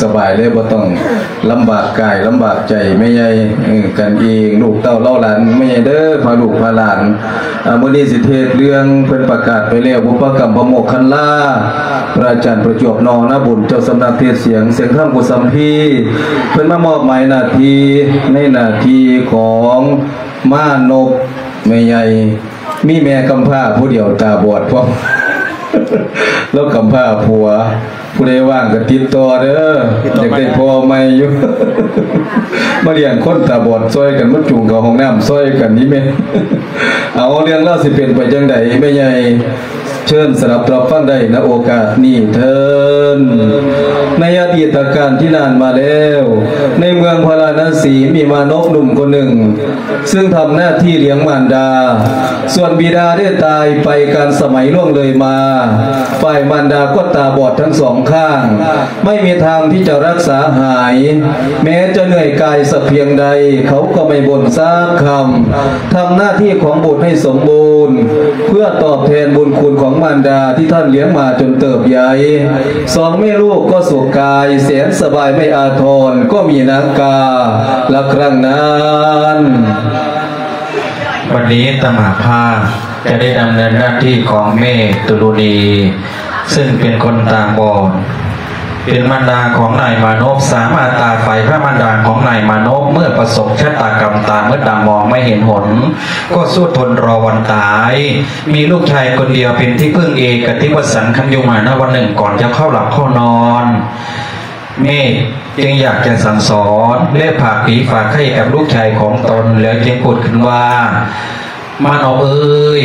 ສະບາຍເລີຍ ບໍ່ຕ້ອງລຳບາກກາຍລຳບາກໃຈ ແມ່ໃຫຍ່ ເອີ ກັນເອງ ລູກເຕົ້າເຫຼົ່າຫຼານ ແມ່ໃຫຍ່ເດີ ພາລູກພາຫຼານ. ອາ ມື້ນີ້ຊິເທດເລື່ອງເພິ່ນປະກາດໄປແລ້ວ ບຸບປະກຳພະໂມກຄັນລາ ພະອາຈານປະຈວບ ນໍນາບຸນ ເຈົ້າສຳນັກເທດສຽງ ສຽງທຳກຸສຳພີ ເພິ່ນມາມອບໝາຍໜ້າທີ່ ໃນໜ້າທີ່ຂອງມານົບ ແມ່ໃຫຍ່ ມີແມ່ກຳພ້າຜູ້ດຽວຕາບອດພ້ອມ ລາວກຳພ້າຜົວ ຜູ້ໃດວ່າງກໍຕິດຕໍ່ເດີ ຢາກໄດ້ພໍ່ໃໝ່ຢູ່ ມາລ້ຽງຄົນຕາບອດຊ່ອຍກັນ ມາຈູງເຂົ້າຫ້ອງນ້ຳຊ່ອຍກັນນີ້ແມ່. ເອົາ ເລື່ອງລາວຊິເປັນໄປຈັ່ງໃດ ແມ່ໃຫຍ່ ເຊີນສະດັບຮັບຟັງໄດ້ ນະໂອກາດນີ້ເທີ້ນ. ໃນອະດີດຕະການທີ່ນານມາແລ້ວ ໃນເມືອງພາລານະສີ ມີມານົບໜຸ່ມຄົນໜຶ່ງ ຊຶ່ງທຳໜ້າທີ່ລ້ຽງມານດາ. ສ່ວນບິດາໄດ້ຕາຍໄປການສະໄໝລ່ວງເລີຍມາ, ຝ່າຍມານດາກໍຕາບອດທັງສອງຂ້າງ, ໄມ່ມີທາງທີ່ຈະລັກສາຫາຍ. ແມ້ຈະເໜື່ອຍກາຍສັກພຽງໃດ, ເຂົາກໍໄມ່ບົ່ນສັກຄຳ. ທຳໜ້າທີ່ຂອງບຸດໃຫ້ສົມບູນ, ເພື່ອຕອບແທນບຸນຄຸນຂອງມານດາທີ່ທ່ານລ້ຽງມາຈົນເຕີບໃຫຍ່. ສອງແມ່ລູກກໍສຸກກາຍແສນສະບາຍໄມ່ອາທອນ, ກໍມີນາງກາລະຄັ້ງນັ້ນ. ບັດນີ້ຕະມາພາຈະໄດ້ດຳເນີນໜ້າທີ່ຂອງແມ່ຕຸລຸນີ ຊຶ່ງເປັນຄົນຕາບອດ ເປັນມານດາຂອງນາຍມານົບ, ສາມາດຕາໄຟພະມານດາຂອງນາຍມານົບ ເມື່ອປະສົບຊະຕາກຳຕາມືດດຳມອງໄມ່ເຫັນຫົນ ກໍສູ້ທົນລໍວັນຕາຍ. ມີລູກຊາຍຄົນດຽວເປັນທີ່ເພິ່ງເອກະຕິວະສັນ ຄັນຢູ່ມານະວັນໜຶ່ງ ກ່ອນຈະເຂົ້າຫຼັບເຂົ້ານອນ ແມ່ຈຶ່ງຢາກຈະສັ່ງສອນ ແລະ ຝາກຜີຝາກໄຂ້ກັບລູກຊາຍຂອງຕົນ ແລ້ວຈຶ່ງພູດຂຶ້ນວ່າ ມານອບເອີຍ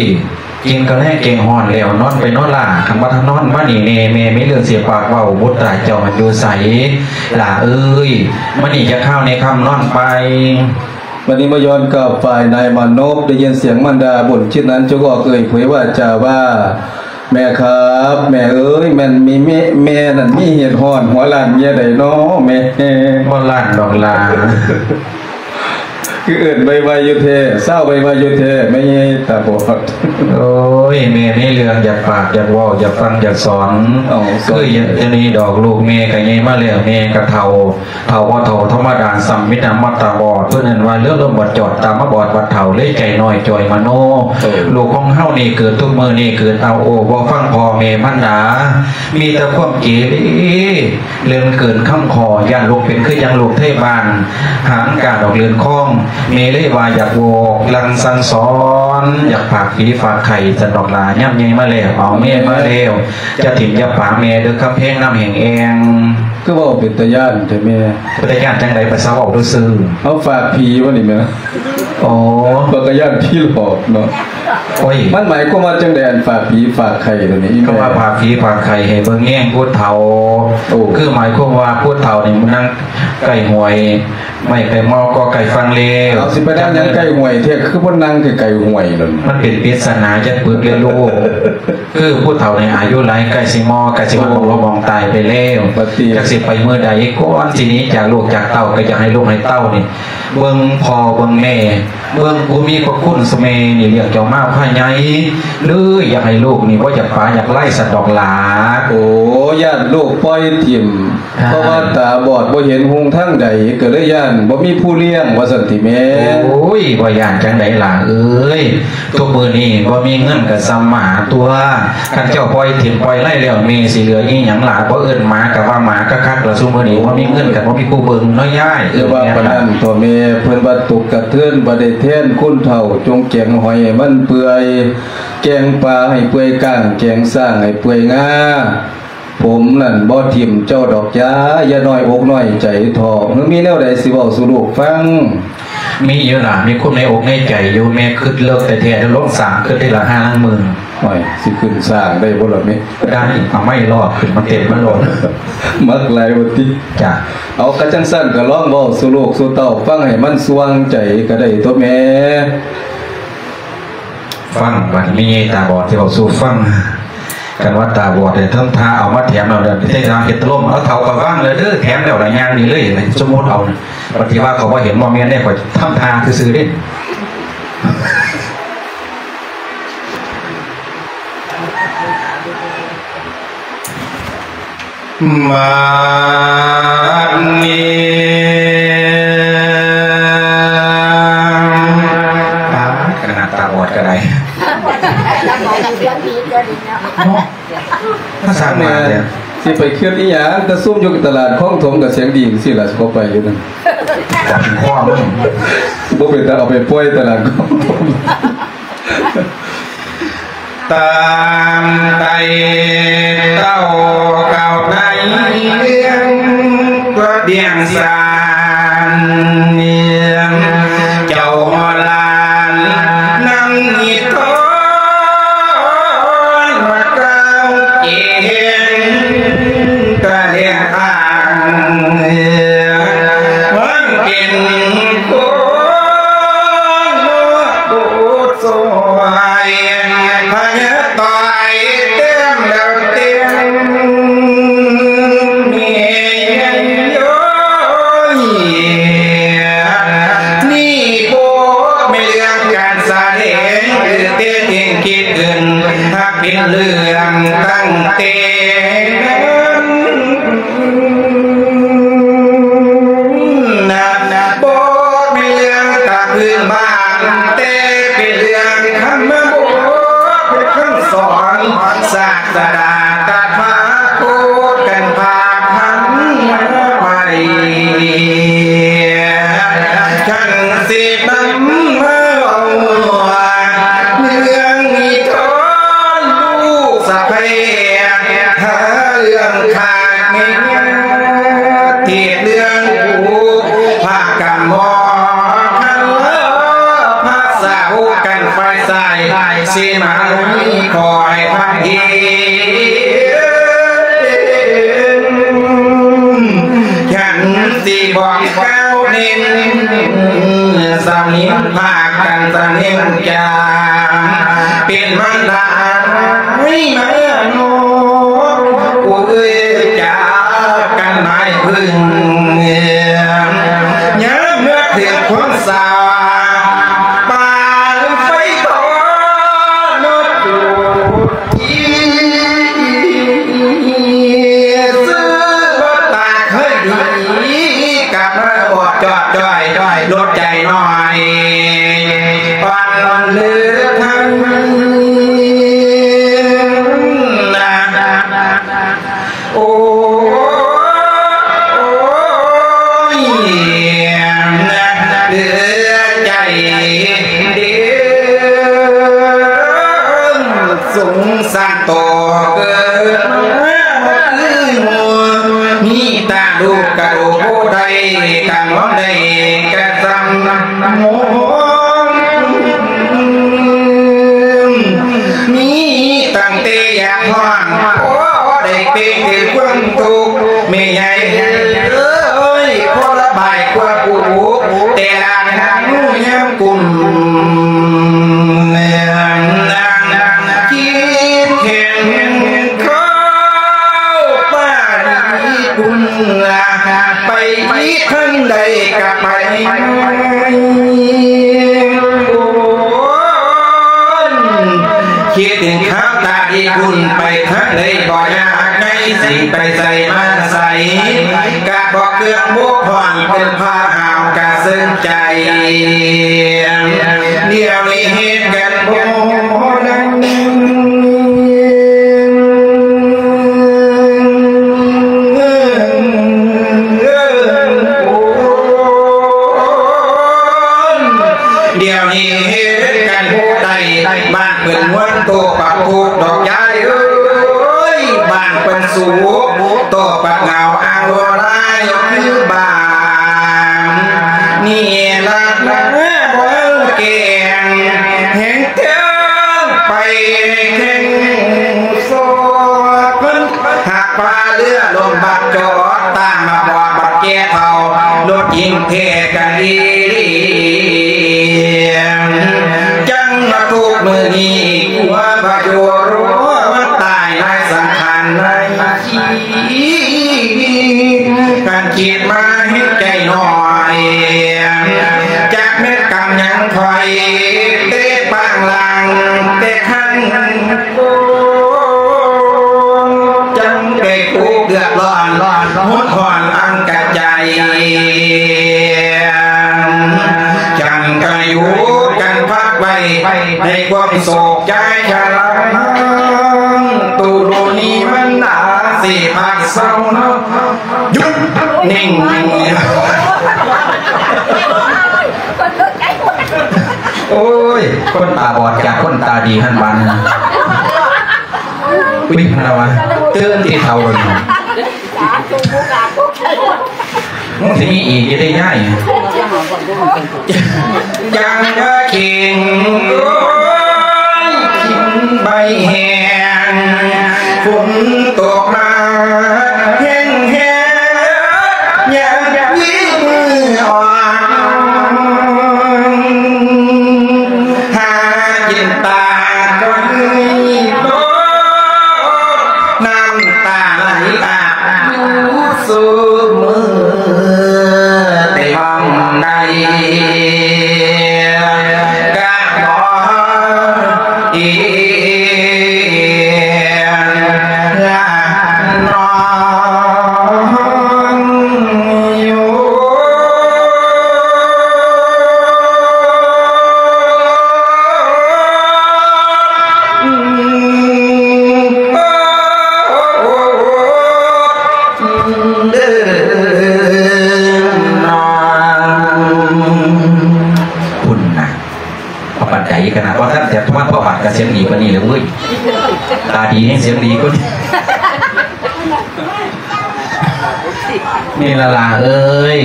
ກິນກະແລງແກງຮ້ອນແລ້ວ ນອນໄປນອນຫຼ້າ, ຄັນວ່າຖ້ານອນມານີ້ແນ່ ແມ່ມີເລື່ອງຊິປາກເວົ້າ. ບຸດຕາເຈົ້າມັນຢູ່ໃສຫຼ້າເອີຍ? ມານີ້ຈັກຄາວແນ່ຄ່ຳ ນອນໄປ. ບັດນີ້ມາຍ້ອນກັບຝ່າຍນາຍມານົບ ໄດ້ຍິນສຽງມານດາບົນຈິດນັ້ນ ຈຶ່ງອອກເອີ່ຍເຜີຍວາຈາວ່າ ແມ່ຄັບ ແມ່ເອີຍ ແມ່ນມີແມ່ ແມ່ນັ້ນມີເຫດຮ້ອນຫົວລ້ານເມຍໃດນໍແມ່? ບໍ່ລ້ານດອກຫຼ້າ ຄືເອີ້ນໄວໆຢູ່ແທ້ ຊາວໄວໆຢູ່ແທ້ ແມ່ໃຫຍ່ຕາບອດ. ໂອ້ຍ ແມ່ມີເລື່ອງຢາກປາກຢາກເວົ້າ ຢາກຟັງຢາກສອນ. ເອົາ ຄືຢ່າງນີ້ດອກ ລູກແມ່ກໍໃຫຍ່ມາແລ້ວ ແມ່ກໍເຖົ້າ ເຖົ້າບໍ່ເຖົ້າທຳມະດາ ສ່ຳມີແຕ່ມາຕາບອດ. ເພິ່ນເອີ້ນວ່າເລື່ອງລົມບາດຈອດ ຕາມາບອດບັດເຖົ້າ ເລີຍໃຈນ້ອຍຈ່ອຍມະໂນ. ເອີ ລູກຂອງເຮົານີ້ເກີດທຸກມື້ນີ້ ເກີດເອົາໂອ້ ບໍ່ຟັງພໍ່ແມ່ມານດາ ມີແຕ່ຄວາມເກເລ ເລື່ອງເກີນຄຳຂໍ. ຢ້ານລູກເປັນຄືຈັ່ງລູກໄທບ້ານ ຫາງກາດອກເລື່ອນຄອງ ແມ່ເລີຍວ່າຢາກບອກຫຼັງສັ່ງສອນ ຢາກຝາກຜີຝາກໄຂ້ ຊັ້ນດອກຫຼ້າ. ຍາມໃຫຍ່ມາແລ້ວ ເອົາແມ່ມາແລ້ວ ຢ່າຖິ້ມຢ່າປະແມ່ເດີ ຄຳແພງນ້ຳແຫ້ງແອງ. ຄືເວົ້າເປັນຕາຢ້ານແທ້ແມ່? ເປັນຕາຢ້ານຈັ່ງໃດ? ພາສາເວົ້າຊື່ໆ ເຮົາຝາກຜີບໍ່ນີ້ແມ່? ອໍ ຂ້ອຍກໍຢ້ານຜີຫຼອກເນາະ. ໂອ້ຍ ມັນໝາຍຄວາມວ່າຈັ່ງໃດ ອັນຝາກຜີຝາກໄຂ້ຕົວນີ້? ຄຳວ່າຝາກຜີຝາກໄຂ້ ໃຫ້ເບິ່ງແຍງຜູ້ເຖົ້າ. ໂອ້ ຄືໝາຍຄວາມວ່າຜູ້ເຖົ້ານີ້ມັນນັ່ງໃກ້ຫ້ວຍ ໄມ້ໃກ້ໝໍກໍໃກ້ຝັ່ງແລ້ວ. ເອົາ ຊິໄປນັ່ງຫຍັງໃກ້ຫ້ວຍແທ້? ຄືບໍ່ນັ່ງໃກ້ໆຫ້ວຍໂລດ? ມັນເປັນປິດສະໜາຈັກປຶກເລີຍລູກ. ຄືຜູ້ເຖົ້າໃນອາຍຸຫຼາຍ ໃກ້ຊິມໍ ໃກ້ຊິຮອດໝ່ອງລົບໝ່ອງຕາຍໄປແລ້ວ. ຈັກຊິໄປມື້ໃດ ກ່ອນຊິໜີຈາກລູກຈາກເຕົ້າ ກໍຢາກໃຫ້ລູກໃຫ້ເຕົ້ານີ້ ເບິ່ງພໍ່ເບິ່ງແມ່ ເບິ່ງຜູ້ມີພະຄຸນສະແມ່ນີ້ ລ້ຽງເຈົ້າມາພາໃຫຍ່ ຫຼື ຢາກໃຫ້ລູກນີ້ບໍ່ຢາກປະຢາກໄລຊັ້ນດອກຫຼ້າ. ໂອ້ ຢ້ານລູກປ່ອຍຖິ້ມ ອ່າ ເພາະວ່າຕາບອດບໍ່ເຫັນຮຸ່ງທາງໃດ ກໍເລີຍຢ້ານບໍ່ມີຜູ້ລ້ຽງ ວ່າຊັ້ນຕິແມ່? ໂອ້ຍ ບໍ່ຢ້ານຈັ່ງໃດຫຼ້າເອີຍ ທຸກມື້ນີ້ບໍ່ມີເງິນກໍສ່ຳໝາຕົວະ. ຄັນເຈົ້າປ່ອຍຖິ້ມປ່ອຍໄລແລ້ວ ແມ່ຊິເຫຼືອອີ່ຫຍັງຫຼ້າ? ບໍ່ເອີ້ນໝາກໍວ່າໝາຄັກໆລະ ຊຸມື້ນີ້ບໍ່ມີເງິນກໍບໍ່ມີຜູ້ເບິ່ງເນາະຍາຍ. ຢ່າວ່າປານນັ້ນເຖາະແມ່ ເພິ່ນວ່າຕົກກະເທີນບໍ່ໄດ້ແທນຄົນເຖົ້າ ຈົ່ງແກງຫອຍໃຫ້ມັນເປື່ອຍ ແກງປາໃຫ້ເປື່ອຍ ກ້າງແກງຊ້າງໃຫ້ເປື່ອຍງາ. ຜົມນັ້ນບໍ່ຖິ້ມເຈົ້າດອກຈ້າ ຢ່ານ້ອຍອົກນ້ອຍໃຈເຖາະ. ເຮີ ມີແນວໃດຊິເວົ້າສູ່ລູກຟັງ? ມີຢູ່ຫຼ້າ ມີຄວາມໃນອົກໃນໃຈຢູ່. ແມ່ຄຶດເລິກແທ້ໆ ເດີ ລົງສ້າງຄຶດທີລະຫ້າງໝື່ນ. ໂອ້ຍ ຊິຂຶ້ນສ້າງໄດ້ບໍ່ລະແມ່? ໄດ້ ເອົາໄມ້ລອດຂຶ້ນມາເຕັມມັນໂລດ. ມັກຫຼາຍວ່າຕິ? ຈ້າ. ເອົາ ກະຈັ່ງຊັ້ນກະລອງເວົ້າສູ່ລູກສູ່ເຕົ້າຟັງໃຫ້ມັນສ່ວງໃຈກະໄດ້ຕົວະແມ່. ຟັງບັດນີ້ ຕາບອດຊິເວົ້າສູ່ຟັງ. ຄັນວ່າຕາບອດໄດ້ທຳທ່າເອົາມາແຖມແລ້ວ ໄດ້ທຳທ່າເຮັດຕະຫຼົມ. ເອົາ ເຖົ້າກໍວາງແລ້ວເດີ ແຖມແລ້ວລະຍ່າງໜີເລີຍ. ສົມມຸດເອົາ ບັດທີ່ວ່າເຂົາບໍ່ເຫັນ ບໍ່ແມ່ນເດ້ ຂ້ອຍທຳທ່າຊື່ໆເດ້. ມາ ຊິໄປຄຽດອີ່ຫຍັງ? ແຕ່ຊຸມຢູ່ຕະຫຼາດຄອງຖົມກໍສຽງດີ ຈັ່ງຊີ້ລະ ຊິເຂົ້າໄປຢູ່ນັ້ນ ຈັບຫົວມັນ ບໍ່ເປັນຕາເອົາໄປປ່ອຍຕະຫຼາດຄອງຖົມ. ຕາມໄຕ່ເຕົ້າເກົ່າໃນເລື່ອງຕົວວຽງສານ ເຈົ້າຮອດຫຼານນຳນິທອນ ວ່າກ່າວເກັ່ງກະແລງທາງ ຫວັງເປັນຄົນ ສວຍພະຍາຕ່ອຍເຕັມແລ້ວເຕັມ ແມ່ໃຫຍ່ໂອ້ຍ ນີ້ບໍ່ແມ່ນເລື່ອງການສະແດງ ຫຼືແຕ່ງຄິດຂຶ້ນ ຫາກເປັນເລື່ອງຕັ້ງແຕ່ ນະ ບໍ່ແມ່ນເລື່ອງຕາພື້ນບ້ານ ແຕ່ເປັນເລື່ອງທຳມະບົດ ເປັນຄຳສອນສາດສະດາຕະຖາຄົດ ກັນພາພັນມາໄວ້ ຄັນຊິນຳມາເວົ້າ ເລື່ອງນິທານລູກສະໃພ້ ຫາເລື່ອງຂາດແມ່ ເທດເລື່ອງຜູ້ພາກຳໝໍ ຄັນພາສາໂອກັນຝ່າຍຊາຍ ຊິມາຄອຍພັກເອງ ຄັນຊິບອກກ່າວເນັ້ນ ສຳເນີນພາກກັນສຳເນີນຈາ ເປັນມານດາໃຫ້ມານອກ ຜູ້ເອີຍຈາກັນໝາຍເພິ່ງ ຍາມເມື່ອເຖິງຄົນສາ ປານໄຟບໍ່ນອກ ຊື່ບໍ່ຕາເຄີຍດີ ກັບມາບອດຈອດຈ້ອຍ ລົດໃຈໜ້ອຍ ອ່ອນເຫຼືອທັນນະ ໂອ້ຍ ເຫຼືອໃຈເດ້ ສົງສານໂຕເກີດມາຄືໝູ່ ມີຕາລູກກະດູກບໍ່ໄດ້ ກະນອນໄດ້ກະຊຳໂມງ ມີຕັ້ງແຕ່ຢາກຮ້ອງ ພໍໄດ້ເປັນຄືຄວາມທຸກ ແມ່ໃຫຍ່ເອີຍ ພໍລະບາຍຄວາມອຸກ ແຕ່ລະຄັ້ງຍາມກຸ້ມ ຄິດເຫັນເຂົາປານກຸ້ມ ໄປທາງໃດກະໄປ ໂອ້ຍ ຄິດເຫັນຂາວຕາດີຄຸນ ໄປທາງໃດບໍ່ຍາກໃນ ຊິໄປໃສມາໃສ ກະບໍ່ເຄືອງບົກຜ່ອນ ເປັນພາຫາວກະເຊິ່ງໃຈ ດຽວນີ້ເຮັດກັນບໍ່ໄດ້ ດຽວນີ້ເຮັດກັນບໍ່ໄດ້ ບ້ານເພິ່ນມ່ວນໂຕປະໂພດດອກຍາຍເອີຍ ບ້ານເພິ່ນສຸກໂຕປະເຫງົາອາໂລລາຍຄືບ້ານ ນີ້ລະນະບໍ່ແກ່ງ ແຮງເທິງໄປແຂ່ງ ສອກເພິ່ນຫາກປາເຮືອລົມບັກຈອດ ຕາມມາບອກບັກແກ່ເຖົ້າ ລົດຍິງແທ້ກັນອີ່ຫຼີ ຈັ່ງມາທຸກມື້ນີ້ ກົວພະໂຍໂຣ ມາຕາຍໃນສັງຂານໃນທີ່ ຄັນຄິດມາເຫັນໃຈໜ້ອຍ ຈັກແມ່ນກຳຫຍັງຂ້ອຍ ແຕ່ປາງຫຼັງແຕ່ຄັ້ງ ຈັງໄດ້ທຸກເດືອດຮ້ອນ ຮຸນຮ້ອນອັນກະໃຈ ຈັ່ງກະຢູ່ກັນພັກໄວ້ ໃນຄວາມໂສກໃຈຊະລາ ຕູໂລນີ້ມັນໜາຊິພັກ ເຊົາເນາະ ຢຸດ ນິ່ງ ໂອ້ຍ ຄົນຕາບອດຈາກຄົນຕາດີຫັ້ນບາດນີ້ ປິດແລ້ວວະ ຕື່ນຕິເຖົ້ານີ້ ມັນຊິມີອີກຢູ່ເດ້ຍາຍ ຈັ່ງວ່າເຄັ່ງໂອ້ຍ ກິນໃບແຫ້ງ ຝົນຕົກມາແຮງໆ ຍາມວີມືອອກ ຫາກິນຕາກ່ອນໂລດ ນ້ຳຕາໄຫຼອາບຢູ່ຊຸມື້ ແຕ່ຫ້ອງໃດກະບໍ່ເອງລະນ້ອງຢູ່. ພຸ້ນນະ ປານໃດກັນນະ ບໍ່ທັນແຕ່ທອດພະບາດກະສຽງດີປານນີ້ແລ້ວເວີຍ ຕາດີແຮງສຽງດີກວ່ານີ້. ນີ້ລະຫຼານເອີຍ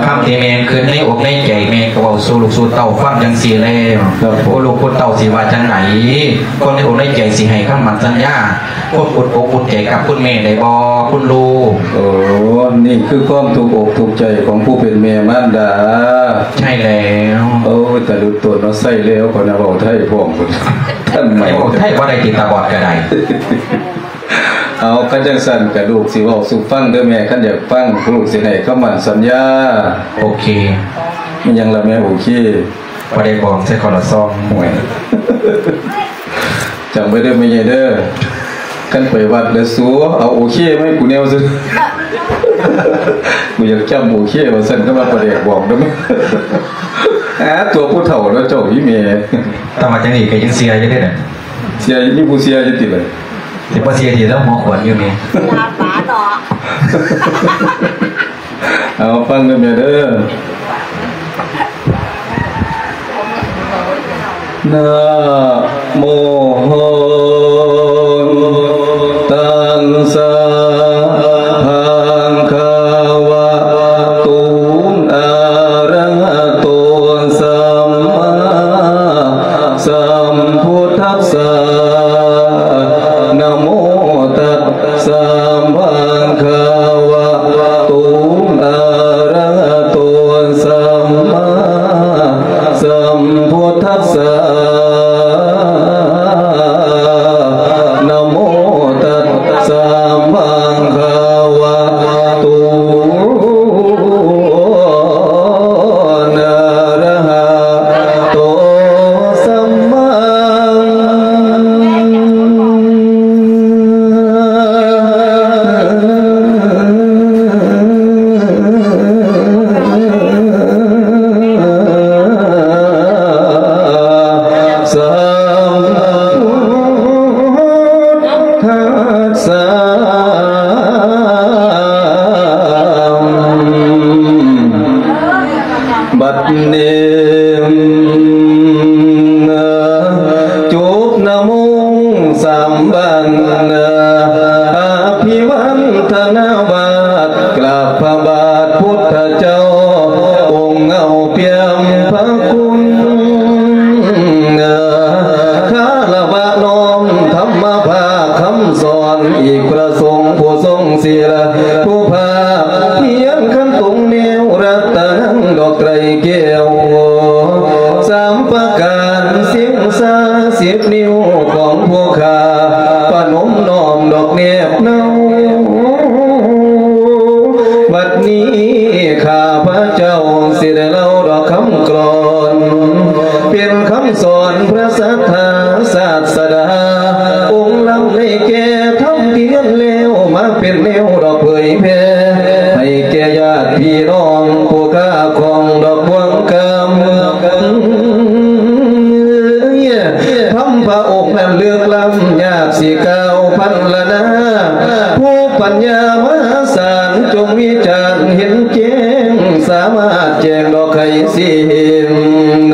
ຄຳທີ່ແມ່ຄິດໃນອົກໃນໃຈ ແມ່ກໍເວົ້າສູ່ລູກສູ່ເຕົ້າຟັງຈັ່ງຊີ້ແລ້ວ ຜູ້ລູກຜູ້ເຕົ້າຊິວ່າຈັ່ງໃດ ຄົນໃນອົກໃນໃຈຊິໃຫ້ຄຳໝັ້ນສັນຍາ ຄວາມອຸ່ນອົກອຸ່ນໃຈກັບຄຸນແມ່ໄດ້ບໍ່ ຄຸນລູກ? ໂອ້ ນີ້ຄືຄວາມທຸກອົກທຸກໃຈຂອງຜູ້ເປັນແມ່ມານດາ. ໃຊ່ແລ້ວ. ໂອ້ຍ ຕາດຸດໂຕນເນາະ ໃຊ້ແລ້ວ ຂ້ອຍນະເວົ້າໄທພ້ອມ ທັນໃໝ່ ເວົ້າໄທບໍ່ໄດ້ຕິ ຕາບອດກໍໄດ້. ເອົາ ຄັນຈັ່ງຊັ້ນກະລູກຊິເວົ້າສູ່ຟັງເດີແມ່ ຄັນຢາກຟັງ ລູກຊິໃຫ້ຄຳໝັ້ນສັນຍາ. ໂອເຄ. ອີຫຍັງລະແມ່ ໂອເຄ? ບໍ່ໄດ້ບອກໃສ່ຄົນລະຊອງ. ໂອ້ຍ ຈຳໄວ້ເດີແມ່ໃຫຍ່ເດີ ຄັນໄປວັດແລ້ວສູເອົາໂອເຄມາໃຫ້ກູແນວຊະ ກູຢາກຈຳໂອເຄວ່າຊັ້ນ ຄັນວ່າປາແດກບອກນຳ ຫາຕົວຜູ້ເຖົ້າແລ້ວເຈົ້າອີ່ແມ່. ແຕ່ວ່າຈັ່ງນີ້ກໍຍັງເຊື່ອຢູ່ເດ້ນະ. ເຊື່ອຢູ່ ມີຜູ້ເຊື່ອຢູ່ຕິລະ? ຊິບໍ່ເຊື່ອຕິ ລາວຫົວຂວັນຢູ່ແມ່. ເຊື່ອປາເນາະ. ເອົາ ຟັງເດີແມ່ເດີ. ນະໂມ ຕັດສະ ພະຄະວະໂຕ ອະຣະຫະໂຕ ສຳມາ ສຳພຸດທັດສະ ນະໂມຕັດສະ ພະຄະວະໂຕ ອະຣະຫະໂຕ ສຳມາສຳພຸດທັດສະ ນະໂມຕັດສະ ພະຄະວະໂຕ ອະຣະຫະໂຕ ສຳມາ ສຳພຸດທັດສະ. ບັດນີ້ ຈົບນະໂມສາມບານ ອະພິວັນທະນາບາດ ກາບພະບາດພຸດທະເຈົ້າ ອົງເງົາປ່ຽມພະຄຸນ ຄາລະວະນ້ອມທຳມະພາກຄຳສອນ ອີກພະສົງຜູ້ຊົງສີລະ ຜູ້ພາກພຽນຂັນຕົງແນວ ລັດຕະນັງດອກໄຕຣແກ້ວ ສາມປະການ ສິງສາສິບນິ້ວຂອງຜູ້ຂ້າ ປະນົມນ້ອມດອກແນບເນົາ. ບັດນີ້ຂ້າພະເຈົ້າຊິໄດ້ເລົ່າດອກຄຳກລອນ ເປັນຄຳສອນພະສັດທາສາດສະດາ ອົງນຳໄດ້ແກ່ທຳທີ່ຮຽນແລ້ວ ມາເປັນແນວດອກເຜີຍແຜ່ ໃຫ້ແກ່ຍາດພີ່ນ້ອງຜູ້ຂ້າຂອງດອກບ່ວງກຳ ທຳພະອົງນັ້ນເລິກລ້ຳ ຍາກຊິກ່າວພັນລະນາ ຜູ້ປັນຍາມະຫ ຈານເຫັນແຈ້ງ ສາມາດແຈ້ງດອກໄຂສິ້ນ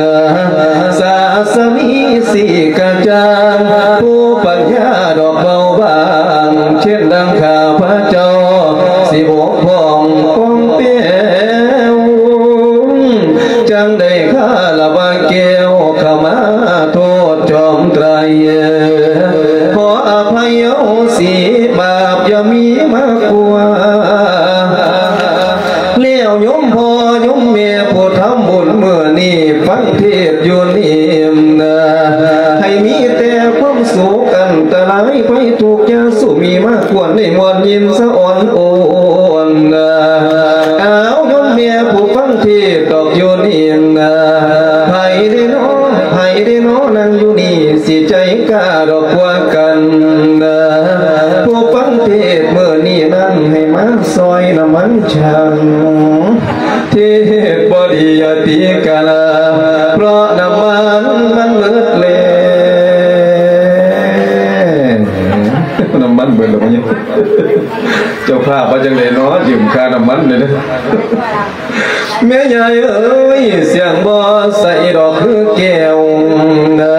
ສາສະນີສີກະຈ່າງ ຜູ້ປັນຍາດອກເບົາບາງ ເຊັ່ນດັ່ງຂ້າພະເຈົ້າ ຊິບົກຜ່ອງປ່ອງແປ້ວ ຈັ່ງໄດ້ຄາລະວະແກ້ວ ເຂົ້າມາໂທດຈອມໄຕ ຂໍອະໄພໂອສີ ບາບຢ່າມີມາກວ່າ ແລ້ວໂຍມພໍ່ໂຍມແມ່ຜູ້ທຳບຸນມື້ນີ້ ຟັງເທດຢູ່ນີ້ນະ ໃຫ້ມີແຕ່ຄວາມສຸກ ອັນຕະລາຍໄພທຸກຢ່າສູ່ມີມາກວນ ໃຫ້ມ່ວນຍິນສະອອນໂອນນະ ອ້າວໂຍມແມ່ຜູ້ຟັງເທດດອກຢູ່ນີ້ນະ ໃຜເດ້ນໍ ໃຜເດ້ນໍ ນັ່ງຢູ່ນີ້ ຊິໃຈກ້າດອກກວ່າກັນນະ ຜູ້ຟັງເທດມື້ນີ້ນັ້ນ ໃຫ້ມາຊ່ອຍນ້ຳມັນສັນ ເທດບໍ່ດີຢ່າຕີກາລາ ເພາະນ້ຳມັນມັນເໝິດແລ້ວ ນ້ຳມັນເບີດແລ້ວ ເຈົ້າພາບວ່າຈັ່ງໃດເນາະ ຢືມຄ່ານ້ຳມັນແດ່ເດີ້. ແມ່ຍາຍເອີຍ ສຽງບໍ່ໃສດອກຄືແກ້ວນະ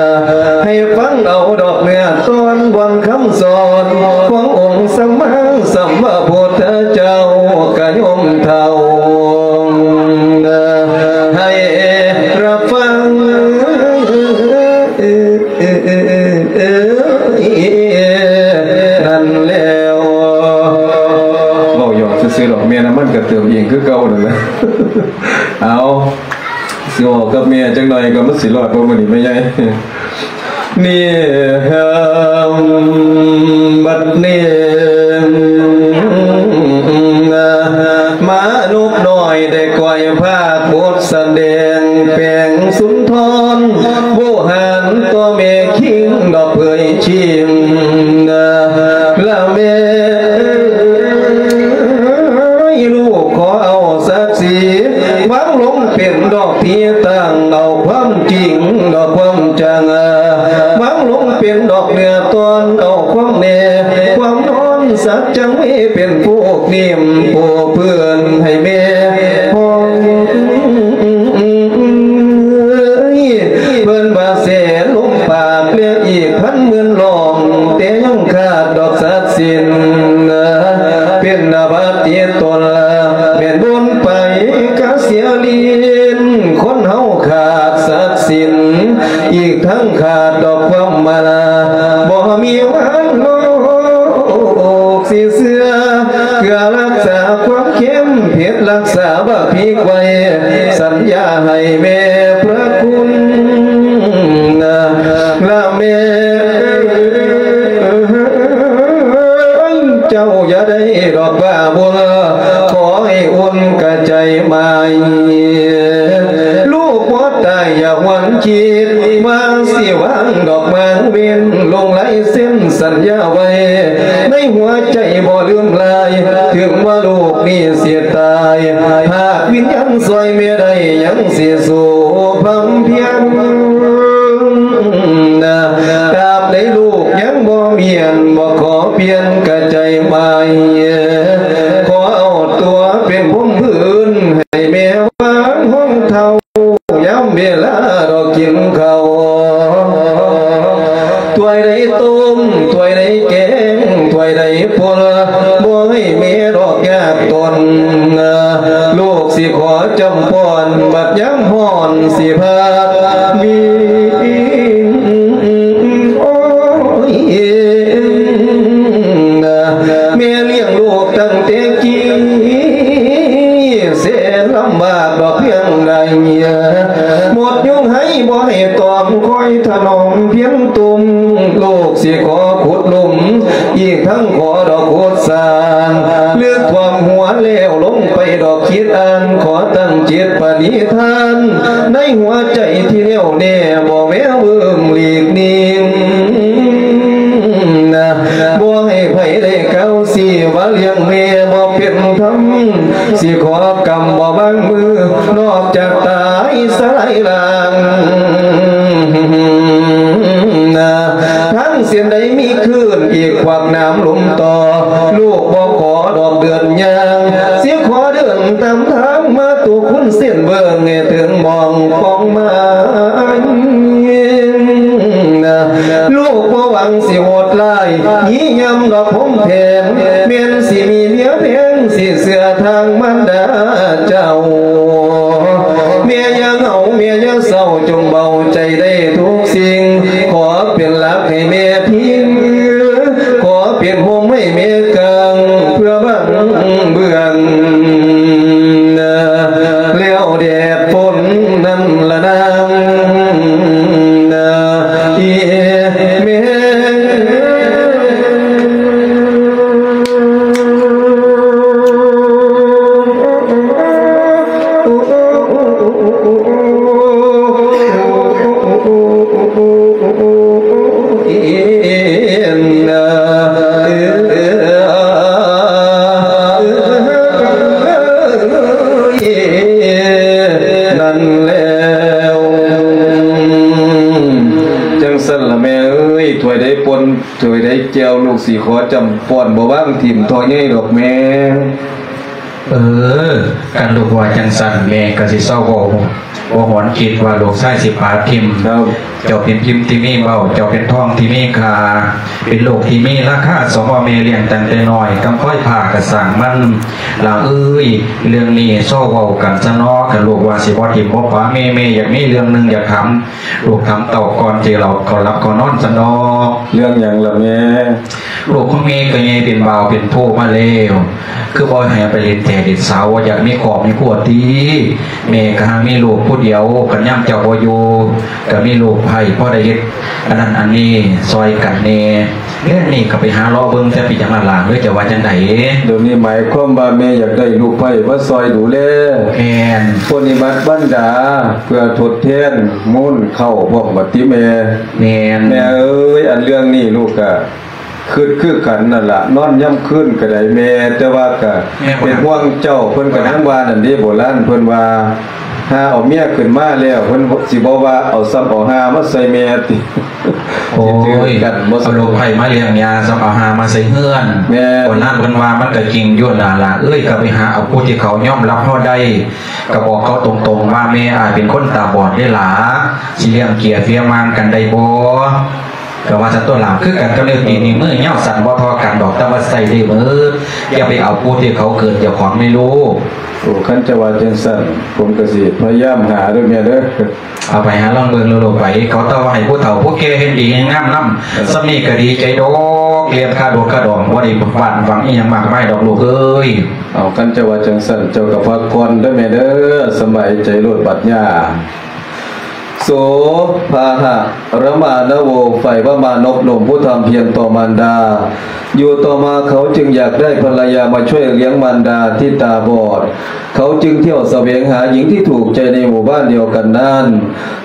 ໃຫ້ຟັງເອົາດອກເນື້ອຕອນບ່ອນຄຳສອນ ຂອງອົງສຳມາສຳພຸດທະເຈົ້າ ກະໂຍມເຖົ້ານະ ໃຫ້ຮັບຟັງ ເອີ ເອີ ເອີ ເອີ ເອີ ນັ້ນແລ້ວ ເວົ້າຫຍອກຊື່ໆດອກ ແມ່ນ້ຳມັນກໍເຕີມເອງຄືເກົ່ານັ້ນແຫຼະ ເອົາ ຊິເວົ້າກັບແມ່ຈັກໜ່ອຍກໍມັນຊິລອດບໍ່ມື້ນີ້ແມ່ໃຫຍ່ ນີ້ ບັດນີ້ ມານົກນ້ອຍໄດ້ກ່ອຍພາກບົດສະແດງ ແປງສຸນທອນ ໂວຫານຕໍ່ແມ່ຄິງດອກເຜີຍຊິງ ລະແມ່ເອີຍ ລູກຂໍເອົາສັກສີ ວາງລົງເປັນດອກທີ່ຕັ້ງ ເອົາຄວາມຈິງດອກຄວາມຈັງ ວາງລົງເປັນດອກເນື້ອຕອນ ເອົາຄວາມແນ່ຄວາມນອນ ສັກຈັງເວເປັນຜູ້ ນີ້ຜູ້ເພື່ອນໃຫ້ແມ່ຮອງ ເພິ່ນວ່າແສລົມປາກ ແລະອີກພັນໝື່ນລ້ອງ ແຕ່ຍັງຂາດດອກສັດສິນ ເປັນອາບັດຕິດຕົນ ແມ່ນບຸນໄປກະເສຍລີນ ຄົນເຮົາຂາດສັດສິນ ອີກທັງຂາດດອກຄວາມມາລາ ບໍ່ມີວັນໂລກ ກຊິເຊື່ອ ເພື່ອຮັກສາຄວາມເຂັ້ມເຜັດ ຮັກສາບັກພິກໄວ້ ສັນຍາໃຫ້ແມ່ພະຄຸນ ລະແມ່ເອີຍ ເຈົ້າຢ່າໄດ້ດອກວ່າບຸນ ຂໍໃຫ້ອຸ່ນກະໃຈໝາຍ ລູກບໍ່ຕາຍຢ່າຫວນຄິດ ວ່າຊິວາງດອກໝາກເວັນ ລົງລາຍເຊັນສັນຍາໄວ້ ໃນຫົວໃຈບໍ່ລືມລາຍ ເຖິງວ່າໂລກນີ້ຊິຕາຍ ຫາກວິນຍານຊ່ອຍແມ່ໄດ້ ຍັງຊິສູ້ພຳພຽນ ຕາບໃດລູກຍັງບໍ່ມຽນ ບໍ່ຂໍປ່ຽນກະໃຈໝາຍ ຂໍເອົາຕົວເປັນພົມພື້ນ ໃຫ້ແມ່ວາງຮອງເທົ້າ ຍາມເວລາດອກກິນເຂົ້າ ຖ້ວຍໃດຕົ້ມ ຖ້ວຍໃດແກງ ຖ້ວຍໃດປົນ ບໍ່ໃຫ້ແມ່ດອກຍາກຕົນ ລູກຊິຂໍຈຳພອນ ບັດຍາມຮ້ອນຊິພາດວິງ ໂອ້ຍ ແມ່ລ້ຽງລູກຕັ້ງແຕ່ກີ້ ແສນລຳບາກດອກພຽງໃດ ໝົດຍຸງໄຫ້ບໍ່ໃຫ້ຕອມ ຄອຍຖະໜອມພຽນຕຸ່ມ ລູກຊິຂໍຂຸດຫຼຸມ ອີກທັງຂໍດອກຂຸດສ້າງ ເລືອກຖ້ວມຫົວແລ້ວລົງໄປດອກຄິດອ່ານ ຂໍຕັ້ງຈິດປະນິທານ ໃນຫົວໃຈທີ່ແນ່ວແນ່ ບໍ່ແວວເວີ້ງຫຼີກໜີ ບໍ່ໃຫ້ໃຜໄດ້ກ່າວຊີ້ວ່າລ້ຽງແມ່ບໍ່ເປັນທຳ ຊິຂໍກຳບໍ່ວາງມື ນອກຈາກຕາຍສະລາຍລາງ ທາງເສັ້ນໃດມີຄື້ນ ອີກຂວາກນ້ຳລົມຕໍ່ ລູກບໍ່ຂໍດອກເດີນຍ່າງ ຊິ ເບິ່ງຕາມທາງມາຕຸຄຸນເສັ້ນເບິ່ງໃຫ້ເຖິງບ່ອງປ່ອງມາຍ. ລູກບໍ່ຫວັງຊິໂຫດຮ້າຍ ຍິນຍອມດອກຜົມແພງ ແມ່ນຊິມີເມຍແພງ ຊິເຊື່ອທາງມານດາເຈົ້າ. ແມ່ຢ່າເຫງົາ ແມ່ຢ່າເສົ້າ ຈົ່ງເບົາໃຈໄດ້ທຸກສິ່ງ. ຂໍເປັນຫຼັກໃຫ້ແມ່ພິງ ຂໍເປັນຮົ່ມໃຫ້ແມ່ກາງ ເພື່ອບັງເບື້ອງ ແລ້ວແດດຝົນນັ້ນລະນາງ ອີແມ່. ນັ້ນແລ້ວ ຈັ່ງຊັ້ນລະແມ່ເອີຍ ຖ້ວຍໃດປົນ ຖ້ວຍໃດແກ້ວ ລູກຊິຂໍຈ້ຳປ້ອນ ບໍ່ວາງຖິ້ມທໍ່ໃຫຍ່ດອກແມ່. ເອີ ຄັນລູກວ່າຈັ່ງຊັ້ນ ແມ່ກໍຊິເຊົາເວົ້າ ບໍ່ຫວນຄິດວ່າລູກຊາຍຊິປາຖິ້ມ. ເຈົ້າເປັນພິມທີ່ມີເວົ້າ ເຈົ້າເປັນທອງທີ່ມີຄ່າ ເປັນລູກທີ່ມີລາຄາ ສມວ່າແມ່ລ້ຽງຕັ້ງແຕ່ນ້ອຍ ກຳພ້ອຍຜ້າກະສ້າງມັນ. ຫຼາເອີຍ ເລື່ອງນີ້ເຊົາເວົ້າກັນຊະເນາະ. ຄັນລູກວ່າຊິບໍ່ຖິ້ມບໍ່ປາແມ່ ແມ່ຢາກມີເລື່ອງໜຶ່ງຢາກຖາມ ລູກຖາມເຕົ້າກ່ອນ ຊິເລົ່າເຂົ້າຫຼັບເຂົ້ານອນຊະເນາະ. ເລື່ອງຫຍັງລະແມ່? ລູກຂອງແມ່ກໍໃຫຍ່ເປັນບ່າວເປັນໂພມາແລ້ວ ຄືບໍ່ໃຫ້ໄປຫຼິ້ນແທ້ຫຼິ້ນສາວ ບໍ່ຢາກມີຄອບມີຄົວຕິ? ແມ່ກໍຫາມີລູກຜູ້ດຽວ ຄັນຍາມເຈົ້າບໍ່ຢູ່ ກໍມີລູກໃພ້ພໍໄດ້ເຮັດອັນນັ້ນອັນນີ້ຊ່ອຍກັນແດ່. ແລ້ວນີ້ກໍໄປຫາເລາະເບິ່ງແຕ່ເປັນຫຍັງລະຫຼານເອີຍ ເຈົ້າວ່າຈັ່ງໃດ? ດຽວນີ້ໝາຍຄວາມວ່າແມ່ຢາກໄດ້ລູກໃພ້ມາຊ່ອຍດູແລ ແມ່ນ ປົນນິບັດບັນດາ ເພື່ອທົດແທນມູນເຂົ້າພ້ອມບັດຕິແມ່. ແມ່ນ ແມ່ເອີຍ ອັນເລື່ອງນີ້ລູກກະ ຄຶດຄືກັນນັ້ນລະ ນອນຍາມຄືນກໍໄດ້ແມ່ ແຕ່ວ່າກະ ແມ່ນ ເປັນຫ່ວງເຈົ້າ. ເພິ່ນກໍຍັງວ່ານັ້ນເດ້ ໂບລານເພິ່ນວ່າ ຫາເອົາເມຍຂຶ້ນມາແລ້ວ ເພິ່ນຊິບໍ່ວ່າເອົາຊ້ຳເອົາຫ່າມາໃສ່ແມ່ຕິ. ໂອ້ຍ ຊິຖືກກັນບໍ່? ເອົາລູກໃພ້ມາລ້ຽງຍາ ຊ້ຳເອົາຫ່າມາໃສ່ເຮືອນ. ແມ່ນ ໂບລານເພິ່ນວ່າມັນກໍຈິງຢູ່ນັ້ນລະເອີຍ ກໍໄປຫາເອົາຜູ້ທີ່ເຂົາຍອມຮັບເຮົາໄດ້ ກໍບອກເຂົາຕົງໆວ່າ ແມ່ອາດເປັນຄົນຕາບອດເດ້ຫຼາ ຊິລ້ຽງເກຍເຟຍມານກັນໄດ້ບໍ່? ກໍວ່າຊັ້ນຕົວະຫຼານ ຄືກັນກັບນິ້ວຕີນນິ້ວມື ຍາວສັ້ນບໍ່ທໍ່ກັນດອກ ແຕ່ວ່າໃຊ້ໄດ້ໝົດ. ຢ່າໄປເອົາຜູ້ທີ່ເຂົາເກີນເຈົ້າຂອງແມ່ລູກ. ໂອ້ ຄັນເຈົ້າວ່າຈັ່ງຊັ້ນ ຜົມກໍຊິພະຍາຍາມຫາເດີແມ່ເດີ. ເອົາໄປຫາລອງເບິ່ງໂລດໄປ ເຂົາເຈົ້າວ່າໃຫ້ຜູ້ເຖົ້າຜູ້ແກ່ເຮັດດີເຮັດງາມນຳ. ເອີ ສ່ຳນີ້ກໍດີໃຈດອກ ລຽນຄ່າໂດດຄ່າດອງ ບໍ່ໄດ້ຫວາດຫວັງອີ່ຫຍັງມາກມາຍດອກລູກເອີຍ. ເອົາ ຄັນເຈົ້າວ່າຈັ່ງຊັ້ນ ເຈົ້າກໍພັກຜ່ອນເດີແມ່ເດີ ສະບາຍໃຈໂລດບັດຍາ. ໂສພາຫະຣະມານະໂວ ໃຝ່ວ່າມານົບນົມຜູ້ທຳພຽນຕໍ່ມານດາ. ຢູ່ຕໍ່ມາເຂົາຈຶ່ງຢາກໄດ້ພັນລະຍາມາຊ່ວຍລ້ຽງມານດາທີ່ຕາບອດ. ເຂົາຈຶ່ງທ່ຽວສະແຫວງຫາຍິງທີ່ຖືກໃຈໃນໝູ່ບ້ານດຽວກັນນັ້ນ,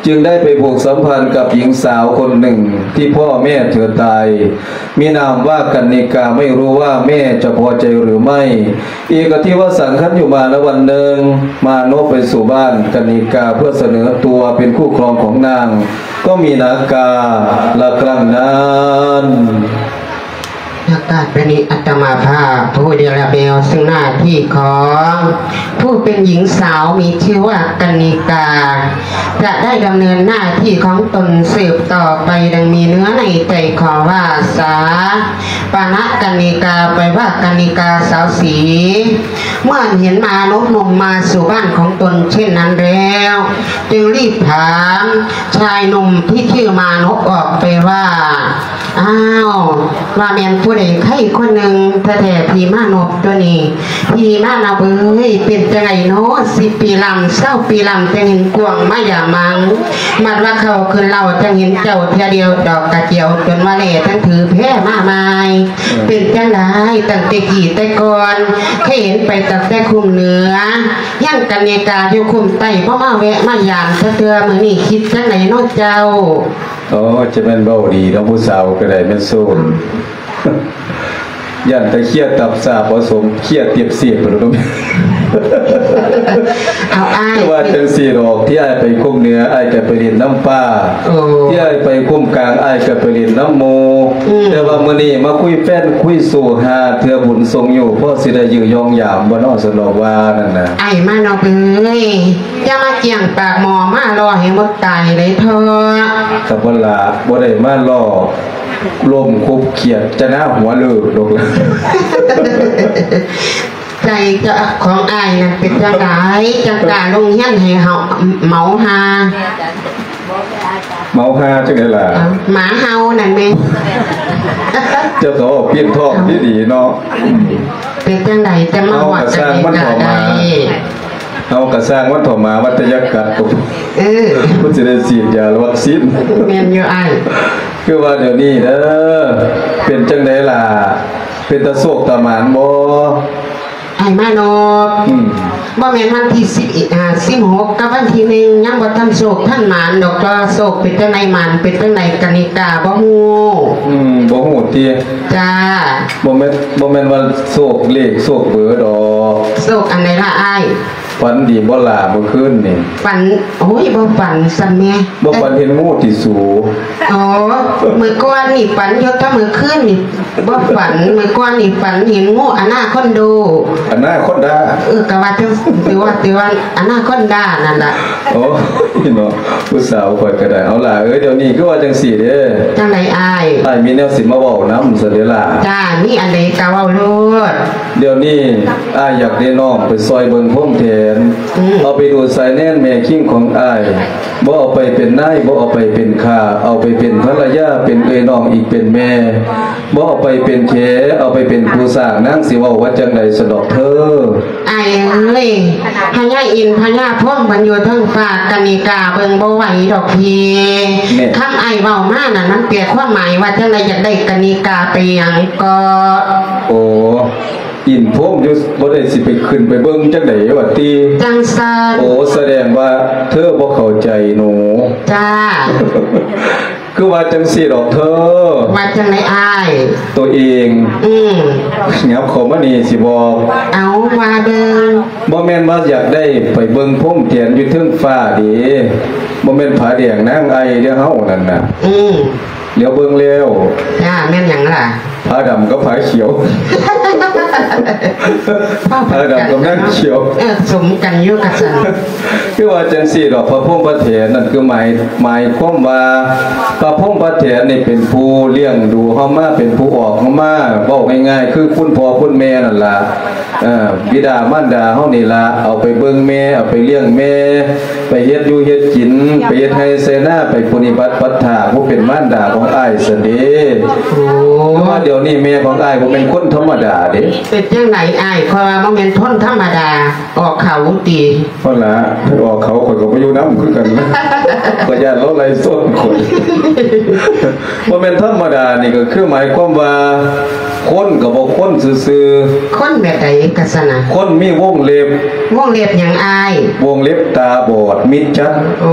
ຈຶ່ງໄດ້ໄປຜູກສຳພັນກັບຍິງສາວຄົນໜຶ່ງທີ່ພໍ່ແມ່ເທືອຕາຍ. ມີນາມວ່າກັນນິກາ, ໄມ່ຮູ້ວ່າແມ່ຈະພໍໃຈຫຼືໄມ່. ເອກະທິວະສັງ ຄັນຢູ່ມານະວັນໜຶ່ງ ມານົບໄປສູ່ບ້ານກັນນິກາເພື່ອສະເໜີຕົວເປັນຄູ່ຄອງຂອງນາງ ກໍມີນາກາລະຄັ້ງນັ້ນ. ໃນໂອກາດບັດນີ້ ອາດຕະມາພາບຜູ້ເນລະແມວ ເຊິ່ງໜ້າທີ່ຂອງຜູ້ເປັນຍິງສາວມີຊື່ວ່າກັນນິກາ ຈະໄດ້ດຳເນີນໜ້າທີ່ຂອງຕົນສືບຕໍ່ໄປ ດັ່ງມີເນື້ອໃນໃຈຂໍວ່າ ສາປານະກັນນິກາ ແປວ່າກັນນິກາສາວສີ. ເມື່ອເຫັນມານົບໜຸ່ມມາສູ່ບ້ານຂອງຕົນເຊັ່ນນັ້ນແລ້ວ ຈຶ່ງລີບຖາມຊາຍໜຸ່ມທີ່ຊື່ມານົບອອກໄປວ່າ ອ້າວ ວ່າແມ່ນຜູ້ໃດໃຜຄົນໜຶ່ງແທ້ໆ ພີ່ມານົບຕົວນີ້. ພີ່ມານົບເອີຍ ເປັນຈັ່ງໃດນໍ ສິບປີລ້ຳ ຊາວປີລ້ຳ ຈັ່ງເຫັນກວາງມາຢາມມັງ. ບັດວ່າເຂົ້າຂຶ້ນເລົ້າ ຈັ່ງເຫັນເຈົ້າເທື່ອດຽວດອກກະຈຽວ ຈົນວ່າແລທັງຖືແພມາໃໝ່. ເປັນຈັ່ງໃດຕັ້ງແຕ່ກີ້ແຕ່ກ່ອນ ເຄີຍເຫັນໄປຕັ້ງແຕ່ຄຸ້ມເໜືອ ຍັງກັນເນກາຢູ່ຄຸ້ມໃຕ້ ບໍ່ມາແວະມາຢາມຈັກເທື່ອ. ມື້ນີ້ຄິດຈັ່ງໃດນໍເຈົ້າ? ໂອ້ ຈະແມ່ນເວົ້າດີເນາະ ຜູ້ສາວກໍໄດ້ແມ່ນໂຊນ ຢ້ານແຕ່ເຄຍຕັບສາບ ບໍ່ສົມເຄຍຕຽບເສບພຸ້ນ. ເອົາອ້າຍ ຄືວ່າຈັ່ງຊີ້ດອກ ທີ່ອ້າຍໄປຄຸ້ມເໜືອ ອ້າຍກໍໄປຫຼິ້ນນຳປ້າ ໂອ້ ທີ່ອ້າຍໄປຄຸ້ມກາງ ອ້າຍກໍໄປຫຼິ້ນນຳໝູ່ ອືມ ແຕ່ວ່າມື້ນີ້ມາຄຸຍແຟນຄຸຍໂສຫາເທື່ອບຸນສົ່ງຢູ່ ພໍຊິໄດ້ຢືຢອງຢາມບໍ່ເນາະ ຊັ້ນດອກວ່ານັ້ນນະ ອ້າຍມານອບເອີຍ ຢ່າມາກ້ຽງປາກໝໍ້ ມາຫຼໍ່ໃຫ້ໝົດຕາຍເລີຍເຖາະ ກໍບໍ່ລະ ບໍ່ໄດ້ມາຫຼໍ່ ລົມຄົບຂຽດ ຈະໜ້າຫົວເລີກດອກລະ. ໃຈເຈົ້າຂອງອ້າຍນັ້ນເປັນຈັ່ງໃດ ຈັ່ງກ້າລົງຮຽນໃຫ້ເຮົາເມົາຮາ ເມົາຮາຈັ່ງໃດລະ? ເອົ້າ ໝາເຫົ່ານັ້ນແມ່ນ ເຈົ້າກໍເວົ້າປິ່ນທ້ອງດີໆເນາະ ເປັນຈັ່ງໃດຈັ່ງມາຮອດກະນິກາໄດ້? ເຮົາກໍຊ່າງມັນເຖາະໝາ ເຮົາກໍຊ່າງມັນເຖາະໝາ ວ່າແຕ່ຢ່າກັດກໍ ເອີ ມັນຊິໄດ້ສີດຢາວັກຊີນ ແມ່ນຢູ່ອ້າຍ ຄືວ່າດຽວນີ້ເດີ ເປັນຈັ່ງໃດລະ? ເປັນຕາໂຊກຕາໝານບໍ່? ອ້າຍມານອບ ອືມ ບໍ່ແມ່ນວັນທີສິບ ອາ ສິບຫົກ ກັບວັນທີໜຶ່ງ ຍັງບໍ່ທັນໂຊກທັນໝານດອກ ແຕ່ວ່າໂຊກເປັນຈັ່ງໃດ ໝານເປັນຈັ່ງໃດ ກະນິກາບໍ່ຮູ້ ອືມ ບໍ່ຮູ້ຕິ? ຈ້າ ບໍ່ແມ່ນ ບໍ່ແມ່ນວ່າໂຊກເລກໂຊກເບີດອກ ໂຊກອັນໃດລະອ້າຍ? ຝັນດີບໍ່ລະມື້ຄືນນີ້? ຝັນ ໂອ້ຍ ບໍ່ຝັນຊ້ຳແມ້ ບໍ່ຝັນເຫັນງູຕິສູ? ອໍ ມື້ກ່ອນນີ້ຝັນຢູ່ ແຕ່ມື້ຄືນນີ້ບໍ່ຝັນ ມື້ກ່ອນນີ້ຝັນເຫັນງູອານາຄອນໂດ ອານາຄອນດາ ເອີ ກະວ່າຈັ່ງ ຖືວ່າ ຖືວ່າອານາຄອນດານັ້ນລະ ໂອ້ຍເນາະ ຜູ້ສາວຂ້ອຍກະໄດ້ ເອົາຫຼ້າເອີຍ ດຽວນີ້ຄືວ່າຈັ່ງຊີ້ເດ້ ຈັ່ງໃດອ້າຍ? ອ້າຍມີແນວຊິມາເວົ້ານຳຊັ້ນເດ້ລະ ຈ້າ ມີອັນໃດກະເວົ້າໂລດ ດຽວນີ້ອ້າຍຢາກໄດ້ນ້ອງໄປຊ່ອຍເບິ່ງພົມແທນ ອືມ ເອົາໄປດູດສາຍແນນແມ່ຄິງຂອງອ້າຍ ບໍ່ເອົາໄປເປັນນາຍ ບໍ່ເອົາໄປເປັນຂ້າ ເອົາໄປເປັນພັນລະຍາ ເປັນເອື້ອຍນ້ອງອີກເປັນແມ່ ບໍ່ເອົາໄປເປັນແຂ ເອົາໄປເປັນຄູ່ສ້າງ ນາງຊິເວົ້າວ່າຈັ່ງໃດຊັ້ນດອກເທີ? ອ້າຍເອີຍ ພະຍາອິນພະຍາພົມເພິ່ນຢູ່ເທິງຟ້າ ກະນິກາເບິ່ງບໍ່ໄຫວດອກພີ່ ແມ່ນ ຄຳອ້າຍເວົ້າມານັ້ນ ມັນແປຄວາມໝາຍວ່າຈັ່ງໃດ? ຢາກໄດ້ກະນິກາໄປຫຍັງເກາະ? ໂອ້ ອິນພົມຢູ່ ບໍ່ໄດ້ຊິໄປຂຶ້ນໄປເບິ່ງຈັ່ງໃດຫວາຕິ? ຈັ່ງຊັ້ນ ໂອ້ ສະແດງວ່າເທີບໍ່ເຂົ້າໃຈໜູ ຈ້າ ຄືວ່າຈັ່ງຊີ້ດອກເທີ ວ່າຈັ່ງໃດອ້າຍ? ໂຕເອງ ອືມ ຫຍັບເຂົ້າມານີ້ຊິບອກ ເອົາ ວ່າເບິ່ງ ບໍ່ແມ່ນວ່າຢາກໄດ້ໄປເບິ່ງພົມແທນຢູ່ເທິງຟ້າເດ້ ບໍ່ແມ່ນຜາແດງນາງໄອເດ້ເຮົານັ້ນນະ ອືມ ຫຼຽວເບິ່ງແລ້ວ ຈ້າ ແມ່ນຫຍັງລະ? ຜາດຳກັບຜາຂຽວ ຜາດຳກັບນາງຂຽວ ເອີ ສົມກັນຢູ່ກະຊັ້ນ ຄືວ່າຈັ່ງຊີ້ດອກ ພະພົມພະແທນນັ້ນ ຄືໝາຍ ໝາຍຄວາມວ່າ ພະພົມພະແທນນີ້ເປັນຜູ້ລ້ຽງດູເຮົາມາ ເປັນຜູ້ອອກເຮົາມາ ເວົ້າງ່າຍໆ ຄືຄຸນພໍ່ຄຸນແມ່ນັ້ນລະ ເອີ ບິດາມານດາເຮົານີ້ລະ ເອົາໄປເບິ່ງແມ່ ເອົາໄປລ້ຽງແມ່ ໄປເຮັດຢູ່ເຮັດກິນ ໄປເຮັດໄຮ່ໄຖນາ ໄປປະນິບັດປັດຖາ ຜູ້ເປັນມານດາຂອງອ້າຍຊັ້ນເດ້. ໂອ້ ແຕ່ວ່າດຽວນີ້ແມ່ຂອງອ້າຍບໍ່ແມ່ນຄົນທຳມະດາເດ້. ເປັນຈັ່ງໃດອ້າຍ? ຂ້ອຍວ່າບໍ່ແມ່ນຄົນທຳມະດາ ອອກເຂົາຕິ. ພຸ້ນລະ ໄປອອກເຂົາ ຂ້ອຍກໍບໍ່ຢູ່ນຳຄືກັນ. ຂ້ອຍຢ້ານລາວໄລ່ຊົນຂ້ອຍ. ບໍ່ແມ່ນທຳມະດານີ້ ກໍຄືໝາຍຄວາມວ່າ ຄົນກໍບໍ່ຄົນຊື່ໆ. ຄົນແບບໃດກະຊັ້ນນະ? ຄົນມີວົງເລັບ. ວົງເລັບຫຍັງອ້າຍ? ວົງເລັບຕາບອດມິດຈັນ. ໂອ້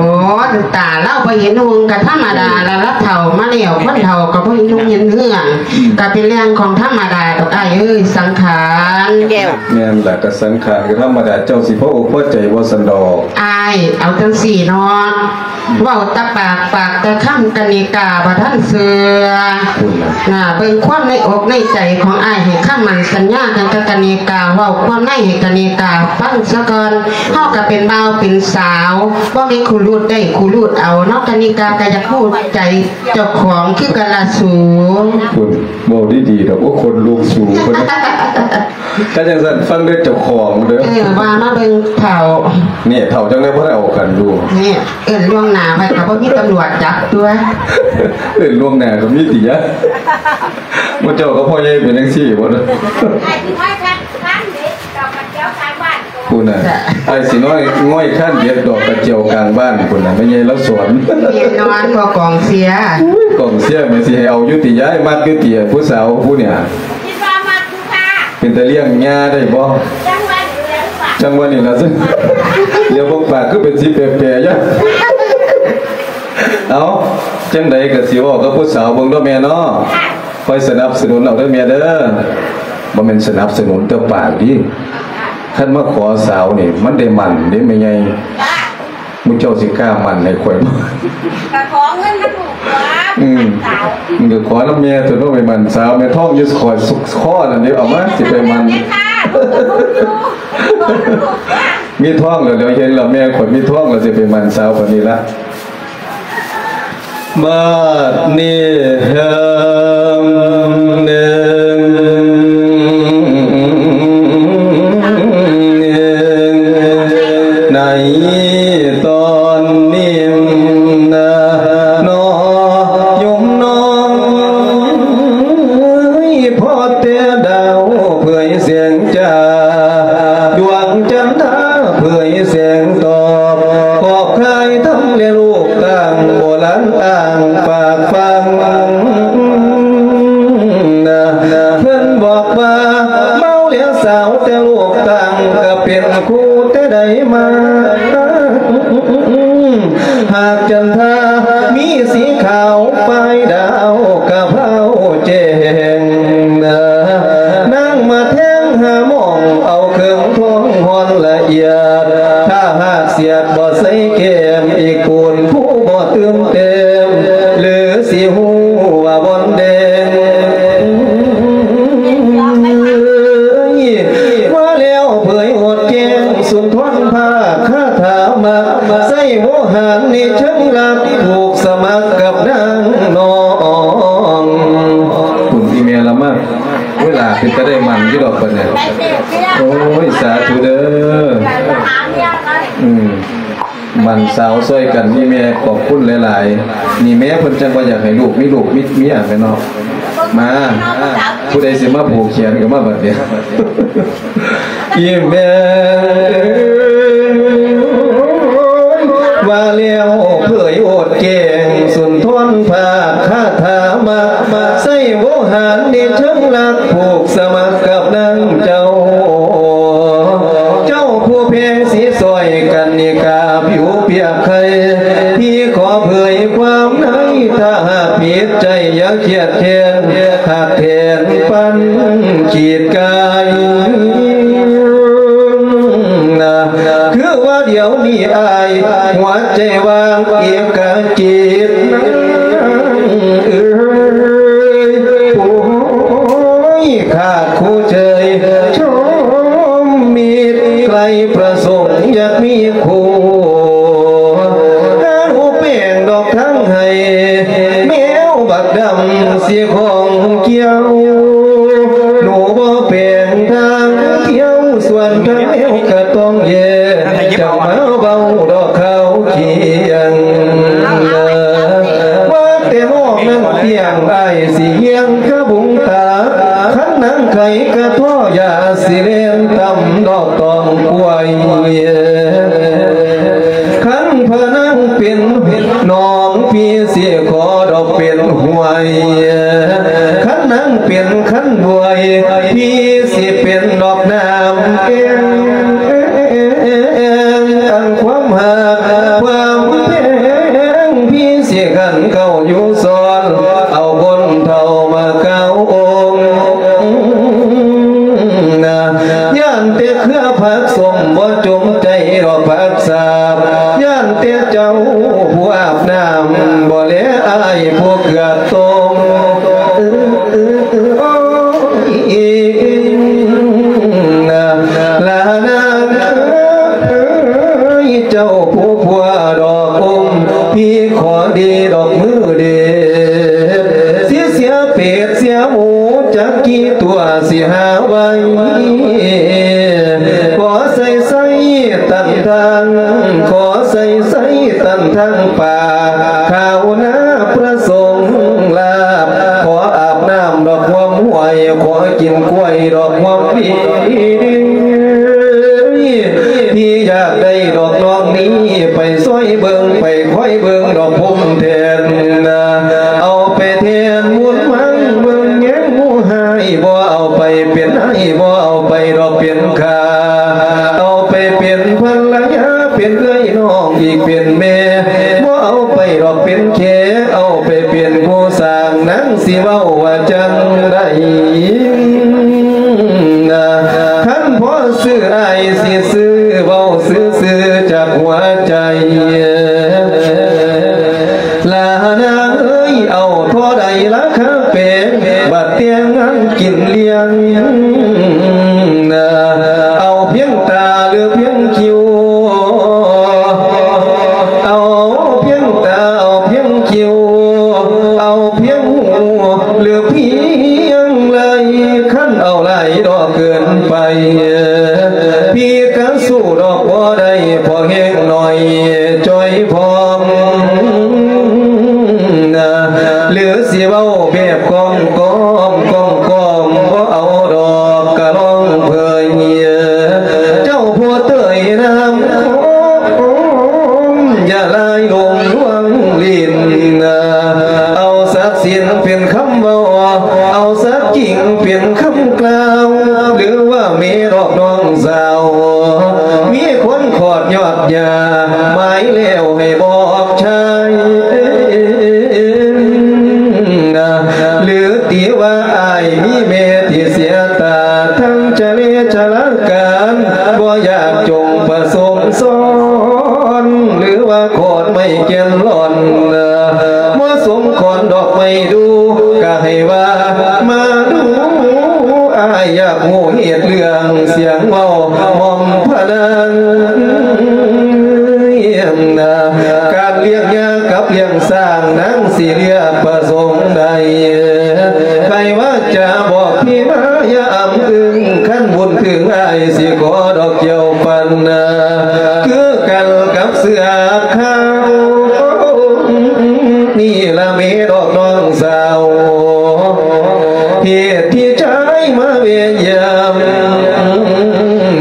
ຕາລາວບໍ່ເຫັນຮຸ່ງກະທຳມະດາລະ ລາວເຖົ້າມາແລ້ວ ຄົນເຖົ້າກໍບໍ່ເຫັນຮຸ່ງເຫັນເຮືອງ ອືມ ກະເປັນເລື່ອງຂອງທຳມະດາດອກອ້າຍເອີຍ ສັງຂານ. ແມ່ນລະ ກະສັງຂານກະທຳມະດາ ເຈົ້າຊິພໍອົກພໍໃຈບໍ່ຊັ້ນດອກ? ອ້າຍ ເອົາຈັ່ງຊີ້ເນາະ ເວົ້າແຕ່ປາກ ປາກແຕ່ຄຳ ກະນິກາບໍ່ທັນເຊື່ອ. ນະ ເບິ່ງຄວາມໃນອົກໃນໃຈຂອງອ້າຍ ໃຫ້ຄຳໝັ້ນສັນຍາກັນກັບກະນິກາ ເວົ້າຄວາມໃນໃຫ້ກະນິກາຟັງສະກ່ອນ. ເຮົາກະເປັນບ່າວເປັນສາວ ບໍ່ແມ່ນຄູລູດໄດ້ຄູລູດເອົາເນາະ ກະນິກາກະຢາກຮູ້ໃຈເຈົ້າຂອງຄືກັນລະສູ. ພຸ້ນ ເວົ້າດີໆດອກ ໂອ້ ຄົນລຸກສູ ເພິ່ນ ຖ້າຈັ່ງຊັ້ນຟັງເດີເຈົ້າຂອງເດີ. ເອີ ວ່າມາເບິ່ງເຖົ້າ. ນີ້ເຖົ້າຈັ່ງໃດບໍ່ໄດ້ເອົາກັນຢູ່. ນີ້ເອີ້ນລ່ວງໜ້າໄວ້ກໍບໍ່ມີຕຳຫຼວດຈັບຕົວະ. ເອີ້ນລ່ວງໜ້າກໍມີຕິຍະ. ໝູ່ເຈົ້າກັບພໍ່ໃຫຍ່ເປັນຈັ່ງຊີ້ບໍ່? ພຸ້ນນະ ອ້າຍຊິນ້ອຍ ງ້ອຍຄານເດັດດອກກະຈຽວກາງບ້ານພຸ້ນນະ ແມ່ໃຫຍ່ລາວສອນ. ແນ່ນອນ ພໍ່ກອງເຊຍ. ໂອ້ຍ ກອງເຊຍແມ່ນຊິໃຫ້ເອົາຢູ່ຕິ ຍາຍມັກຢູ່ຕິ ຜູ້ສາວຜູ້ນີ້. ຄິດວ່າມັກຢູ່ຄ່ະ. ເປັນຕາລ້ຽງຍ່າໄດ້ບໍ່? ຈັ່ງວ່ານີ້ແຫຼະ ຈັ່ງວ່ານີ້ລະ ດຽວເບິ່ງປາກຄືເປັນສີແປໆ ຍາ. ເອົາ ຈັ່ງໃດກໍຊິເວົ້າກັບຜູ້ສາວເບິ່ງເດີແມ່ເນາະ. ຄອຍສະໜັບສະໜູນເອົາເດີແມ່ເດີ. ບໍ່ແມ່ນສະໜັບສະໜູນແຕ່ປາກຕິ. ຄັນມາຂໍສາວນີ້ ມັນໄດ້ໝັ້ນເດ້ແມ່ໃຫຍ່. ໝູ່ເຈົ້າຊິກ້າໝັ້ນໃຫ້ຂ້ອຍບໍ່? ກໍຂໍເງິນນຳລູກຕົວະ ອືມ ມັນສາວ ມັນກໍຂໍນຳແມ່ຕົວະເນາະ ໄປໝັ້ນສາວ. ແມ່ທ້ອງຢູ່ ຂ້ອຍສຸກຄໍນັ້ນເດ້ ເອົາມາ ຊິໄປໝັ້ນ ແມ່ຄ້າ ລູກກໍບໍ່ຢູ່ ມີທ້ອງແລ້ວ ດຽວເຫັນແລ້ວ ແມ່ຂ້ອຍມີທ້ອງແລ້ວ ຊິໄປໝັ້ນສາວປານນີ້ລະ. ບາດນີ້ເຮີມໜຶ່ງ ໃນຕອນນີ້ນະ ນ້ອຍໂຍມນ້ອງ ພໍແຕ່ດາວເຜີຍແສງ ຈາດວງຈັນທາເຜີຍແສງຕອບ ຂອບຄາຍທຳແລລູກຕ່າງ ບໍ່ລັນອ່າງປາກຟັງນະ. ເພິ່ນບອກວ່າເມົາແລສາວ ແຕ່ລູກຕ່າງກໍເປັນຄູ່ແຕ່ໃດມາ. ຫາກຈັນທາມີສີຂາວ ປ້າຍດາວກະເພົາແຈ້ງນາງ ມາແທງຫາໝ່ອງ ເອົາເຄື່ອງທອງຮ່ອນລະອຽດ ຖ້າຫາກສຽດບໍ່ໃສ່ແກ້ມ ອີກໂກນຜູ້ບໍ່ຕື່ມແຕ້ມ ຫຼືຊິຮູ້ວ່າບ່ອນແດງ. ວ່າແລ້ວເຜີຍໂອດແຈ້ງ ສຸນທອນພາກຄາຖາມັກ ໃຊ້ໂວຫານໃນເຊີງລັກ ຜູກສະໝັກກັບນາງນ້ອງ. ຄຸນອີ່ແມ່ລະມາ ເວລາເປັນຕາໄດ້ໝັ້ນຢູ່ດອກບັດນີ້. ໂອ້ຍ ສາທຸເດີ ອືມ ໝັ້ນສາວຊ່ອຍກັນ ອີ່ແມ່ຂອບຄຸນຫຼາຍໆ. ນີ້ແມ່ເພິ່ນຈັ່ງວ່າຢາກໃຫ້ລູກມີລູກມີເມຍແມ່ນເນາະ. ມາ ຜູ້ໃດຊິມາຜູກແຂນກໍມາບັດນີ້. ອີ່ແມ່ເອີຍ ວ່າແລ້ວເຜີຍໂອດແຈ້ງ ສຸນທອນພາກຄາຖາມັກ ໃຊ້ໂວຫານໃນເຊີງລັກ ຜູກສະໝັກກັບນາງເຈົ້າ. ເຈົ້າຜູ້ແພງສີຊ່ອຍກັນນິກາ ຜິວປຽກໄຂ່ ທີ່ຂໍເຜີຍຄວາມໃນ ຖ້າຫາກຜິດໃຈຢ່າຄຽດແຄ້ນ ຫາກແທນປັນຂີດກາຍນະ. ຄືວ່າດຽວນີ້ອ້າຍ ຫົວໃຈວ່າງເອກະຈິດນາງເອີຍ ໂອ້ຍ ຂາດຄູ່ເຈີຍ ຊົມມິດ ໃຄ່ປະສົງຢາກມີຄູ່ ຫາໜູແປງດອກທາງໃຫ້ ແມວບັກດຳຊິຂອງກ່ຽວ ໜູບໍ່ແປງທາງທ່ຽວ ສ່ວນທາງແມວກະຕ້ອງແຍກ ຈະມາເວົ້າດອກຂ່າວຄຽງ ວ່າແຕ່ນ້ອງນັ້ນຕຽງ ອ້າຍຊິຮຽງກະບຸງຕາ ຄັນນາງໄຂ່ກະທໍ່ ຢ່າຊິແລ່ນຕຳດອກຕອງກ້ວຍ. ຄັນພະນາງເປັນໜອງ ພີ່ຊິຂໍດອກເປັນຫ້ວຍ ຄັນນາງເປັນຄັນບວຍ ພີ່ຊິເປັນດອກນ້ຳແກ່ງ. ອັນຄວາມຮັກຄວາມແພງ ພີ່ຊິຂັນເຂົ້າຢູ່ສອນ ເອົາຄົນເຖົ້າມາກ່າວອົງນະ. ຢ້ານແຕ່ເຄືອຜັກສົ້ມ ບໍ່ຈົງໃຈດອກຜັກສາບ ຢ້ານແຕ່ເຈົ້າຜູ້ອາບນ້ຳ ບໍ່ແລອ້າຍຜູ້ເກືອກຕົ້ມ. ນະ ລານາງເອີຍ ເຈົ້າຜູ້ຜົວດອກອົມ ພີ່ຂໍດີດອກມືເດັດ ຊິເສຍເປດເສຍໝູ ຈັກກີ່ຕົວຊິຫາໄວ້ ຂໍໃສ່ໃສ່ຕັນທາງ ຂໍໃສ່ໃສ່ຕັນທາງປ່າ ຂ້າວນາປະສົງລາບ ຂໍອາບນ້ຳດອກຮ່ວມຫ້ວຍ ຂໍກິນກ້ວຍດອກຮ່ວມປີ ທີ່ຢາກໄດ້ດອກນ້ອງນີ້ ໄປຊ່ອຍເບິ່ງ ໄປຄອຍເບິ່ງດອກພົມແທນນະ ເອົາໄປແທນບຸນມັງເບິ່ງແຍງໝູ່ຮ້າຍ ບໍ່ເອົາໄປເປັນອ້າຍ ບໍ່ເອົາໄປດອກເປັນຂ້າ ເອົາໄປເປັນພັນລະຍາ ເປັນເອື້ອຍນ້ອງອີກເປັນແມ່ ບໍ່ເອົາໄປດອກເປັນແຂ ເອົາໄປເປັນຄູ່ສ້າງ ນາງຊິເວົ້າວ່າຈັ່ງໃດນະ ຄັນພໍ ຊື້ອ້າຍຊິຊື້ ເວົ້າຊື່ໆຈາກຫົວໃຈ ລານາງເອີຍ ເອົາທໍ່ໃດລາຄາແພງ ບັດແຕ່ງງານກິນລ້ຽງ ເອົາພຽງຕາຫຼືພຽງຄິ້ວ ເອົາພຽງຕາ ເອົາພຽງຄິ້ວ ເອົາພຽງຫູ ຫຼືພຽງໄລ່ ຄັນເອົາຫຼາຍດອກເກີນໄປ ພີ່ກະສູ້ດອກບໍ່ໄດ້ ພໍແຮງໜ້ອຍຈ່ອຍພ້ອມ ຫຼືຊິເວົ້າແບບກ້ອມໆ ກ້ອມໆ ບໍ່ເອົາດອກກະລອງເຜີຍ ເຈົ້າຜູ້ເຕີຍນ້ຳ ຢ່າລາຍລົງລວງຫຼິ້ນ ເອົາສັກສິນເປັນຄຳເວົ້າ ເອົາສັກຈິງເປັນຄຳກ່າວ ຫຼືວ່າແມ່ນອກນ້ອງສາວ ມີຄົນຂອດຍອດຢາ ໝາຍແລ້ວໃຫ້ບອກຊາຍ ຫຼືຕິວ່າອ້າຍມີແມ່ທີ່ເສຍຕາ ທັງຈະເລຊະລາການ ບໍ່ຢາກຈົ່ງປະສົງສອນ ຫຼືວ່າຂອນໄມ້ແກ່ນຫຼອນ ມາສົງຂອນດອກໄມ້ດູ ກະໃຫ້ວ່າມາດູ ອ້າຍຢາກຮູ້ເຫດເລື່ອງ ສຽງເວົ້າໝ່ອມພະນາງ ການລ້ຽງຍາກັບລ້ຽງຊ້າງ ນາງຊິເລືອກປະສົງໃດ ໃຜວ່າຈະບອກທີ່ມາຢ່າອຳອຶງ ຄັນບຸນເຖິງອ້າຍຊິຂໍດອກແກ້ວປັນນາ ຄືກັນກັບເສືອຂາວ ນີ້ລະແມ່ນອກນ້ອງສາວ ເຫດທີ່ຊາຍມາແວ່ຍາມ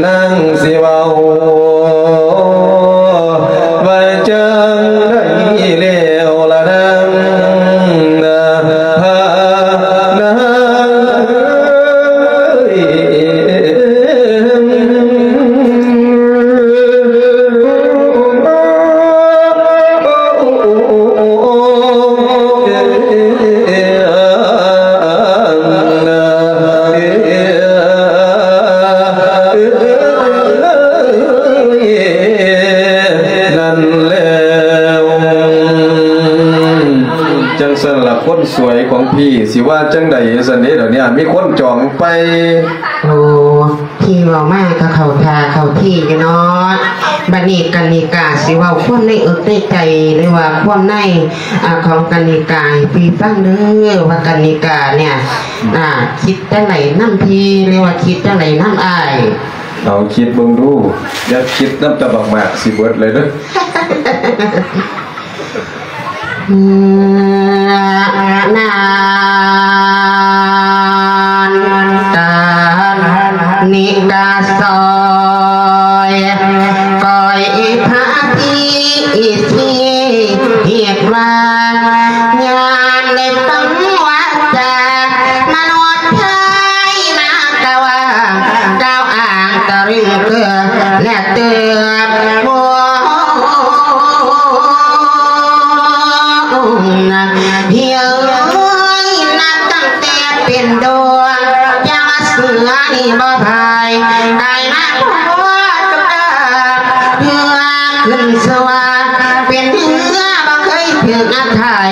ນາງຊິເວົ້າວ່າຈັ່ງໃດແລ້ວລະນາງ ພານາງເອີຍ. ນັ້ນແລ້ວ ຈັ່ງຊັ້ນລະ ຄົນສວຍຂອງພີ່ ຊິວ່າຈັ່ງໃດຊັ້ນເດ ດຽວນີ້ມີຄົນຈອງໄປ. ໂອ້ ທີ່ເວົ້າມາກໍເຂົ້າທ່າເຂົ້າທີຢູ່ເນາະ. ບັດນີ້ກັນນິກາຊິເວົ້າຄວາມໃນເອິກໃນໃຈ ຫຼືວ່າຄວາມໃນ ອາ ຂອງກັນນິກາໃຫ້ພີ່ຟັງເດີ ວ່າກັນນິກາເນ່ຍ ອາ ຄິດຈັ່ງໃດນຳພີ່ ຫຼືວ່າຄິດຈັ່ງໃດນຳອ້າຍ? ເອົາຄິດເບິ່ງດູ ຢ່າຄິດນຳແຕ່ບັກໝາກຊິເບິດເລີຍເດີ. ນານກັນນິກາຊອຍ ກອຍພາທີທີ່ຮຽກວ່າ ຍາມໄດ້ຟັງວາຈາມະນຸດໄທມາກະວ່າ ກ່າວອ້າງຕະລຶງເກືອ ແລະເຕີບໂມ ເຮີ້ຍ ນັບຕັ້ງແຕ່ເປັນດວງ ຢ່າມາເສືອນີ້ບໍ່ພາຍ ກາຍມາພໍດກັບເຮືອຂຶ້ນສວາ ເປັນເຮືອບໍ່ເຄີຍຖືກງາດຖ່າຍ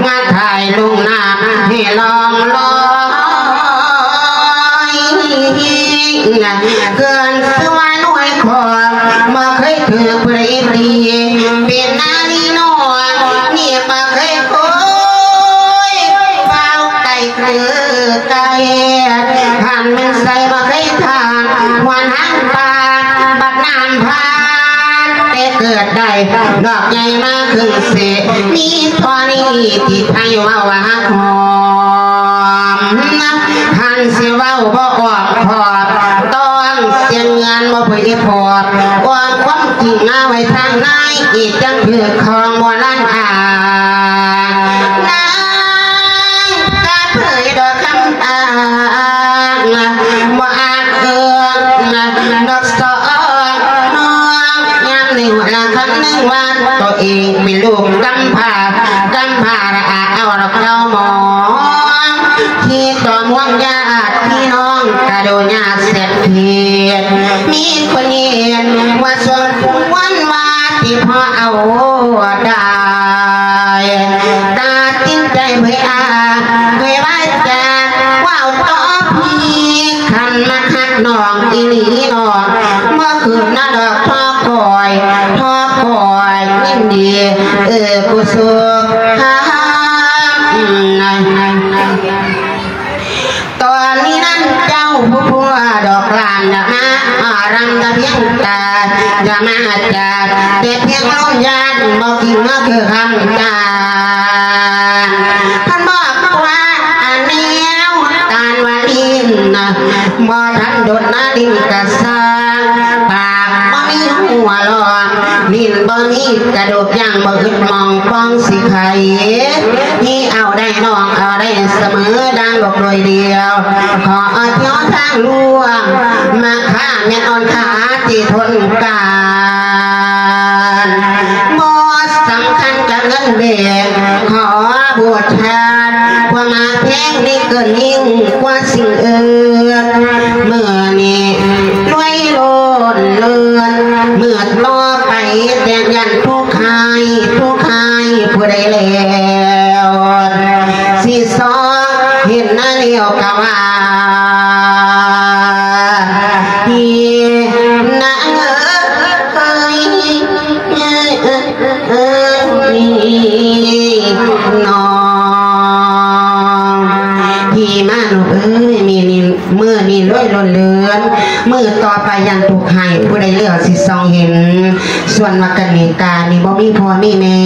ງາດຖ່າຍລົງນ້ຳໃຫ້ລ່ອງລອຍ ເຄື່ອນສວາໜ່ວຍຂອງ ບໍ່ເຄີຍຖືກຜູ້ໃດຕີ ເປັນນາລີນ້ອຍ ນີ້ບໍ່ເຄີຍໂຄຍ ເວົ້າໄກຄືໄກ ຄັນແມ່ນໃສບໍ່ເຄີຍທານ ຫວນຫາງປານ ບັດນ້ຳຜ່ານ ແຕ່ເກີດໄດ້ ດອກໃຫຍ່ມາຂຶ້ນເສ ມີເທົ່ານີ້ທີ່ໄທເວົ້າວ່າຮັກຫອມ ຄັນຊິເວົ້າບໍ່ອ້ອມຄ້ອມ ຕ້ອງສຽງເງິນບໍ່ເຜີຍພອບ ອ້ອມຄວາມຈິງມາໄວ້ທາງໃນ ອີກຈັ່ງຖືກຂອງໂບລານອ້າງ ນາງກະເຜີຍດອກຄຳອ້າງ ບໍ່ອາດເອື້ອງ ດອກສອງນ້ອງ ຍາມນີ້ລະຄຳນຶງວ່າ ໂຕເອງເປັນລູກກຳພ້າ ກຳພ້າລະອາດເອົາດອກເຕົ້າໝອງ ທີ່ຕົວມວນຍາດພີ່ນ້ອງກະດູຍາດເສດ ເຮັດ ມີຄົນເຫັນວ່າສົມຄວນວ່າຊິພໍເອົາໄດ້ ຕັດສິນໃຈເຜີຍອາຍ ເຜີຍວາຈາ ເວົ້າຕໍ່ພີ່ ຄັນມັກຮັກນ້ອງອີ່ຫຼີນ້ອງ ບໍ່ຄືນນະດອກ ທໍຄອຍ ທໍຄອຍ ຍິນດີ ເອີ ກຸສົນ ຕອນນີ້ນັ້ນເຈົ້າຜູ້ຜົວດອກຫຼານ ຢ່າມາອາລັງຕະພຽງຕາ ຢ່າມາຈາກແຕ່ພຽງລົມຍານ ບໍ່ກິນເມືອຄືຄຳຈານ ເພິ່ນບອກວ່າ ອາແນວຕານວ່າຫຼິ້ນ ບໍ່ທັນດົນນາຫຼິ້ນກະຊ່າງ ປາກບໍ່ມີຫົວຫຼອກ ຫຼິ້ນບໍ່ມີກະດູກ ຢ່າງບໍ່ອຶດມອງປ່ອງຊິໄຄ ມີເອົາໄດ້ນ້ອງເອົາໄດ້ສະເໝີ ດັ່ງດອກໂດຍດຽວ ຂໍເອົາແຖວທາງລວມ ມາຄ້າແມ່ນອ່ອນຄ່າທີ່ທົນການ ບໍ່ສຳຄັນກັບເງິນເບງ ຂໍບູຊາຄວາມຮັກແພງນີ້ເກີນຍິ່ງກວ່າສິ່ງອື່ນ ມື້ນີ້ລວຍໂລດເລີນ ມື້ຕໍ່ໄປແຕ່ຢ້ານທຸກ ໃຫ້ຜູ້ຂາຍຜູ້ໃດແລ້ວ ຊິຊອກເຫັນໜ້າແລ້ວກະວ່າ ພີ່ນາເອີຍ ນ້ອງ ພີ່ມານອກເອີຍ ມື້ນີ້ ມື້ນີ້ລວຍລົ້ນເລີນ ມື້ຕໍ່ໄປຢ້ານທຸກໃຫ້ຜູ້ໃດແລ້ວຊິຊອກເຫັນ ສ່ວນວ່າກະນິການີ້ບໍ່ມີພໍ່ມີແມ່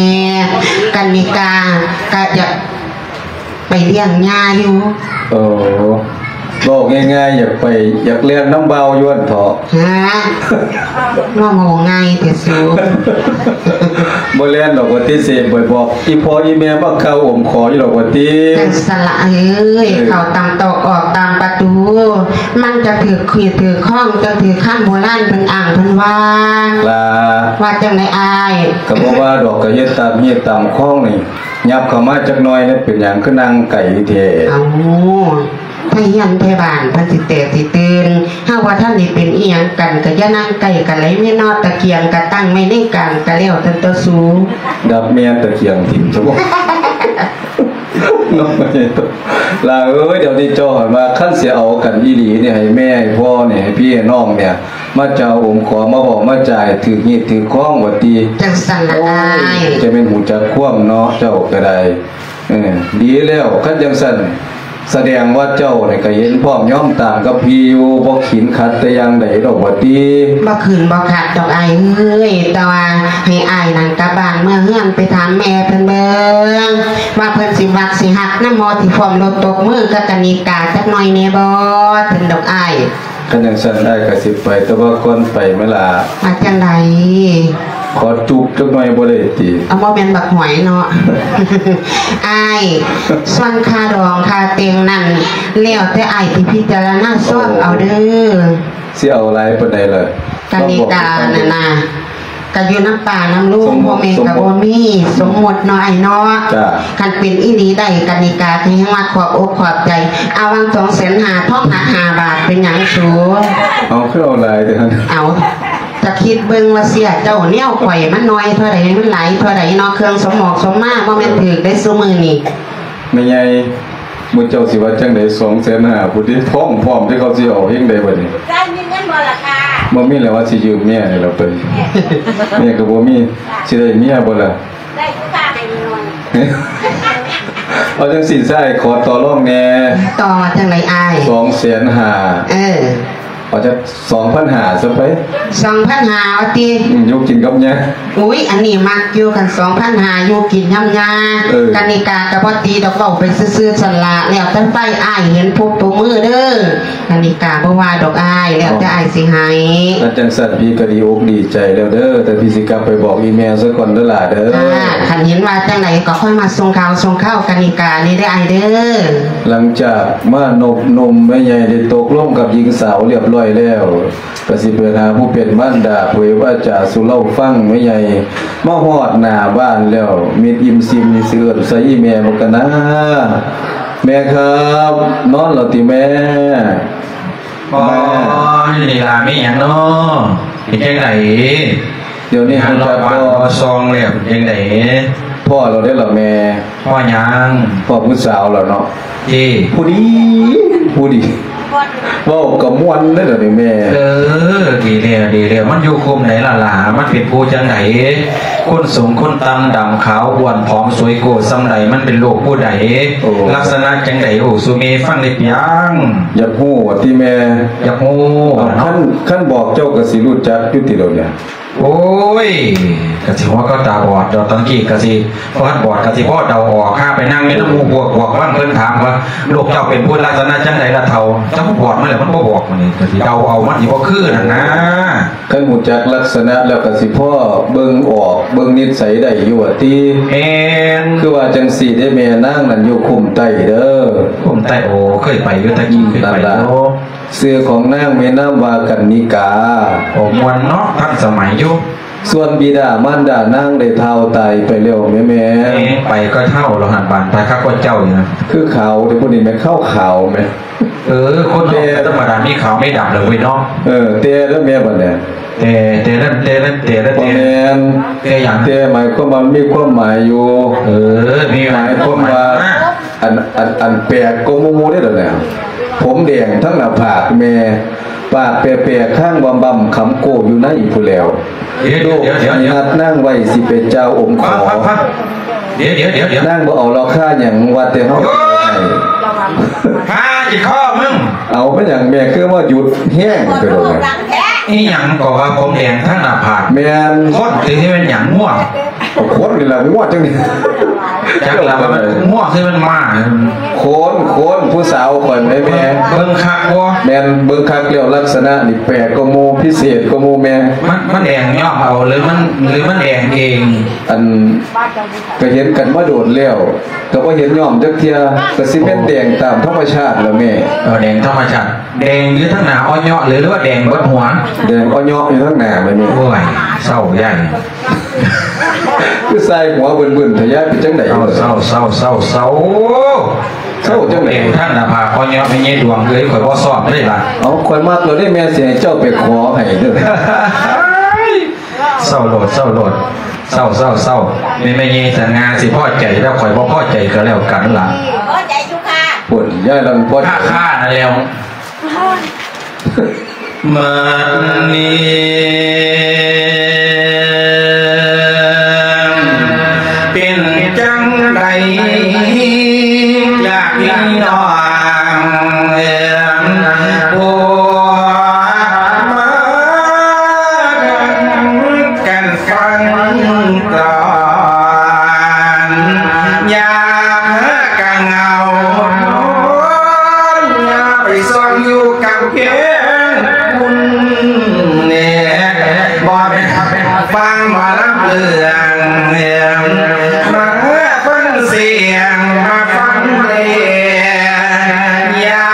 ກະນິກາກະຢາກໄປລ້ຽງຍ່າຢູ່. ໂອ້ ເວົ້າງ່າຍໆ ຢາກໄປ ຢາກແລ່ນນຳບ່າວຢູ່ຫັ້ນເຖາະ. ຮະ ເວົ້າງ່າຍແທ້ສູ ບໍ່ແລ່ນດອກວ່າຕິ ຊິໄປບອກອີ່ພໍ່ອີ່ແມ່ມາກ່າວໂອມຂໍຢູ່ດອກວ່າຕິ. ຈັ່ງຊັ້ນລະເອີຍ ເອີ ເຂົ້າຕາມຕອກອອກຕາມປະຕູ ມັນຈະຖືກຂູດຖືກຄອງ ຈະຖືກຄຳໂບລານເພິ່ນອ້າງເພິ່ນວ່າ. ລະ ວ່າຈັ່ງໃດອ້າຍ? ກະບໍ່ວ່າດອກ ກະເຮັດຕາມຮີດຕາມຄອງນີ້ ຫຍັບເຂົ້າມາຈັກໜ່ອຍແດ່ ເປັນຫຍັງຄືນັ່ງໄກແທ້? ເອົ້າ ໄທເຮືອນໄທບ້ານເພິ່ນຊິແຕກຊິຕື່ນ ເຮົາວ່າທັນໄດ້ເປັນອີ່ຫຍັງກັນ ກະຢ່ານັ່ງໃກ້ກັນຫຼາຍແມ່ເນາະ ຕະກຽງກະຕັ້ງໄວ້ໃນກາງ ກະແລ້ວແຕ່ຕົວສູ. ດັບແມ່ນຕະກຽງຖິ້ມຊະບໍ ເນາະ. ຫຼ້າເອີຍ ດຽວນີ້ເຈົ້າຫັ້ນວ່າ ຄັນຊິເອົາກັນອີ່ຫຼີນີ້ ໃຫ້ແມ່ໃຫ້ພໍ່ນີ້ ໃຫ້ພີ່ໃຫ້ນ້ອງນີ້ ມາເຈົ້າອົມຂໍ ມາເວົ້າມາຈາໃຫ້ຖືກຮີດຖືກຄອງວ່າຕິ. ຈັ່ງຊັ້ນລະອ້າຍ ໂອ້ຍ ຈະແມ່ນຮູ້ຈັກຄວາມເນາະ ເຈົ້າກະໄດ້. ເອີ ດີແລ້ວ ຄັນຈັ່ງຊັ້ນ ສະແດງວ່າເຈົ້ານີ້ກະເຫັນພ້ອມຍອມຕາມກັບພີ່ຢູ່ ບໍ່ຂີນຂັດແຕ່ຢ່າງໃດດອກວ່າຕິ. ບໍ່ຂີນບໍ່ຂັດດອກອ້າຍເອີຍ ແຕ່ວ່າໃຫ້ອ້າຍນັ້ນກັບບ້ານເມືອເຮືອນ ໄປຖາມແມ່ເພິ່ນເບິ່ງ ວ່າເພິ່ນຊິມັກຊິຮັກນຳບໍ່ ທີ່ພ້ອມລົດຕົບມືກັບກະນິກາຈັກໜ້ອຍແດ່ບໍ່ ເພິ່ນດອກອ້າຍ. ຄັນຈັ່ງຊັ້ນອ້າຍກະຊິໄປ ແຕ່ວ່າກ່ອນໄປແມ່ຫຼ້າ ວ່າຈັ່ງໃດ? ຂໍຈູບຈັກໜ້ອຍບໍ່ໄດ້ຕິ? ເອົາ ບໍ່ແມ່ນບັກຫອຍເນາະ ອ້າຍ. ສ່ວນຄ່າດອງຄ່າແຕ່ງນັ້ນ ແລ້ວແຕ່ອ້າຍຊິພິຈາລະນາຊອງເອົາເດີ. ຊິເອົາຫຼາຍປານໃດລະ? ກະນິການັ້ນນະ ກະຢູ່ນຳປ້ານຳລຸງ ພໍ່ແມ່ກະບໍ່ມີ ສົມມຸດເນາະອ້າຍເນາະ. ຄັນເປັນອີ່ຫຼີໄດ້ ກະນິກາກະຍັງວ່າຂອບອົກຂອບໃຈ. ເອົາຫວ່າງສອງແສນຫ້າ ທອງໜັກຫ້າບາດ ເປັນຫຍັງສູ? ເອົາ ຄືເອົາຫຼາຍແທ້ຫັ້ນ? ເອົາ ຈະຄິດເບິ່ງວ່າເສຍເຈົ້າແນວຂ້ອຍ ມັນໜ້ອຍເທົ່າໃດ ມັນຫຼາຍເທົ່າໃດເນາະ. ເຄື່ອງສົມໝອກສົມມາ ບໍ່ແມ່ນຖືກເດ້ຊຸມື້ນີ້. ແມ່ໃຫຍ່ ໝູ່ເຈົ້າຊິວ່າຈັ່ງໃດ? ສອງແສນຫ້າພຸ້ນຕິ ພ້ອມ ພ້ອມທີ່ເຂົາຊິເອົາ ເຮັດຈັ່ງໃດບາດນີ້? ຈາຍມີເງິນບໍ່ລະຄະ? ບໍ່ມີແລ້ວ ວ່າຊິຢືມເມຍນີ້ລະໄປ ເມຍກະບໍ່ມີ. ຊິໄດ້ເມຍບໍ່ລະ? ໄດ້ຄືກັນ ເອົາຈັ່ງຊີ້ຊາຍ ຂໍຕໍ່ລອງແດ່. ຕໍ່ວ່າຈັ່ງໃດອ້າຍ? ສອງແສນຫ້າ. ເອີ ເອົາຈັກສອງພັນຫ້າຊະໄປ. ສອງພັນຫ້າວ່າຕິ? ອືມ ຢູ່ກິນກັບຍ່າ. ອຸ້ຍ ອັນນີ້ມັກຢູ່ ຄັນສອງພັນຫ້າ ຢູ່ກິນນຳຍ່າ. ເອີ ກະນິກາກະບໍ່ຕີດອກ ເວົ້າໄປຊື່ໆ ຊັ້ນລະ ແລ້ວແຕ່ຝ່າຍອ້າຍເຫັນພົບຕົບມືເດີ. ກະນິກາບໍ່ວ່າດອກອ້າຍ ແລ້ວແຕ່ອ້າຍຊິໃຫ້. ຄັນຈັ່ງຊັ້ນ ພີ່ກະດີອົກດີໃຈແລ້ວເດີ ແຕ່ພີ່ຊິກັບໄປບອກອີ່ແມ່ສາກ່ອນເດີຫຼ້າເດີ. ຄັນເຫັນວ່າຈັ່ງໃດກະຄ່ອຍມາສົ່ງຂ່າວສົ່ງຄາວກະນິການີ້ເດີອ້າຍເດີ. ຫຼັງຈາກມານົບໜຸ່ມແມ່ໃຫຍ່ໄດ້ຕົກລົງກັບຍິງສາວລຽບລ້ອຍແລ້ວ ກະຊິໄປຫາຜູ້ເປັນມານດາ ເຜີຍວາຈາສູ່ລາວຟັງ. ແມ່ໃຫຍ່ມາຮອດໜ້າບ້ານແລ້ວ ມິດອີ່ມຊິມນີ້ຊິເອີ້ນໃສ່ອີ່ແມ່ບໍ່ກະນາ? ແມ່ຄັບ ນອນແລ້ວຕິແມ່? ອໍ ນີ້ລະ ມີຫຍັງເນາະ? ເປັນຈັ່ງໃດ? ດຽວນີ້ຮູ້ຈັກບໍ່? ເລາະບ້ານເລາະຊ່ອງແລ້ວ ເປັນຈັ່ງໃດ? ພໍ້ແລ້ວເດ້ລະແມ່. ພໍ້ຫຍັງ? ພໍ້ຜູ້ສາວແລ້ວເນາະ. ເອີ ຜູ້ດີ ຜູ້ດີ ເວົ້າກໍມ່ວນເດ້ດຽວນີ້ແມ່. ເອີ ດີແລ້ວ ດີແລ້ວ. ມັນຢູ່ຄຸ້ມໃດລະຫຼ້າ? ມັນເປັນຜູ້ຈັ່ງໃດ? ຄົນສູງຄົນຕ່ຳ ດຳຂາວ ອ້ວນຜອມ ສວຍໂກ້ສ່ຳໃດ? ມັນເປັນລູກຜູ້ໃດ? ໂອ້ ລັກສະນະຈັ່ງໃດ? ເວົ້າສູ່ແມ່ຟັງໄດ້ປຽງ. ຢາກຮູ້ວ່າຕິແມ່? ຢາກຮູ້. ເອົ້າ ເນາະ ຄັນ ຄັນບອກເຈົ້າກໍຊິຮູ້ຈັກຢູ່ຕິດອກນີ້. ໂອ້ຍ ກະຊິຫົວກໍຕາບອດດອກ ຕັ້ງກີ້ກະຊິ ບໍ່ທັນບອດກະຊິພໍເດົາອອກ. ຫາໄປນັ່ງຢູ່ນຳໝູ່ພວກ ພວກບາງເພິ່ນຖາມວ່າ ລູກເຈົ້າເປັນຜູ້ລັກສະນະຈັ່ງໃດລະເຖົ້າ? ເຈົ້າບອດມາແລ້ວ ມັນບໍ່ບອກ ບາດນີ້ກະຊິເດົາເອົາ ມັນຊິບໍ່ຄືຫັ້ນນາ. ຄັນຮູ້ຈັກລັກສະນະແລ້ວກະຊິພໍເບິ່ງອອກ ເບິ່ງນິດໄສໄດ້ຢູ່ວ່າຕິ? ແມ່ນ. ຄືວ່າຈັ່ງຊີ້ເດ້ແມ່ ນາງນັ້ນຢູ່ຄຸ້ມໃຕ້ເດີ. ຄຸ້ມໃຕ້? ໂອ້ ເຄີຍໄປຢູ່ ແຕ່ກີ້ເຄີຍໄປຢູ່. ຊື່ຂອງນາງມີນາມວ່າກັນນິກາ. ໂອ້ ມ່ວນເນາະ ທັນສະໄໝຢູ່. ສ່ວນບິດາມານດານາງໄດ້ເຖົ້າຕາຍໄປແລ້ວແມ່. ແມ່ນ ໄປກໍເຖົ້າແລ້ວຫັ້ນ ບາດໄປຄັກກວ່າເຈົ້າອີກນະ. ຄືຂາວເດ້ ຜູ້ນີ້ແມ່ນຂາວຂາວແມ່. ເອີ ຄົນເຮົາ ແຕ່ ທຳມະດາມີຂາວມີດຳແລ້ວເວີຍເນາະ. ເອີ ແຕ່ລະແມ່ບັດນີ້ ແຕ່ ແຕ່ນັ້ນ ແຕ່ນັ້ນ ແຕ່ລະ ບໍ່ແມ່ນ ແຕ່ຫຍັງ? ແຕ່ໝາຍຄວາມວ່າມີຄວາມໝາຍຢູ່. ເອີ ມີ ໝາຍຄວາມວ່າ ອັນ ອັນ ອັນແປກກວ່າໝູ່ເດ້ດຽວນີ້ ຜົມແດງທັງໜ້າຜາກແມ່ ປາກແປກໆ ຄາງບຳໆ ຄຳໂກ້ຢູ່ໃນພຸ້ນແລ້ວ. ດຽວໆໆໆ ລູກຊິຮັດນາງໄວ້ ຊິເປັນເຈົ້າອົງຂໍ. ຟັງໆໆ ດຽວໆໆໆ ນາງບໍ່ເອົາລາຄາຫຍັງ ວ່າແຕ່ເຮົາ ໂອ້ຍ ຫາຈິດຄໍມຶງ. ເອົາ ເປັນຫຍັງແມ່ຄືວ່າຢຸດແຮງແທ້ດອກແມ່? ອີຫຍັງກໍວ່າຜົມແດງທັງໜ້າຜາກ. ແມ່ນ. ຄົນຊິແມ່ນຫຍັງ? ງົວ. ຄົນນີ້ລະ ງົວຈັ່ງນີ້. ຈັກລະວ່າມັນງົວຄືມັນມ້າ. ຄົນ ຄົນ ຜູ້ສາວຂ້ອຍແມ່ ເບິ່ງຄັກບໍ່? ແມ່ນ ເບິ່ງຄັກແລ້ວ ລັກສະນະນີ້ແປກກວ່າໝູ່ ພິເສດກວ່າໝູ່ແມ່. ມັນ ມັນແດງຍ້ອມເອົາ ຫຼືມັນ ຫຼືມັນແດງເອງ? ອັນ ກໍເຫັນກັນມາໂດນແລ້ວ ກໍບໍ່ເຫັນຍ້ອມຈັກເທື່ອ ກໍຊິແມ່ນແດງຕາມທຳມະຊາດລະແມ່. ເອີ ແດງທຳມະຊາດ. ແດງຢູ່ທາງໜ້າອໍເຍາະ ຫຼື ຫຼືວ່າແດງເບິດຫົວ? ແດງອໍເຍາະຢູ່ທາງໜ້າແມ່. ໂອ້ຍ ເສົ້າໃຫຍ່ ຄືໃສ່ຫົວບຶ້ນໆ ທະຍາຍເປັນຈັ່ງໃດ? ເສົ້າ ເສົ້າ ເສົ້າ ເສົ້າ ເສົ້າ ເສົ້າ ເສົ້າຈັ່ງໃດ? ແດງທັງໜ້າຜາກ ອໍເຍາະ ແມ່ໃຫຍ່ດວງເອີຍ ຂ້ອຍບໍ່ຊອບເລີຍລະ. ເອົາ ຂ້ອຍມັກແລ້ວເດ້ແມ່ ຊິໃຫ້ເຈົ້າໄປຂໍໃຫ້ເດີ້. ເສົ້າໂລດ ເສົ້າໂລດ ເສົ້າ ເສົ້າ ເສົ້າ. ແມ່ ແມ່ໃຫຍ່ສະຫງ່າຊິພໍໃຈ ແລ້ວຂ້ອຍບໍ່ພໍໃຈກໍແລ້ວກັນລະ. ພໍໃຈຢູ່ຄ່ະ. ພຸ້ນ ຍາຍລະບໍ່ພໍໃຈ ຄ່າໆ ນັ້ນແລ້ວ. ບັດນີ້ເປັນຈັ່ງໃດລະພີ່ນ້ອງ ຜູ້ມາ ກັນຟັງກ່ອນ ຢ່າພາກັນເອົາ ຢ່າໄປຊ່ອງຢູ່ກຳແພງພຸ້ນແນ່ ບໍ່ແມ່ນຟັງໝໍລຳເລື່ອງ ມາຟັງສຽງ ມາຟັງເພງ ຢ່າ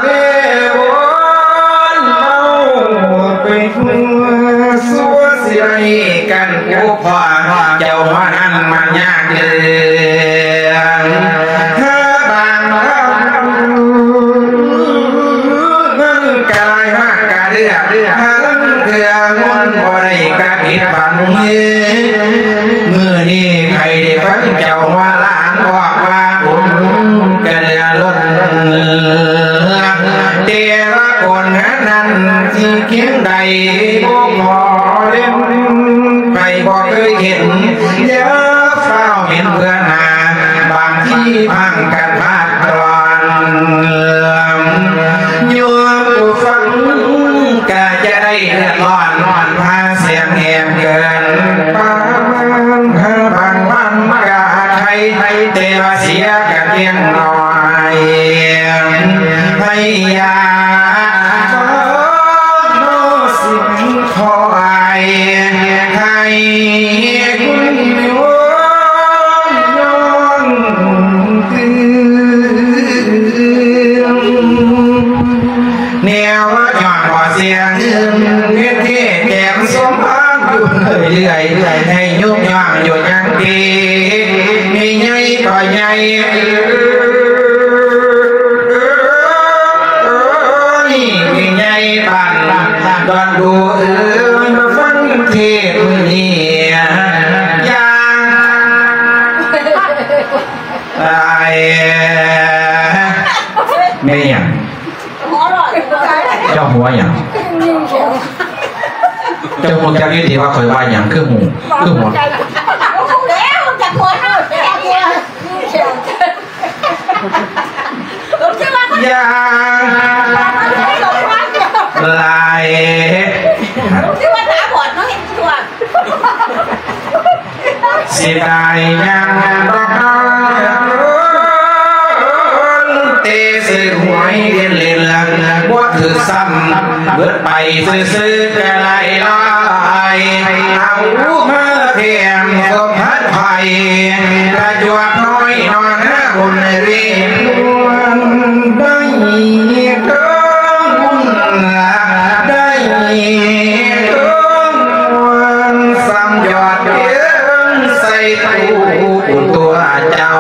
ເວວົນເມົາໄປທົ່ວ ຊົ່ວຊິໄດ້ກັນ ໂອ້ ພໍ່ເຈົ້າວ່ານັ້ນມັນຍາກເລື່ອງ ຖ້າບາງເຮົາມັນກະຫຼາຍມາກກະເລືອກ ຫາລາງເທື່ອມັນບໍ່ໄດ້ກະຜິດຫວັງ. ມື້ນີ້ໃຜໄດ້ຟັງເຈົ້າວ່າຫຼານບອກວ່າບຸນກະເຫຼືອລົ້ນ ແຕ່ວ່າຄົນນັ້ນຊິຄຽງໃດບໍ່ພໍເຫັນ ໃຜບໍ່ເຄີຍເຫັນ ຢ່າຟ້າວເຫັນເພື່ອໜ້າ ບາງທີພັງກັນພາດຕອນ ໂຍມຜູ້ຟັງກະຈະໄດ້ເດືອດຮ້ອນ ນອນພາສຽງແຫບເກີນປານ ບາງວັນກະໄຄ ແຕ່ວ່າເສຍກະພຽງໜ້ອຍ ໃຫ້ຢ່າ ຂໍສິ່ງຂອໃຫ້ ໃຫ້ຄຸນໂຍມຍ້ອນຄືນ ແນວວ່າຍ້ອນບໍ່ເສຍຄືນ ເຮັດເທແຖມສົມພານຢູ່ເລື້ອຍ ໃຫ້ຍຸບຍ່ອງຢູ່ຫຍັງຕິ ມີໃຫຍ່ບໍ່ໃຫຍ່ ເອີ ເອີຍ ມາຟັງເທດມື້ນີ້ຢ່າງຫຼາຍ ແມ່ນຫຍັງ? ເຈົ້າຫົວຫຍັງ? ເຈົ້າຮູ້ຈັກຢູ່ຕິວ່າຂ້ອຍວ່າຫຍັງ? ຄືຫູ ຄືຫົວ? ຮູ້ແລ້ວ ຈັກຫົວເນາະ ຈັກຫົວ. ຢ່າງຫຼາຍ ຄືວ່າຕາບອດເນາະ ເຫັນຕົວ ເສຍດາຍຍັງບໍ່ທັນ ເຕະຊື້ຫວຍເຫຼັ້ນໆ ບໍ່ຖືກຊ້ຳ ເບິດໄປຊື່ໆ ກະໄດ້ຫຼາຍ ເອົາມາແຖມ ສະພານໄພ ກະຈວດນ້ອຍນອນ ບຸນເວລາ ໄດ້ເຖິງບຸນ ໄດ້ເຖິງບຸນ ສ່ຳຍອດເຖິງໃສ່ຕູ້ ບຸນຕົວເຈົ້າ.